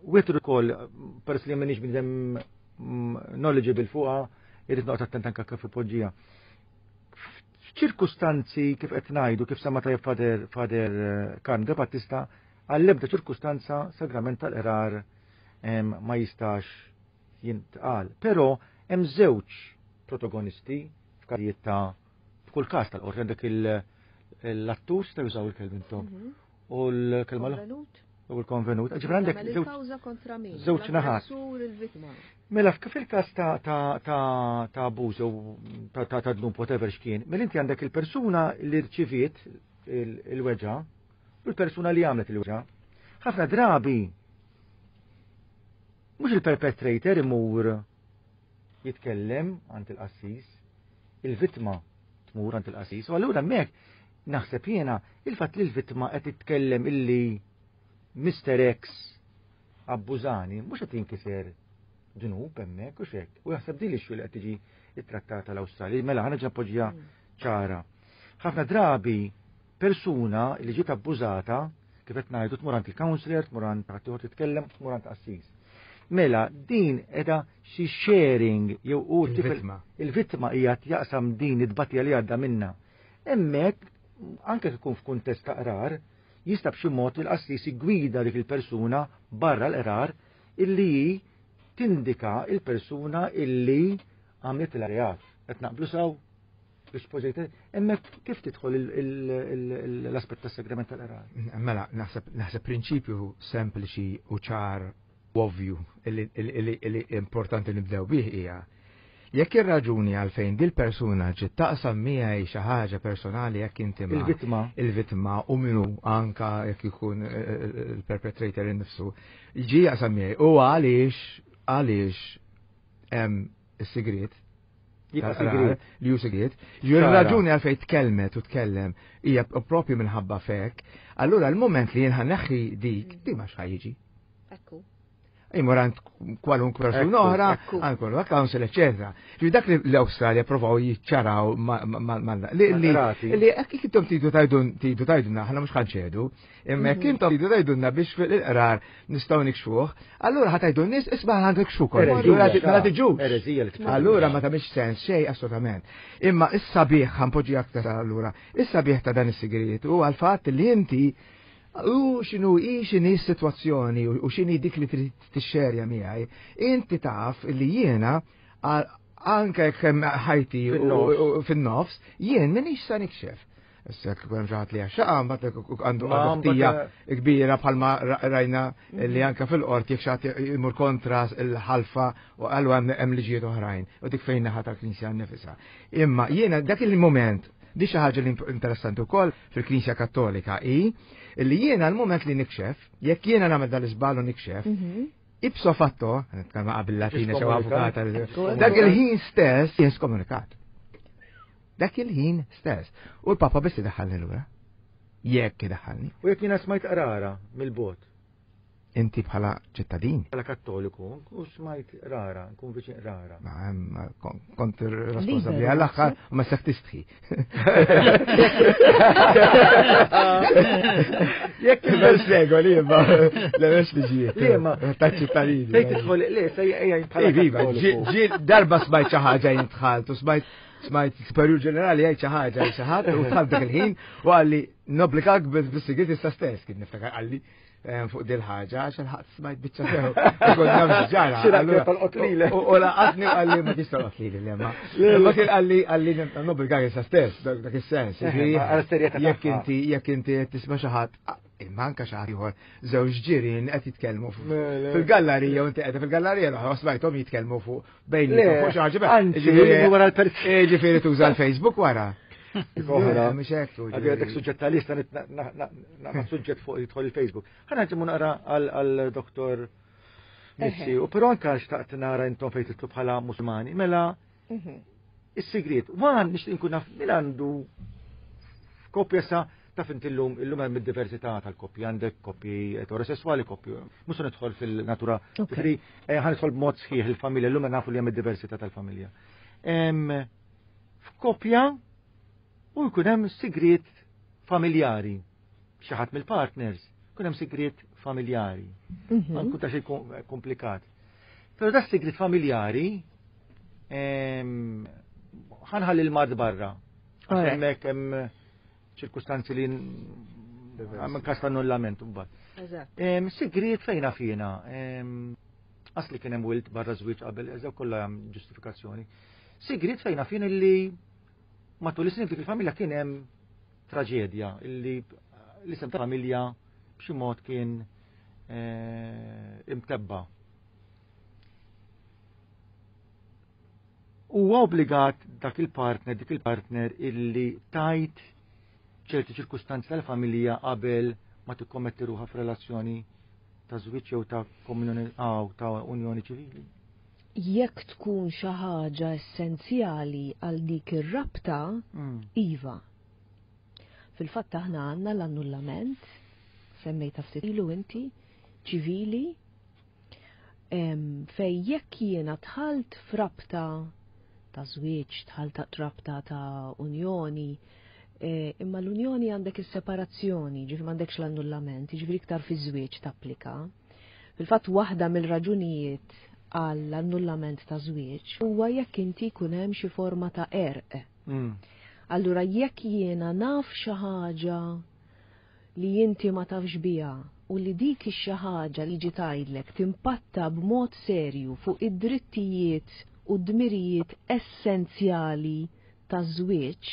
Witru ukoll peress li m'inhiex bniedem mm, knowledgeable fuqha, irrid noqgħod attent anke kif ipoġġiha. F'ċirkustanzi kif qed ngħidu kif sama tajjeb Fader Fader eh, Karm De Battista għall-ebda ċirkustanza sagrament tal-qrar ma jistax jintqal. Però hemm żewġ protagonisti f'każijiet ta' f'kull każ tal-qorti għandek l-attur sta jużaw il-kelma intom. Mhm. U l-kelma
l
U l-konvenut. Ġifri għandek żewġ naħat. Mela kif il-każ ta' ta' ta' ta' abbuż jew ta' ta' ta' dnub whatever x'kien, mela inti għandek il-persuna li rċiviet il-weġgħa u l-persuna li għamlet il-weġgħa. Ħafna drabi mhux il-perpetrator imur jitkellem għand il-qassis, il-vittma tmur għand il-qassis, u allura hemmhekk naħseb jiena il-fatt li l-vittma qed titkellem illi Mr. X abbużani, mhux qed jinkiser dnub hemmhekk u xek. U jaħseb din l-issue li qed tiġi ittrattata l-Awstralja. Mela ħa nerġa' poġġiha mm. ċara. Ħafna drabi persuna li ġiet abbużata kif qed ngħidu tmur għand il-counselor, tmur għand ħaddieħor titkellem, tmur għand qassis. Mela din qiegħda xi sharing jew u
il-vittma.
Il-vittma hija jaqsam din it-tbatija li għadda minna. Hemmhekk anke ikun f'kuntest ta' qrar, jista' b'xi mod il-qassis gwida dik il-persuna barra l-qrar illi hi tindika il-persuna illi għamlet il-reat. Qed naqblu saw biex poġġejt hemmhekk kif tidħol l-aspett tas-sagrament tal-qrar?
Mela, naħseb naħseb prinċipju sempliċi u ċar u ovvju li importanti nibdew bih hija jekk ir-raġuni għalfejn dil persuna ġiet taqsam miegħi xi ħaġa personali jekk inti
il-vittma
il-vittma u minu anka jekk ikun eh, eh, il-perpetrator innifsu ġi jaqsam miegħi u għaliex għaliex hemm is-sigriet li hu sigriet. Ġi raġuni għalfejn tkellmet u tkellem hija propju minħabba fek. Allura l-moment li jien ħaneħħi dik, di ma x'ħajġi.
Ekku.
Imur għand kwalunkwe persuna oħra, għand kwalunkwe council, eccetera. Ġi dak li l-Awstralja provaw jiċċaraw ma' li li jekk intom tridu tajdun tridu tajdunna, aħna mhux ħanċedu, imma jekk mhm. intom tridu tajdunna biex fil-qrar nistgħu nikxfuh, allura ħa tajdu n-nies isma' ħa nikxfu Mela tiġux. Allura ma tagħmilx sens xejn assolutament. Imma is-sabiħ ħanpoġġi aktar allura, is-sabiħ ta' dan is-sigriet huwa l-fatt li inti U xinu i xini s-situazzjoni u xini dik li trid tixxerja miegħi, inti taf li jiena anke jekk hemm ħajti fin-nofs, jien minix sa nikxef. Issa jekk hemm xi ħadd li għaxxaqa, mbagħad għandu ħtija kbira bħalma rajna li anke fil-qorti jekk xi ħadd imur kontra l-ħalfa u qalu hemm liġijiet oħrajn u dik fejn naħa tal-Knisja nnifisha. Imma jiena dak il-moment Di xi ħaġa li interessanti wkoll fil-Knisja Kattolika hi li jiena l-mument li nikxef, jekk jiena nagħmel dal-iżbal u nikxef, mhm. ipso fatto, nitkellem qabel latina xew avukata, dak il-ħin stess jien skomunikat. Dak il-ħin stess. U l-Papa biss idaħħalni lura. Jekk idaħħalni.
U jekk jiena smajt qrara mill-bot.
Inti bħala ċittadin.
Bħala kattoliku, u smajt rara, nkun viċin rara.
Ma, kont responsabbli għall-aħħar u ma sek tistħi.
Jekk
il-mhux regoli, imma l-mhux liġijiet.
Le, ma
ta' ċittadini.
Fejn tidħol, le, sejja bħala
Iva, darba smajt xi ħaġa jintħalt u smajt smajt superjur ġenerali jgħid xi ħaġa xi ħadd u dħalt dak il-ħin u qalli nobbligak bis-sigriet issa stess kien niftakar qalli fuq dil ħaġa għax il-ħadd smajt biċċa sew. Kont naf ġara. U laqatni u qalli ma tista' tolqot lili le ma. Ma kien qalli qalli nobbligak issa stess dak is-sens. Jekk inti jekk inti qed tisma' xi ħadd imma anke xi ħadd ieħor żewġ ġirien qed jitkellmu fil-gallerija u inti qiegħda fil-gallerija l-oħra smajthom jitkellmu fuq bejniethom fuq xi ħaġa. Ġifieri tuża l-Facebook wara.
Oħra, mhux hekk. Għadek suġġett tal-lista naqra suġġett fuq jidħol il-Facebook. Ħa nerġgħu naqra għal Doktor Mizzi, u però anke xtaqt nara intom fejn titlu bħala Musulmani. Mela is-sigriet, wan nixtieq inkun naf min għandu f'koppja sa taf inti llum illum hemm id-diversità tal-koppji, għandek koppji eterosessuali, koppji. Mhux se nidħol fil-natura. Ġifieri ħa nidħol b'mod sħiħ il-familja, llum nafu li hemm id-diversità tal-familja. F'koppja u jkun hemm sigriet familjari. Xi ħadd mill-partners jkun hemm sigriet familjari. Ma nkun ta' xejn komplikat. Però da sigriet familjari ħanħalli l-mard barra. Għax hemmhekk hemm ċirkustanzi li hemm każ ta' annullament imbagħad. Sigriet fejna fina. Asli kien hemm wild barra żwieġ qabel, eżaw kollha hemm ġustifikazzjoni. Sigriet fejna fina li matul is-snin dik il-familja kien hemm traġedja illi l-isem ta' familja b'xi mod kien imtebba. Huwa obbligat dak il-partner, dik il-partner illi tajt ċerti ċirkustanzi tal-familja qabel ma tikkommetti ruħha f'relazzjoni ta' żwieġ jew ta' komunjoni aw ta' unjoni ċivili.
Jekk tkun xi ħaġa essenzjali għal dik ir-rabta, iva. Fil-fatt aħna għandna l-annullament, semmejta ftit ilu inti, ċivili, fej jekk jiena dħalt f'rabta ta' żwieġ, dħalt rabta ta' unjoni, imma l-unjoni għandek is-separazzjoni, ġifieri m'għandekx l-annullament, ġifieri iktar fiż-żwieġ tapplika. Fil-fatt waħda mill-raġunijiet għall-annullament ta' żwieġ huwa jekk inti jkun hemm xi forma ta' erq. Allura jekk jiena naf xi ħaġa li inti ma tafx biha u li dik ix-xi ħaġa li ġi tgħidlek timpatta b'mod serju fuq id-drittijiet u d-dmirijiet essenzjali taż-żwieġ,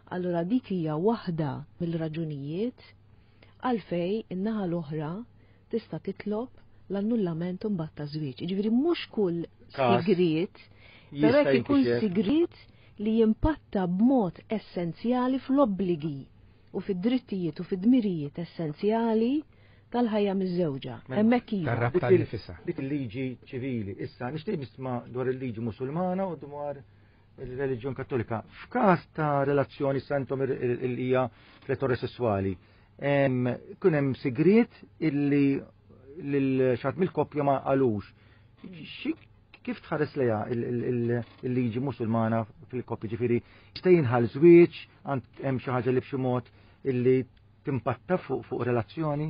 allura dik hija waħda mill-raġunijiet għalfej in-naħa l-oħra tista' titlob l-annullament imbagħad ta' żwieġ. Jiġifieri mhux kull sigriet, però jekk ikun sigriet li jimpatta b'mod essenzjali fl-obbligi u fid-drittijiet u fid-dmirijiet essenzjali tal-ħajja miż-żewġa. Hemmhekk iva.
Tar-rabta nifisha.
Dik il-liġi ċivili. Issa nixtieq nisma' dwar il-liġi Musulmana u dwar il-reliġjon Kattolika. F'każ ta' relazzjoni santom il-hija eterosessuali, kun hemm sigriet illi lil xi ħadd mill-koppja ma qalux. Kif tħares lejha il-liġi Musulmana fil-koppja, ġifieri jista' jinħall żwieġ, hemm xi ħaġa li b'xi mod illi timpatta fuq relazzjoni?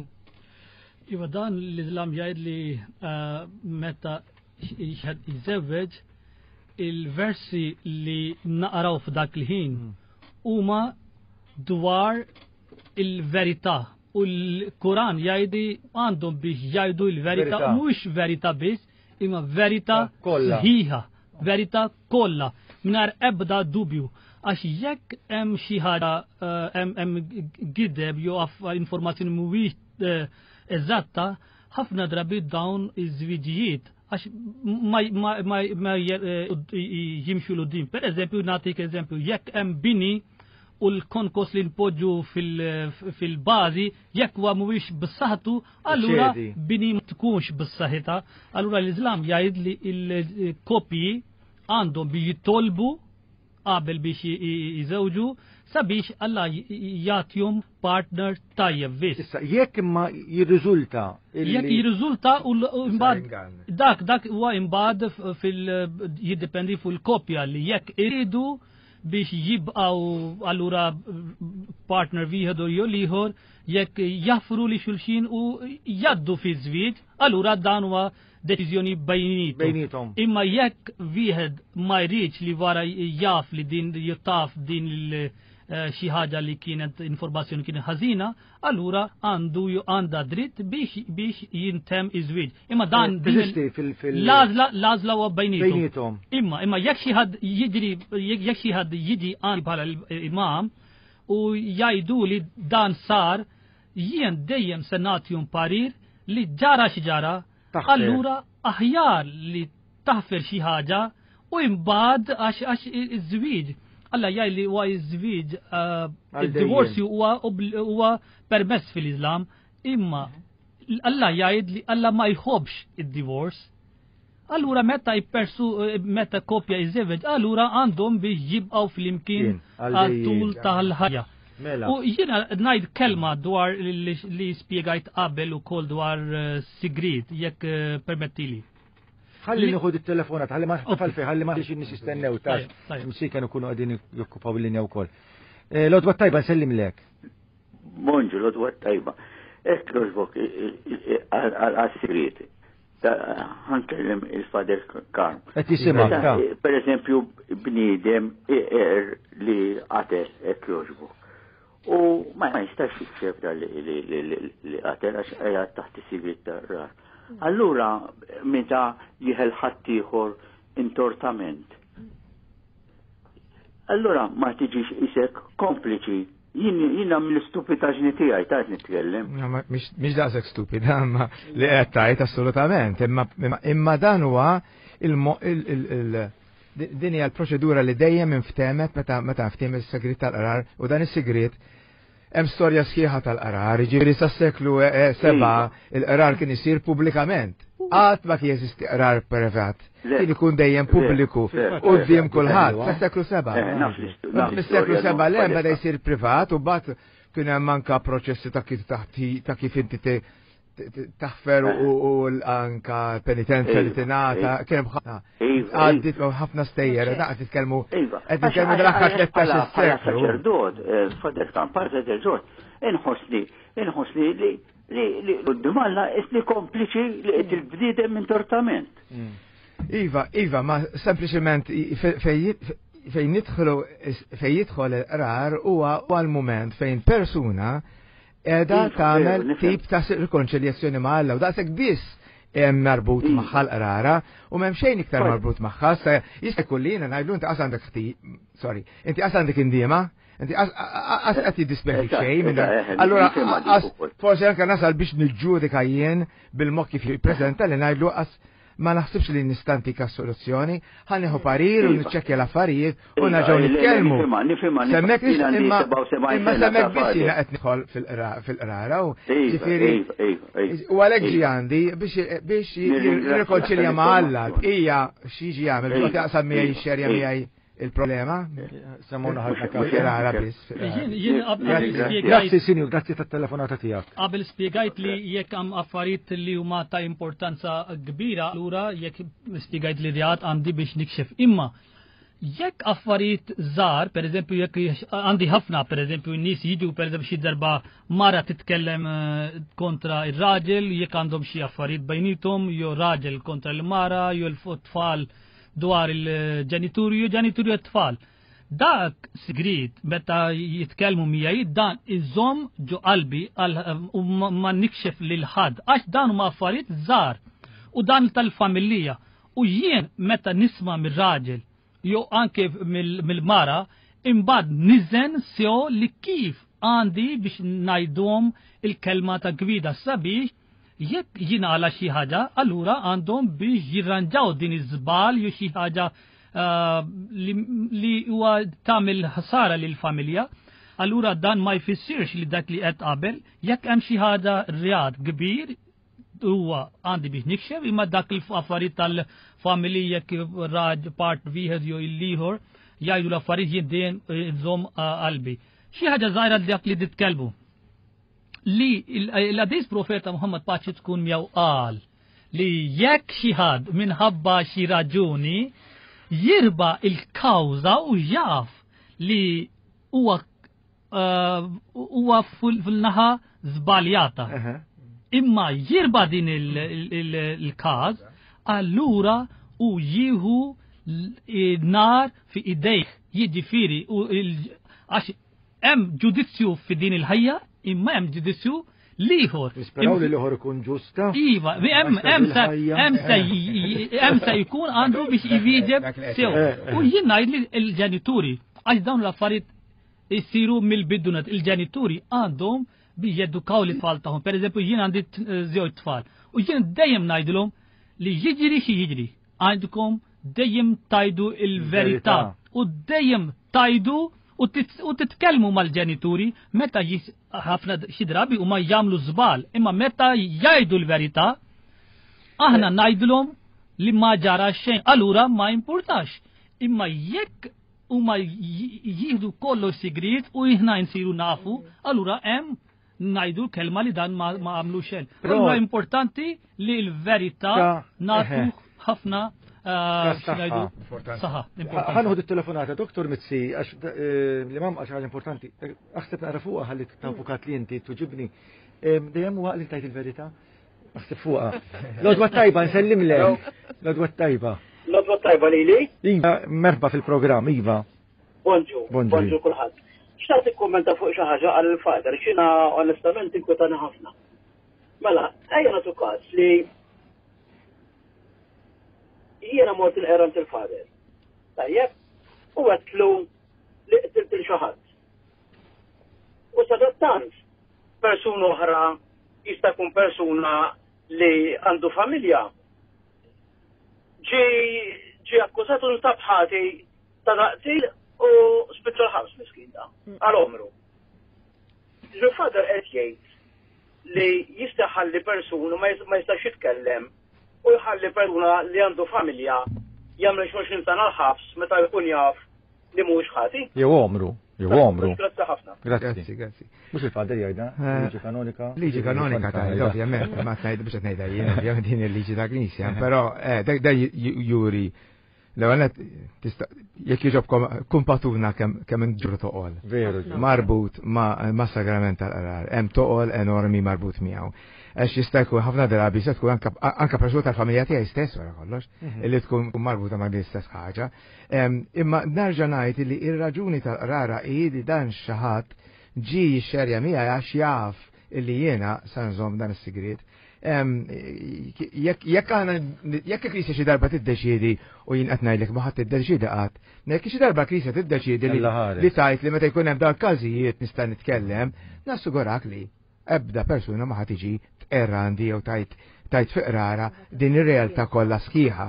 Iva, dan l-Islam jgħid li meta jiżewweġ il-versi li naqraw f'dak il-ħin huma dwar il-verità. U l-Kuran jgħidi għandhom biex jgħidu l-verità, mhux verità biss, imma verità sħiħa, verità kollha, mingħajr ebda dubju. Għax jekk hemm xi ħaġa hemm gideb jew informazzjoni mhuwiex eżatta, ħafna drabi dawn iż-żwiġijiet għax ma jimxu l-qudiem. Per eżempju, nagħtik eżempju, jekk hemm bini u l-konkos li npoġġu fil-bażi jekk huwa mhuwiex b'saħħtu, allura bini ma tkunx b'saħħitha. Allura l-Iżlam jgħid li l-koppji għandhom biex jitolbu qabel biex jiżewġu sabiex Alla jagħtihom partner tajjeb biss.
Issa jekk imma jirriżulta
Jekk jirriżulta u imbagħad dak dak huwa imbagħad fil jiddependi fuq il-koppja li jekk iridu biex jibqgħu allura partner wieħed u jew ieħor jekk jaffru li xulxin u jaddu fi żwieġ, allura dan huwa deċiżjoni bejnietom. Imma jekk wieħed ma jridx li wara jaf li din jittaf din il xi ħaġa li kienet informazzjoni kienet ħażina, allura għandu għandha dritt biex biex jintemm iż-żwieġ. Imma dan l-għażla l-għażla huwa bejnietom. Imma imma jekk xi ħadd jiġri jekk xi ħadd jiġi għandi bħala l-imam u jgħidu li dan sar, jien dejjem se nagħtihom parir li ġara xi ġara, allura aħjar li taħfer xi ħaġa u imbagħad għax għax iż-żwieġ. Alla jgħid li huwa iż-żwieġ, id-divorzju huwa permess fil-Islam, imma Alla jgħid li Alla ma jħobbx id-divors. Allura meta jpersu meta koppja jiżewweġ, allura għandhom biex jibqgħu flimkien għal tul tal-ħajja. U jiena ngħid kelma dwar li spjegajt qabel ukoll dwar sigriet, jekk permettili.
Ħalli nieħu it-telefonat, ħalli ma tafal fej, ħalli ma ħalli nies jistennew tax. Msiken ikunu qegħdin jokkupaw il-linja wkoll. L-għodwa tajba nsellimlek.
Bonġu, l-għodwa tajba. Hekk jogħġbok għas-sigriet. Ħankellem il-Father Karm.
Qed jisimgħek.
Per eżempju, bniedem li qatel hekk jogħġbok. U ma jistax jikxef li qatel għax qiegħed taħt is-sigriet tar-rar. Allura, meta jieħel ħaddieħor intortament. Allura ma tiġix isek kompliċi. Jiena mill-istupidaġni tiegħi ta' nitkellem.
Mhix daqshekk stupida, ma li qed tgħid assolutament, imma dan huwa din hija l-proċedura li dejjem inftemet meta meta ftehmet is-sigriet tal-qrar u dan is-sigriet hemm storja sħiħa tal-qrar, jiġifieri sas-seklu seba' il-qrar kien isir pubblikament. Qatt ma kien jeżisti qrar privat. Kien ikun dejjem pubbliku quddiem kulħadd sas-seklu seba'. Mis-seklu seba' le beda jsir privat u mbagħad kien hemm anke proċessi ta' kif ta' kif inti taħfer u anka penitenza li tingħata, kien hemm għaddit ħafna stejjer, daqs titkellmu qed nitkellmu dal-aħħar tlettax-il seklu.
Saċerdot, Father Karm, bħala saċerdot, inħossni, inħossni li li quddiem Alla isni kompliċi li qed il-bniedem intortament.
Iva, iva, ma sempliċement fejn nidħlu fejn jidħol il-qrar huwa l-mument fejn persuna edha tagħmel tip ta' rikonċiljazzjoni ma' Alla u daqshekk biss hemm marbut magħha l-qrara u m'hemm xejn iktar marbut magħha. Sa jista' jkun li jiena ngħidlu inti qas għandek ħti, sorry, inti qas għandek indiema, inti qas qed jiddispjaċik xejn minn dak. Allura forsi anke nasal biex niġġudika jien bil-mod kif jippreżenta li ngħidlu qas ma naħsibx li nistantika soluzzjoni, ħanieħu parir u niċċekkja l-affarijiet u nerġgħu nitkellmu. Semmek imma imma semmek biss jiena qed nidħol fil-qrara u ġifieri u għalhekk ġi għandi biex biex jirrikonċilja ma' Alla, hija x'jiġi jagħmel biex jaqsam miegħi xerja miegħi il-problema.
Semmuna ħafna
fil-qrara biss.
Grazzi sinjur, grazzi tat-telefonata tiegħek.
Qabel spjegajt li jekk hemm affarijiet li huma ta' importanza kbira, allura jekk spjegajt li reat għandi biex nikxef. Imma jekk affarijiet żgħar, pereżempju jekk għandi ħafna, pereżempju n-nies jiġu pereżempju xi darba mara titkellem kontra ir-raġel, jekk għandhom xi affarijiet bejnietom, jew raġel kontra l-mara, jew l-tfal dwar il-ġenituri, jew ġenituri t-tfal. Dak sigriet meta jitkellmu miegħi dan iżomm ġo qalbi u ma nikxef lil ħadd għax dan huma affarijiet żgħar u dan tal-familja. U jien meta nisma' mir-raġel jew anke mill-mara imbagħad niżen sew li kif għandi biex ngħidhom il-kelma ta' gwida sabiex jekk jingħala xi ħaġa, allura għandhom biex jirranġaw din iż-żbal jew xi ħaġa li huwa tagħmel ħsara lil familja. Allura dan ma jfissirx li dak li qed qabel, jekk hemm xi ħaġa reat kbir huwa għandi biex nikxef, imma dak il-affarijiet tal-familja kif raġ part wieħed jew il-ieħor, jgħidu l-affarijiet jien dejjem nżomm qalbi. Xi ħaġa żgħira dak li titkellmu. Li l-qaddis profeta Muhammad paċi tkun miegħu qal li jekk xi ħadd minħabba xi raġuni jirba il-kawża u jaf li huwa huwa fil-naħa żbaljata. Imma jirba din il-każ, allura u jieħu nar fi idejh, jiġifieri għax hemm ġudizzju fi din il-ħajja, imma hemm ġudizzju l-ieħor.
Nisperaw li l-ieħor ikun ġusta.
Iva, hemm se jkun għandu biex iwieġeb sew. U jien ngħid li l-ġenituri, għax dawn l-affarijiet isiru mill-bidunet, il-ġenituri għandhom biex jedukaw l-tfal tagħhom. Per eżempju, jien għandi żewġ tfal. U jien dejjem ngħidilhom li jiġri xi jiġri, għandkom dejjem tajdu il-verità u dejjem tajdu u titkellmu mal-ġenituri meta ħafna xi drabi huma jagħmlu żball, imma meta jgħidu l-verità aħna ngħidulhom li ma ġara xejn, allura ma importax. Imma jekk huma jieħdu kollox sigriet u aħna nsiru nafu, allura hemm ngħidu l-kelma li dan ma għamlu xejn. Allura importanti li l-verità nagħtu ħafna
Saħħa. Ħa nieħdu telefonata, Doktor Mizzi, għax li mam għax ħaġa importanti. Aħseb naqra fuqha ħalli ta' avukat li inti tuġibni. Dejjem huwa li tajt il-verità. Aħseb fuqha. L-għodwa tajba, nsellim lek. L-għodwa tajba.
L-għodwa tajba lili?
Iva, merħba fil-programm, Iva.
Bonġu, bonġu kulħadd. Xtaqt ikkommenta fuq xi ħaġa għal father, xina onestament inkwetani ħafna. Mela, ejja nagħtu każ li jiena mort il-qerant il-father. Tajjeb, u għedtlu li qtilt il xi ħadd. U sadattant, persuna oħra jista' jkun persuna li għandu familja ġi ġi akkużat u nstab ħati ta' qtil u spiċċa l-ħabs miskin da, għal omru. Il-father qed jgħid li jista' jħalli persuna ma jistax jitkellem u jħalli persuna li għandu familja jagħmel għoxrin sena l-ħabs meta jkun jaf li mhuwiex ħati.
Jew omru, jew omru.
Grazzi ħafna.
Grazzi, grazzi. Mhux il-father jgħidha, liġi kanonika.
Liġi kanonika tgħid, ovvjament, ma tgħid biex qed ngħidha jien, ovvjament din il-liġi ta' Knisja, però da juri l-ewwel tista' jekk jogħġobkom kumpatuna kemm inġru toqol.
Veru.
Marbut ma' sagrament tal-qrar, hemm toqol enormi marbut miegħu. Għax jista' jkun ħafna drabi se tkun anke persuna tal-familja tiegħi stess wara kollox, illi tkun marbuta ma' din istess ħaġa. Imma nerġa' ngħid li ir-raġuni tal-qrara hi li dan xi ħadd ġie jixxerja miegħi għax jaf illi jiena sa nżomm dan is-sigriet. Jekk aħna jekk il-Knisja xi darba tiddeċiedi u jien qed ngħidlek ma ħadd tiddeċiedi qatt, jekk xi darba Knisja tiddeċiedi li tajt li meta jkun hemm dawn każijiet nista' nitkellem, nassigurak li ebda persuna ma ħad tiġi tqerra għandi jew tajt tajt fi qrara din ir-realtà kollha sħiħa.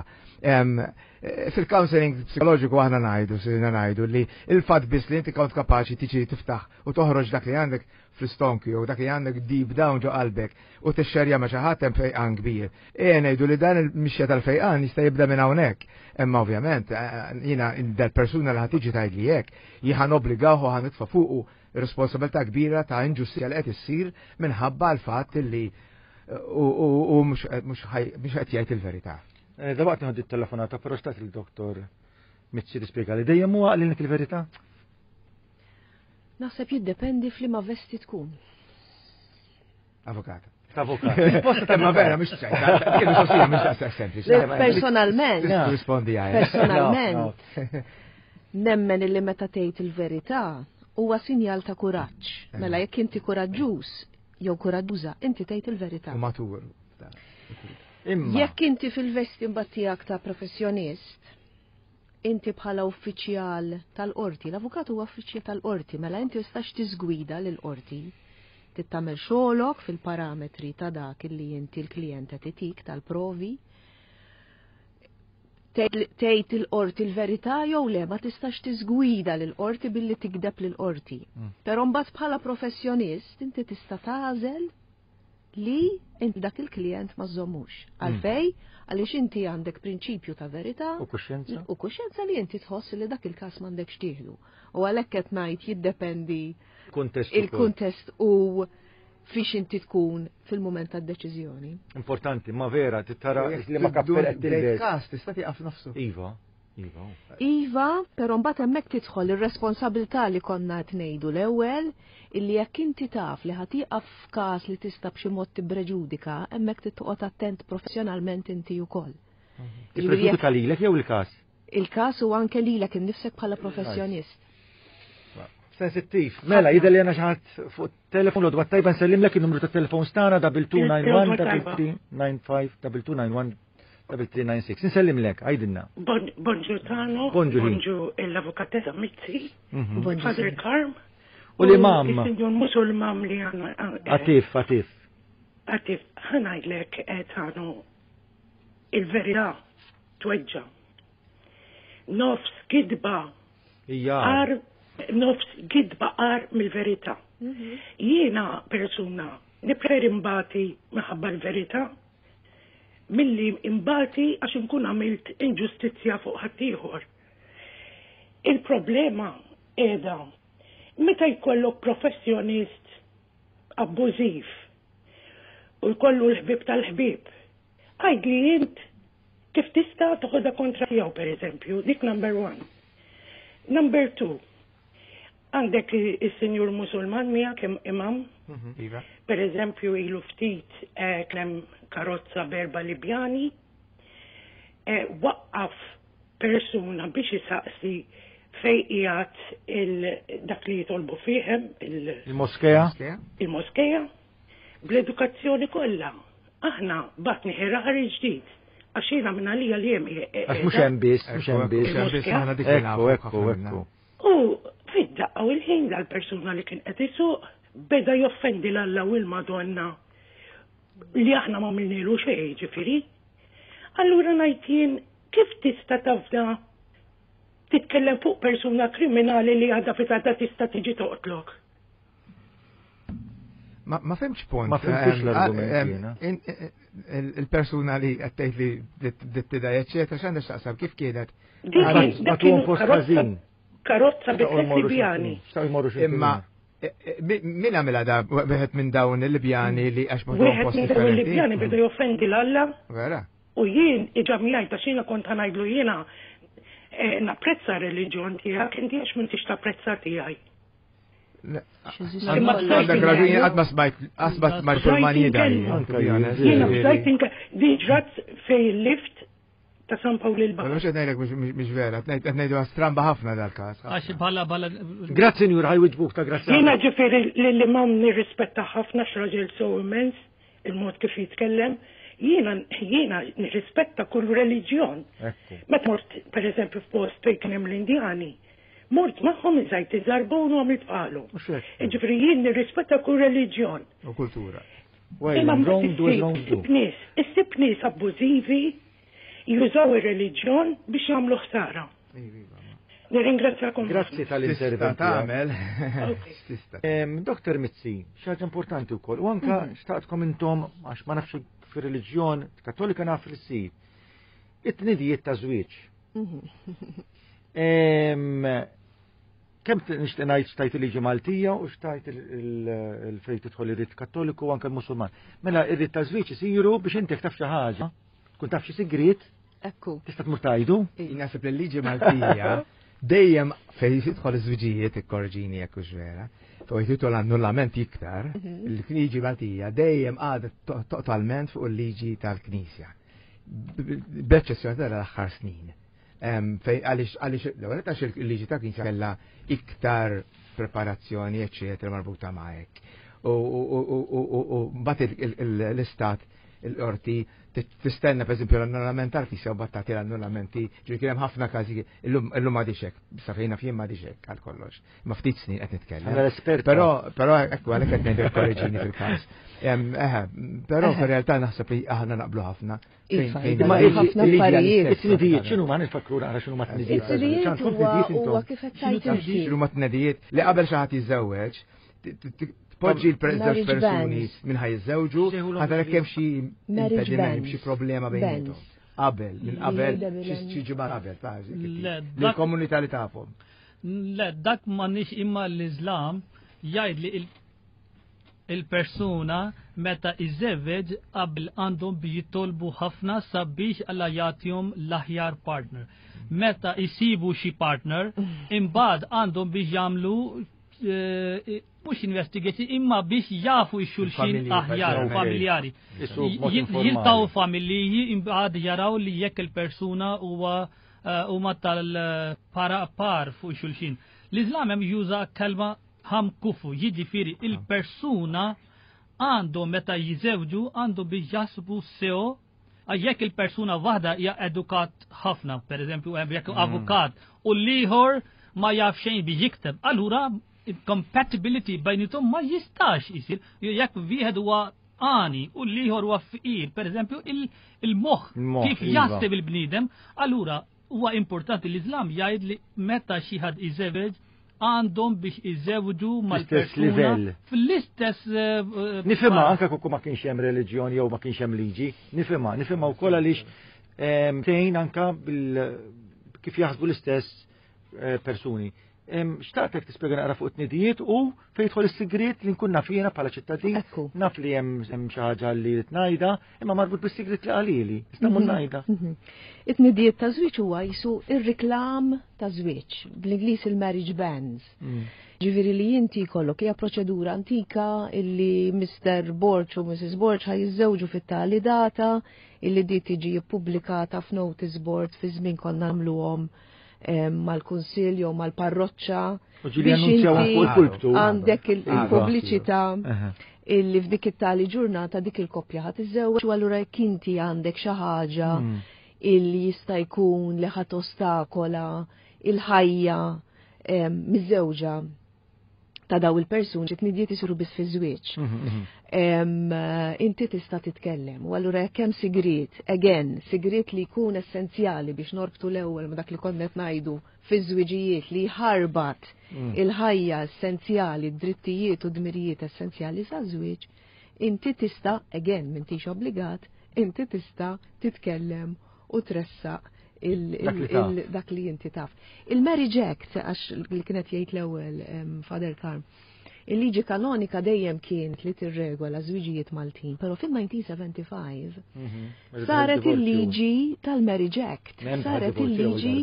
Fil-counseling psikoloġiku aħna ngħidu, sirna ngħidu li il-fatt biss li inti kont kapaċi tiġi tiftaħ u toħroġ dak li għandek fl-istonku jew dak li għandek deep down ġo qalbek u tixxerja ma' xi ħadd hemm fejqan kbir. E ngħidu li dan il-mixja tal-fejqan jista' jibda minn hawnhekk. Imma ovvjament jiena dal-persuna li ħad tiġi tgħidli hekk, jien ħa nobbligawh u ħa nitfa' fuqu responsabilità kbira ta' inġustizzja li qed issir minħabba l-fatt li u mhux qed jgħid il-verità.
Dalwaqt nieħdu t-telefonata, però xtaqt il-doktor Mizzi tispjega li dejjem huwa għalilek il-verità?
Naħseb jiddependi f'liema vesti tkun.
Avukata.
Avukat.
Risposta ma vera, mhux ċajta. Mhux daqshekk sempliċi.
Personalment.
Rispondi għaj.
Personalment. Nemmen illi meta tgħid il-verità huwa sinjal ta' kuraġġ. Mela jekk inti kuraġġuż jew kuraġġuża, inti tgħid il-verità.
U matur.
Jekk inti fil-vesti mbagħad tiegħek ta' professjonist, inti bħala uffiċjal tal-qorti, l-avukat huwa uffiċjal tal-qorti, mela inti tistax tiżgwida lill-qorti, tagħmel xogħolok fil-parametri ta' dak illi inti l-klijent qed itik tal-provi. Tgħid il-qorti l-verità jew le ma tistax tiżgwida lill-qorti billi tikdeb lill-qorti. Però mbagħad bħala professjonist inti tista' tagħżel li inti dak il-klient ma żommux. Għalfej, għaliex inti għandek prinċipju ta' verità
U kuxjenza?
u kuxjenza li inti tħoss li dak il-każ m'għandekx tieħdu. U għalhekk qed ngħid jiddependi
Kuntest ukoll.
il-kuntest u fiex inti tkun fil-mument tad-deċiżjoni.
Importanti, ma vera, tittara li ma kappell qed tilbes.
Każ tista' tieqaf nofsu.
Iva, iva.
Iva, però mbagħad hemmhekk tidħol ir-responsabilità li konna qed ngħidu l-ewwel illi jekk inti taf li ħa tieqaf f'każ li tista' b'xi mod tibpreġudika, hemmhekk trid toqgħod attent professjonalment inti wkoll.
Tippreġudika lilek jew il-każ?
Il-każ u anke lilek innifsek bħala professjonist.
Sensittiv. Mela, jidher li għandna xi ħadd fuq telefon l-għodwa tajba nsellimlek il-numru ta' telefon stana double two nine one double three nine five double two nine one double three nine six. Nsellimlek, għidilna.
Bonġu Tano,
Bonġu ħin.
bonġu l-avukatessa Mizzi,
Mhm.
Bonġu,
Father Karm,
U l-imam.
Il-Sinjur Musulman li għanna.
Atif, Atif.
Atif, ħa ngħidlek eh, Tano, il-verità tweġġa. Nofs gidba
Ija.
għar, nofs gidba għar mill-verità. Jiena persuna nippreferi mbati minħabba l-verità milli imbati għax nkun għamilt inġustizzja fuq ħaddieħor. Il-problema qiegħda meta jkollok professjonist abbużiv u jkollu l-ħbib tal-ħbib, għajd li int kif tista' toħodha kontra tiegħu pereżempju, dik number one. Number two, għandek il-senjur musulman miegħek im- imam,
Iva.
per eżempju ilu ftit eh, kien hemm karozza b'erba' Libjani, eh, waqqaf persuna biex isaqsi fej qiegħed il- dak li jitolbu fihem il-
Il-moskea?
il-moskeja bl-edukazzjoni kollha. Aħna batni ħirari ġdid għax jiena minn għalija li hemm
Għax mhux hemm biss, mhux hemm biss.
Mhux hemm biss, aħna dik li
Ekku,
nafu
ekku,
ħafna minna.
ekku.
U fid-daqqa u l-ħin dal-persuna li kien qed isuq beda joffendi l-Alla u l-Madonna li aħna ma għamilnilu xejn ġifieri. Allura ngħid jien kif tista' tafda titkellem fuq persuna kriminali li għadha fit-għadha tista' tiġi toqtlok.
Ma ma fhimtx punt.
Ma fhimtux
Ehm,
l-argument
ehm,
jiena.
in- in- Il-persuna li qed tgħid li bdiet tidaj, eċetera, x'għandha x'taqsam kif kienet?
Dik kien- dak kienu
post
karozza-
ħażin.
Karozza bi tliet Libjani.
Xtaqgħu jmorru xi
Imma e- e, mi- min għamilha da wieħed minn dawn il-Libjani li għax ma
Wieħed
post
minn dawn il-Libjani
differenti.
beda joffendi l-Alla
Vera.
u jien iġamjajt għax jiena kont ħa ngħidlu jiena eh, napprezza r-reliġjon tiegħek inti għax m'intix tapprezza tiegħi. Imma
Għandek raġuni qatt ma smajt qatt ma smajt Sulman jidaj. to be honest.
Jiena bdajt inke di ġrat fej il-lift ta' San Pawl il-Baħar.
Mhux qed ngħidlek mhux mhux vera, qed ngħidu stramba ħafna dal-każ.
Għax bħala bħala.
Grazzi, Njur, ħa jwiġbuk ta' grazzi.
Jiena ġifieri lill-imam nirrispetta ħafna x'raġel so immens il-mod kif jitkellem. Jiena jiena nirrispetta kull reliġjon.
Ekku.
Meta mort per eżempju f'post fejn kien hemm l-Indjani, mort magħhom iżajt iżarbon u għamilt bħalhom.
Mhux hekk.
Ġifieri jien nirrispetta kull reliġjon.
U kultura.
Well,
Imma
wrong do as wrong do.
issib nies, issib nies abbużivi jużaw ir-reliġjon biex jagħmlu ħsara. Nirringrazzjakom.
Grazzi tal-intervent.
Tista' tagħmel. Tista'.
Em, Dr. Mizzi, xi ħaġa importanti wkoll, u anka xtaqtkom intom, għax ma nafx fir-reliġjon kattolika naf li ssir, it-tnidijiet ta' żwieġ. Em, Kemm nixtieq ngħid xtajt il-liġi Maltija u xtajt il-fejn tidħol ir-rit Kattoliku u anke l-Musulman. Mela ir-rit ta' żwieġ isiru biex inti jekk taf xi ħaġa, tkun taf xi sigriet,
Ekku.
tista' tmur tgħidu.
Naħseb li l-liġi Maltija dejjem fejn jidħol iż-żwiġijiet ikkorġini jekk hux vera, fejn jidħol annullament iktar, il-liġi Maltija dejjem għadet to- totalment fuq il-liġi tal-Knisja. B'eċċezzjoni tal-aħħar snin. Em, Fej għaliex għaliex l-ewwel għax il-liġi tal-Knisja kellha iktar preparazzjoni eċċetera marbuta ma' hekk. U u- u- u- u- u mbagħad il- il- l-istat il-qorti tistenna per esempio l-annullament tal-Knisja u mbagħad tagħti l-annullamenti, ġifieri kien hemm ħafna każi illum illum m'għadix hekk, sa fejna fien m'għadix hekk għal kollox. Ma ftit snin qed nitkellem.
Għandna l-esperta.
Però però ekku għalhekk qed ngħidu korreġini fil-każ. Em, Eħe, però fir-realtà naħseb li aħna naqblu ħafna. Fejn-
Iva,
fejn-
Ma
Iva, ħafna affarijiet.
It-tnidijiet x'inhu ma nifakru naqra x'inhu ma tnidijiet.
It-tnidijiet
X'għandkom
huwa
tnidijiet intom?
huwa kif qed tgħid inti.
X'inhu ma tnedijiet li qabel xi ħadd jiżżewweġ, Tpoġġi l-żewġ persuni minn ħaj jiżżewġu, ħadd hemm xi impediment, xi problema bejniethom. Qabel, minn qabel, xi ġimgħa qabel, l-komunità li tafhom.
Le, dak m'għandniex imma l-Iżlam jgħid li il-persuna meta iżewweġ qabel għandhom biex jitolbu ħafna sabiex Alla jagħtihom l-aħjar partner. Meta jsibu xi partner, imbagħad għandhom biex jagħmlu mhux investigation imma biex jafu x-xulxin aħjar familjari. Jiltaqgħu familji imbagħad jaraw li jekk il-persuna huwa huma tal-para par fuq xulxin. L-Iżlam hemm juża kelma ħam kufu, jiġifieri il-persuna għandu meta jiżewġu għandu biex jasbu sew, jekk il-persuna waħda hija edukat ħafna, per eżempju jekk avukat, u l-ieħor ma jaf xejn biex jikteb, allura compatibility bejniethom ma jistax isir, jekk wieħed huwa għani u l-ieħor huwa fqir, per eżempju il-moħħ kif jaħseb il-bniedem, allura huwa importanti l-Iżlam jgħid li meta xi ħadd iżewweġ għandhom biex iżewġu mal-persuna fl-istess.
Nifhimha anke kieku ma kienx hemm reliġjoni jew ma kienx hemm liġi, nifhimha, nifhimha wkoll għaliex tgħin anke kif jaħsbu l-istess persuni. Xtaqtek tispjega naqra fuq it-tnidijiet u fejn jidħol is-sigriet li nkun naf jiena bħala ċittadin, naf li hemm xi ħaġa li rid ngħidha, imma marbut bis-sigriet li qalili, nista' mmur ngħidha.
It-tnidijiet ta' żwieġ huwa jisu ir-riklam ta' żwieġ, bl-Ingliż il-marriage bands. Ġifieri li inti jkollok hija proċedura antika illi Mister Borg u Missus Borg ħaj jiżżewġu fit-tali data illi di tiġi ippubblikata f'notice board fi żmien konna nagħmluhom mal-kunsill jew mal-parroċċa. Għandek il-pubbliċità illi f'dik it-tali ġurnata dik il-koppja ħadd iżżewweġ u allura jekk inti għandek xi ħaġa illi jista' jkun li ħadd ostakola il-ħajja miżewġa ta' daw il-persuni, it-tnidijiet isiru biss fi żwieġ. Inti tista' titkellem. U allura jekk hemm sigriet, again, sigriet li jkun essenzjali biex norbtu l-ewwel ma' dak li konna qed ngħidu fiż-żwiġijiet li jħarbat il-ħajja essenzjali, d-drittijiet u dmirijiet essenzjali sa' żwieġ, inti tista', again, m'intix obbligat, inti tista' titkellem u tressaq dak li inti taf. Il-Marriage Act, għax li kienet jgħid l-ewwel Father Karm, il-liġi kanonika dejjem kienet li tirregola żwiġijiet Maltin, però fil-nineteen seventy-five saret il-liġi tal-Marriage Act, saret il-liġi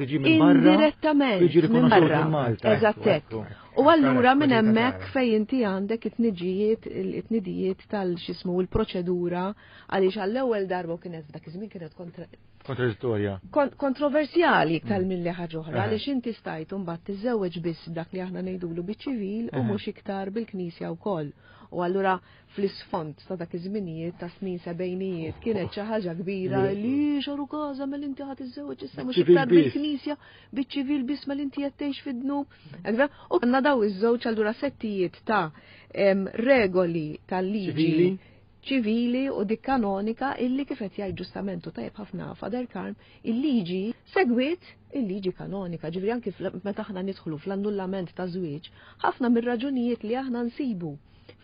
indirettament minn barra. Eżatt hekk. U allura minn hemmhekk fejn inti għandek it-tniġijiet, it-tnidijiet tal-xismu l-proċedura għaliex għall-ewwel darba kienet f'dak iż-żmien kienet kontra
Kontradittorja.
Kontroversjali iktar milli ħaġa oħra, għaliex inti stajt mbagħad tiżżewweġ biss dak li aħna ngħidulu biċ-ċivil u mhux iktar bil-Knisja wkoll. U allura fl-isfond ta' dak iż-żminijiet ta' snin sebgħinijiet kienet xi ħaġa kbira li xaru każa mela inti ħadd iżżewweġ issa mhux iktar bil-Knisja, biċ-ċivil biss mela inti qed tgħix fid-dnub. U għandna daw iż-żewġ allura settijiet ta' regoli tal-liġi ċivili u dik kanonika illi kif qed jgħid ġustament u tajjeb ħafna Father Karm, il-liġi segwit il-liġi kanonika, ġifieri anki meta aħna nidħlu fl-annullament ta' żwieġ, ħafna mir-raġunijiet li aħna nsibu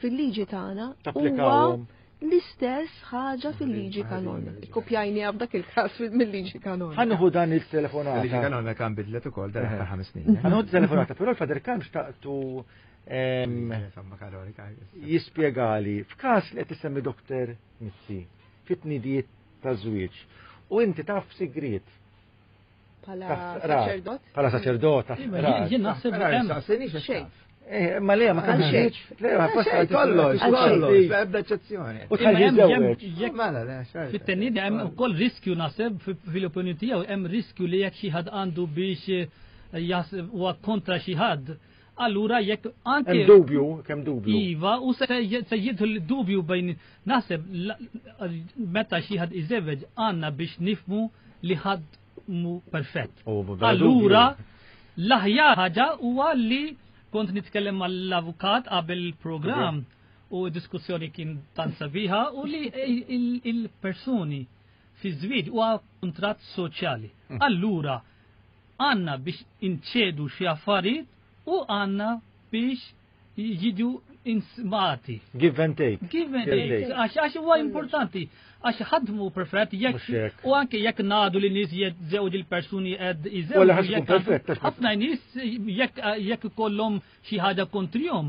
fil-liġi tagħna huwa l-istess ħaġa fil-liġi kanonika. Kopjajni f'dak il-każ mill-liġi kanonika.
Ħa nieħu dan il-telefonata.
Il-liġi kanonika kan bidlet ukoll dan aħħar ħames snin.
Ħa nieħu telefonata, però l-Father Karm xtaqtu jispjegali f'każ li qed isemmi Doktor Mizzi fit-tnidijiet ta' żwieġ u inti taf sigriet.
Bħala saċerdot?
Bħala saċerdot, taf qrat.
Jien naħseb
hemm.
Ma le, ma kienx. Le, ma
kollox, kollox, ebda eċċezzjoni.
U tħalli jiżżewweġ.
Fit-tennidi hemm ukoll riskju naħseb fil-opinjoni tiegħu hemm riskju li jekk xi ħadd għandu biex jaħseb huwa kontra xi ħadd. Allura jekk anke
hemm dubju, kemm dubju.
Iva, u se jidħol dubju bejn naħseb meta xi ħadd iżewweġ għandna biex nifmu li ħadd mu perfett. Allura l-aħjar ħaġa huwa li kont nitkellem mal-avukat qabel il-programm u diskussjoni kien tant sabiħa u li il-persuni fi żwieġ huwa kuntratt soċjali. Allura għandna biex inċedu xi affarijiet u għandna biex jiġu insmati.
Give and take.
Give and take. Għax għax huwa importanti. Għax ħadmu perfett jekk u anke jekk ngħadu li nies jeżewġ il-persuni qed
iżewġu.
Ħafna nies jekk jekk ikollhom xi ħaġa kontrihom,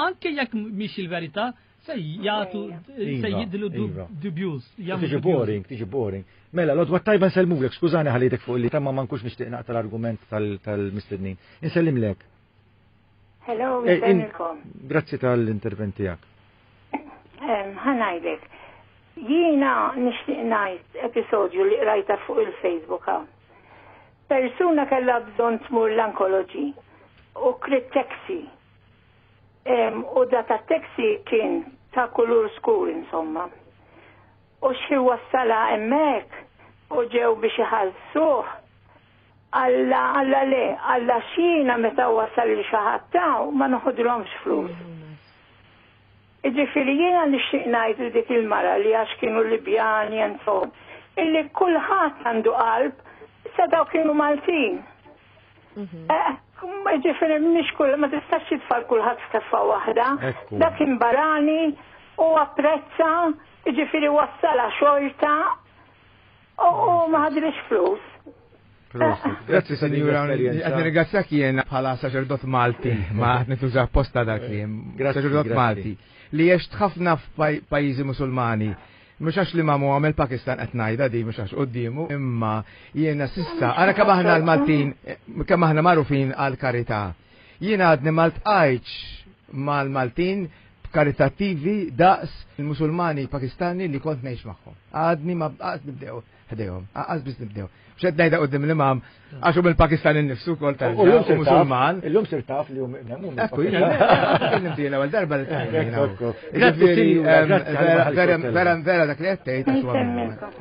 anke jekk mhix il-verità, se jagħtu se jidlu dubjuż.
Tiġi boring, tiġi boring. Mela, l-għodwa tajba nsellmulek, skużani ħallitek fuq li tamma ma nkunx nixtieq naqta l-argument tal-mistednin. Insellimlek.
Hello, nsellmilkom.
Grazzi tal-intervent tiegħek.
Ħa ngħidlek. Jiena nixtieq ngħid episodju li qrajta fuq il-Facebook. Persuna kellha bżonn tmur l-oncology u krit taxi. U da ta' taxi kien ta' kulur skur insomma. U xi wassala hemmhekk u ġew biex iħallsuh. Alla, alla le, alla xina meta wasal li xi ħadd taw ma noħodlhomx flus. Jiġifieri jiena nixtieq ngħid dik il-mara li għax kienu Libjani and so on, illi kulħadd għandu qalb, issa daw kienu Maltin. Jiġifieri mhix kull ma tistax titfal kulħadd f'keffa waħda. Dak kien barani u apprezza, jiġifieri wassala xorta u ma ħadlix flus.
Grazzi, signora. Qed nirringrazzjak jiena bħala saċerdot Malti, ma qed nituża apposta dak li saċerdot Malti li għext ħafna f'pajjiżi Musulmani. Mhux għax li mamu għamel Pakistan qed ngħidha di mhux għax quddiemu, imma jiena sissa ara kemm aħna l-Maltin, kemm aħna magħrufin għal karità. Jiena għadni ma ltqajtx mal-Maltin karitattivi daqs il-Musulmani Pakistani li kont ngħix magħhom. Għadni ma qas nibdew ħdejhom, qas biss nibdew. Mhux qed ngħidha quddiem l-imam għax hu mill-Pakistan innifsu wkoll tal-Musulman.
Illum sir taf li hu
Ekku, jiena l-ewwel darba li tgħid. Vera vera dak li qed tgħid għax huwa.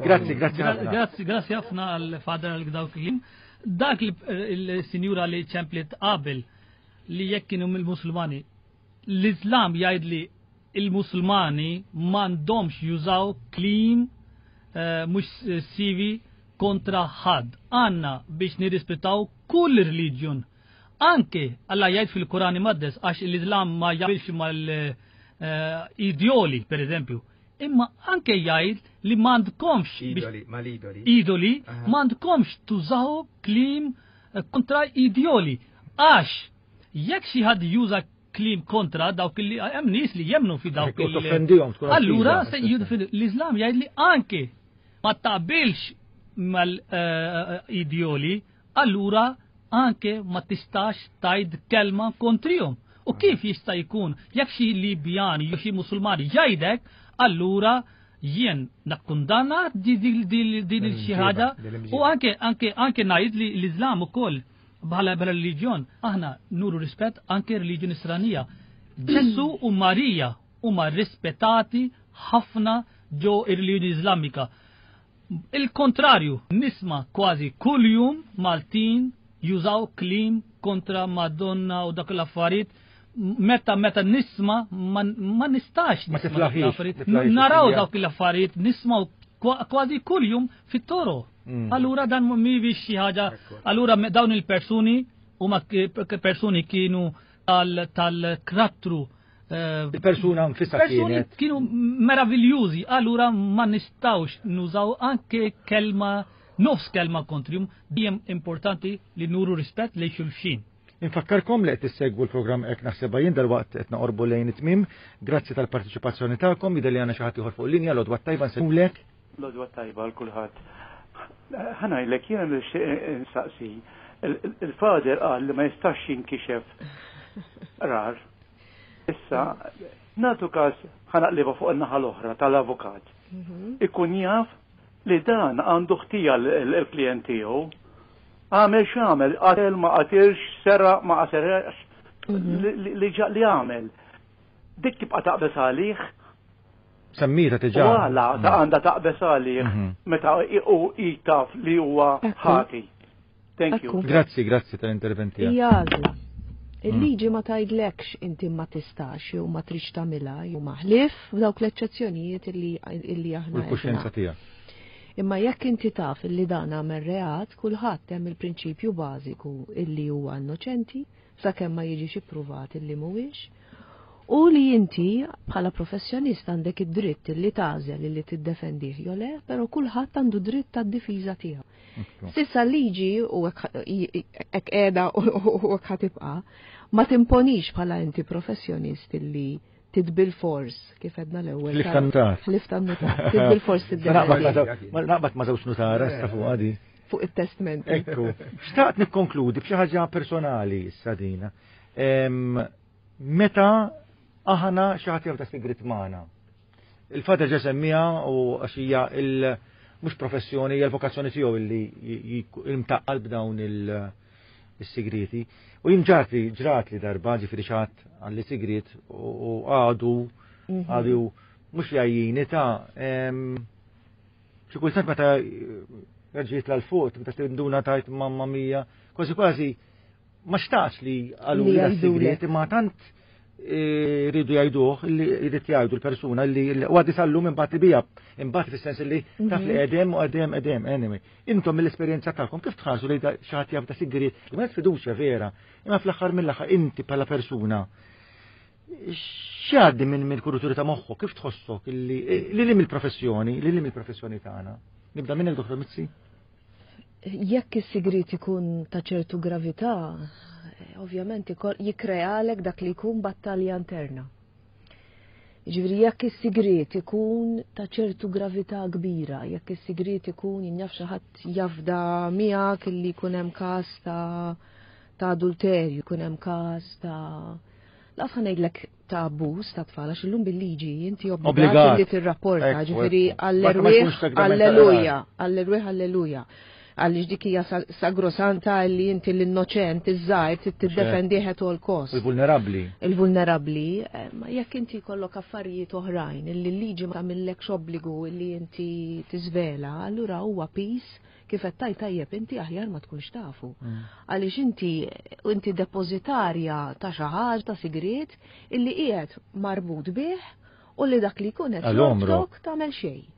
Grazzi, grazzi.
Grazzi, grazzi ħafna għal Father għal dawk il Dak il-sinjura li ċemplet qabel li jekk kienu mill-Musulmani, l-Islam jgħid li il-Musulmani m'għandhomx jużaw kliem mhux sivi kontra ħadd. Għanna biex nirrispettaw kull reliġjon. Anke Alla jgħid fil-Kurani Maqdes għax l-Islam ma jaqbilx mal-idjoli, per eżempju. Imma anke jgħid li m'għandkomx
idoli, mal-idoli.
Idoli, m'għandkomx tużaw kliem kontra idjoli. Għax jekk xi ħadd juża kliem kontra dawk li hemm nies li jemnu fi dawk
il.
Allura l-Islam jgħid li anke ma taqbilx mal-idjoli, allura anke ma tistax tajd kelma kontrihom. U kif jista' jkun jekk xi Libjani jew xi Musulmani jgħidek, allura jien nakkundanna din il-xi ħaġa u anke anke anke ngħid li l-Islam ukoll bħala bħala reliġjon aħna nuru rispett anke reliġjon Nisranija. Ġesu u Marija huma rispettati ħafna ġo ir-reliġjoni Iżlamika. Il-kontrarju, nisma kważi kuljum Maltin jużaw kliem kontra Madonna u dak l-affarijiet. Meta meta nisma ma, ma nistax
ma tiflaħix.
Naraw dawk l-affarijiet nismaw kważi kuljum fit-toro. Mm. Allura dan mhijiex xi ħaġa. Allura dawn il-persuni huma persuni kienu tal-karattru
il-persuna nfisha kienet.
Kienu meraviljużi, allura ma nistawx nużaw anke kelma, nofs kelma kontrihom, dejjem importanti li nuru rispett lejn xulxin.
Infakkarkom li qed issegwu l-programm Hekk Naħsebha Jien, dalwaqt qed naqorbu lejn it-tmiem. Grazzi tal-partiċipazzjoni tagħkom, jidher li għandna xi ħadd ieħor fuq linja, l-għodwa tajba nsellmulek.
L-għodwa tajba għal kulħadd. Ħa ngħidlek jiena nixtieq insaqsi. Il-Father qal li ma jistax jinkixef rar. Issa, nagħtu każ ħa naqlibha fuq in-naħa l-oħra tal-avukat. Ikun jaf li dan għandu ħtija l-klient tiegħu. Għamel x'għamel, qatel ma qatilx, seraq ma seraqx, li li għamel. Dik tibqa' taqbes għalih.
Semmita diġà.
U għala ta' għandha taqbes għalih meta u jitaf li huwa ħati. Thank you.
Grazzi, grazzi tal-intervent tiegħek.
Hija għażla. Il-liġi ma tgħidlekx inti ma tistax jew ma tridx tagħmilha jew maħlif f'dawk l-eċċezzjonijiet illi aħna.
U l-kuxjenza tiegħek.
Imma jekk inti taf illi dan għamel reat, kulħadd hemm il-prinċipju bażiku illi huwa innoċenti sakemm ma jiġix ippruvat illi mhuwiex. U li inti bħala professjonist għandek id-dritt li tagħżel li tiddefendih jew le, però kulħadd għandu dritt tad-difiża tiegħu. S'issa liġi u hekk qiegħda u hekk ħa tibqa' ma timponix bħala inti professjonist illi tidbil-fors, kif għedna l-ewwel.
Ħlief tan-nutar.
Ħlief tan-nutar. Tidbil-fors tiddefendi.
Naqbad ma' żewġ nutara sta fuq għadi.
Fuq it-testment.
Ekku. Xtaqt nikkonkludi b'xi ħaġa personali issa dina. Meta aħna xi ħadd jafda sigrit magħna. Il-Father ġa semmija u għax hija il mhux professjoni, hija l-vokazzjoni tiegħu illi imtaqqal b'dawn il-sigriti. U jien ġratli, ġratli darba ġifieri xi ħadd għalli sigrit u għadu għadu mhux jgħajjini ta' xi kultant meta ġiet l fuq, meta tinduna tajt mamma mia, kważi kważi ma xtaqx li għalu li sigrit, imma tant rridu jgħiduh li jrid jgħidu l-persuna li u għaddi sal-lum imbagħad bija, imbagħad fis-sens li taf li qedem u qedem qedem anyway. Intom mill-esperjenza tagħkom kif tħarsu li xi ħadd jaf ta' sigriet li ma fiduċja vera, imma fl-aħħar mill-aħħar inti bħala persuna x'għaddi minn mill-kuruturi ta' moħħok, kif tħossok li li mill-professjoni, li li mill-professjoni tagħna. Nibda minnek Doktor Mizzi?
Jekk is-sigriet ikun ta' ċertu gravità, ovvjament jikkrealek dak li jkun battalja interna. Jiġifieri jekk is-sigriet ikun ta' ċertu gravità kbira, jekk is-sigriet ikun jien naf xi ħadd jafda miegħek illi jkun hemm każ ta' ta' adulterju, jkun hemm każ ta' laqas ħa ngħidlek ta' abbuż ta' tfal, għax illum bil-liġi inti obbligat li tirrapporta, ġifieri għall-erwieħ alleluja, għall-erwieħ alleluja. Għaliex dik hija sagrosanta li inti l-innoċent, iż-żgħir tiddefendih at all cost.
Il-vulnerabbli.
Il-vulnerabbli, ma jekk inti jkollok affarijiet oħrajn illi l-liġi ma tagħmillekx obbligu illi inti tiżvela, allura huwa piż kif qed tajt tajjeb inti aħjar ma tkunx tafu. Għaliex inti inti depożitarja ta' xi ħaġa ta' sigriet illi qiegħed marbut bih u li dak li jkun qed jobtok tagħmel xejn.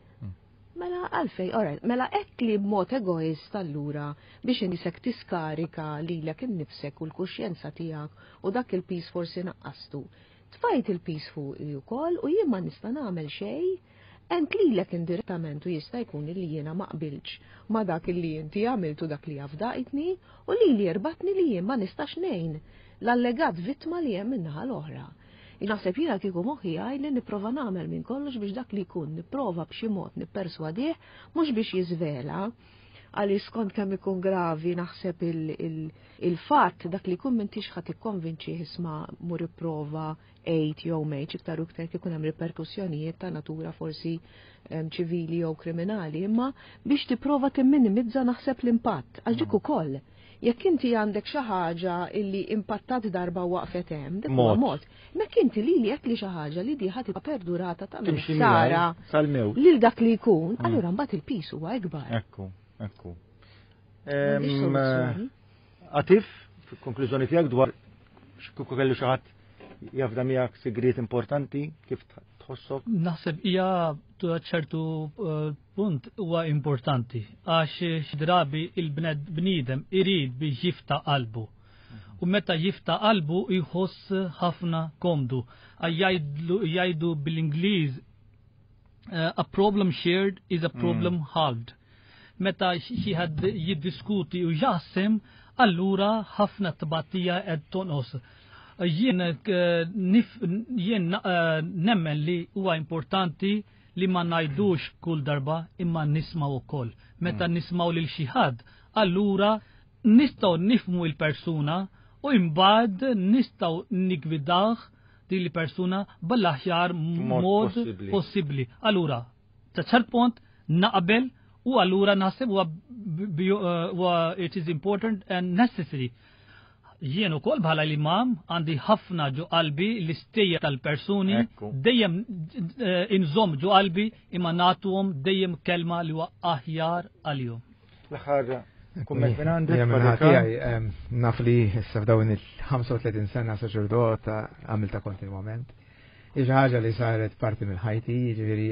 Mela għalfej, alright, mela hekk li b'mod egoist allura biex inisek tiskarika lilek innifsek u l-kuxjenza tiegħek u dak il-piż forsi naqqastu. Tfajt il-piż fuqi wkoll u jien ma nista' nagħmel xejn, ent lilek indirettament u jista' jkun li jiena ma qbilx ma dak li inti għamiltu dak li afdaqitni u lili jerbatni li jien ma nistax ngħin l-allegat vittma li hemm min-naħa l-oħra. Naħseb jiena kieku moħħi għaj li nipprova nagħmel minn kollox biex dak li jkun nipprova b'xi mod nipperswadih mhux biex jiżvela, għaliex skont kemm ikun gravi naħseb il-fatt dak li jkun m'intix ħadd ikkonvinċih isma' mur ipprova għid jew mejt iktar u iktar kif hemm riperkussjonijiet ta' natura forsi ċivili jew kriminali, imma biex tipprova timminimizza naħseb l-impatt għax dik ukoll. Jekk inti għandek xi ħaġa illi impattat darba waqfet hemm, dik huwa mod. Mek inti lili qed li xi ħaġa li di ħadd tibqa' perdurata ta' sara lil dak li jkun, allura mbagħad il-piż huwa ikbar.
Ekku, ekku. Atif, konklużjoni tiegħek dwar kieku kellu xi ħadd jafda miegħek sigriet importanti, kif tħossok?
Naħseb hija ċertu punt huwa importanti għax xi drabi il-bniedem irid biex jifta' qalbu. U meta jifta' qalbu jħoss ħafna komdu. Jgħidu bil-Ingliż a problem shared is a problem halved. Meta xi ħadd jiddiskuti u jaħsem, allura ħafna tbatija qed tonqos. Jien jien nemmen li huwa importanti li ma ngħidux kull darba imma nismaw ukoll. Meta nismaw lil xi ħadd, allura nistgħu nifhmu l-persuna u imbagħad nistgħu nigwidaw din il-persuna bl-aħjar mod possibbli. Allura, ta' ċert punt naqbel u allura naħseb huwa it is important and necessary. Jien ukoll bħala l-imam għandi ħafna ġo qalbi l-istejja tal-persuni, dejjem inżomm ġo qalbi imma nagħtuhom dejjem kelma li huwa aħjar għalihom.
L-aħħar kumment minn għandek.
Naf li issa f'dawn il-ħamsa u tletin sena saċerdot għamilta kontinwament. Xi ħaġa li saret parti minn ħajti, jiġifieri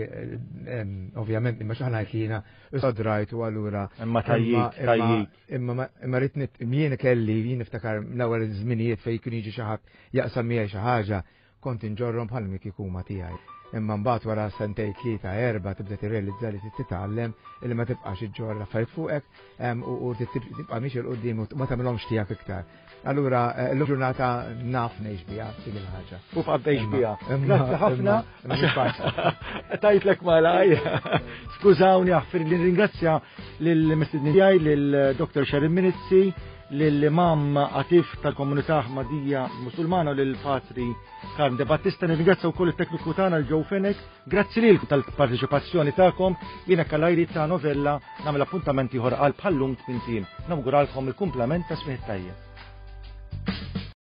ovvjament imma xi ħadd li jiena sodrajt u allura.
Imma tajjik, tajjik.
Imma imma rrid jien kelli jien niftakar l-ewwel żminijiet fejn kien jiġi xi ħadd jaqsam miegħi xi ħaġa, Kont inġorrhom bħal kieku huma tiegħi. Imma mbagħad wara sentejn tlieta erba' tibda tirrealizza li titgħallem illi ma tibqax iġġorr l-affarijiet fuqek u tibqa' miexi 'l quddiem u ma tagħmilhomx tiegħek iktar. Allura l ġurnata naf ngħix biha dik il-ħaġa.
U bqa' tgħix biha. Grazzi ħafna. Tajtlek malaj. Skużawni aħfir li ringrazzja lill-mistednin tiegħi lil Dr. Sharon Minizzi, lill-Imam Atif tal-Komunità Ahmadija Musulmana u lill-Patri Karm De Battista. Nirringrazzja wkoll it-tekniku tagħna l-Joe Fenech. Grazzi lilkom tal-parteċipazzjoni tagħkom. Jiena Kalajri ta' Novella nagħmel appuntament ieħor għal bħallum tmien. Nawguralkom il-kumplament ta' smigħ tajjeb.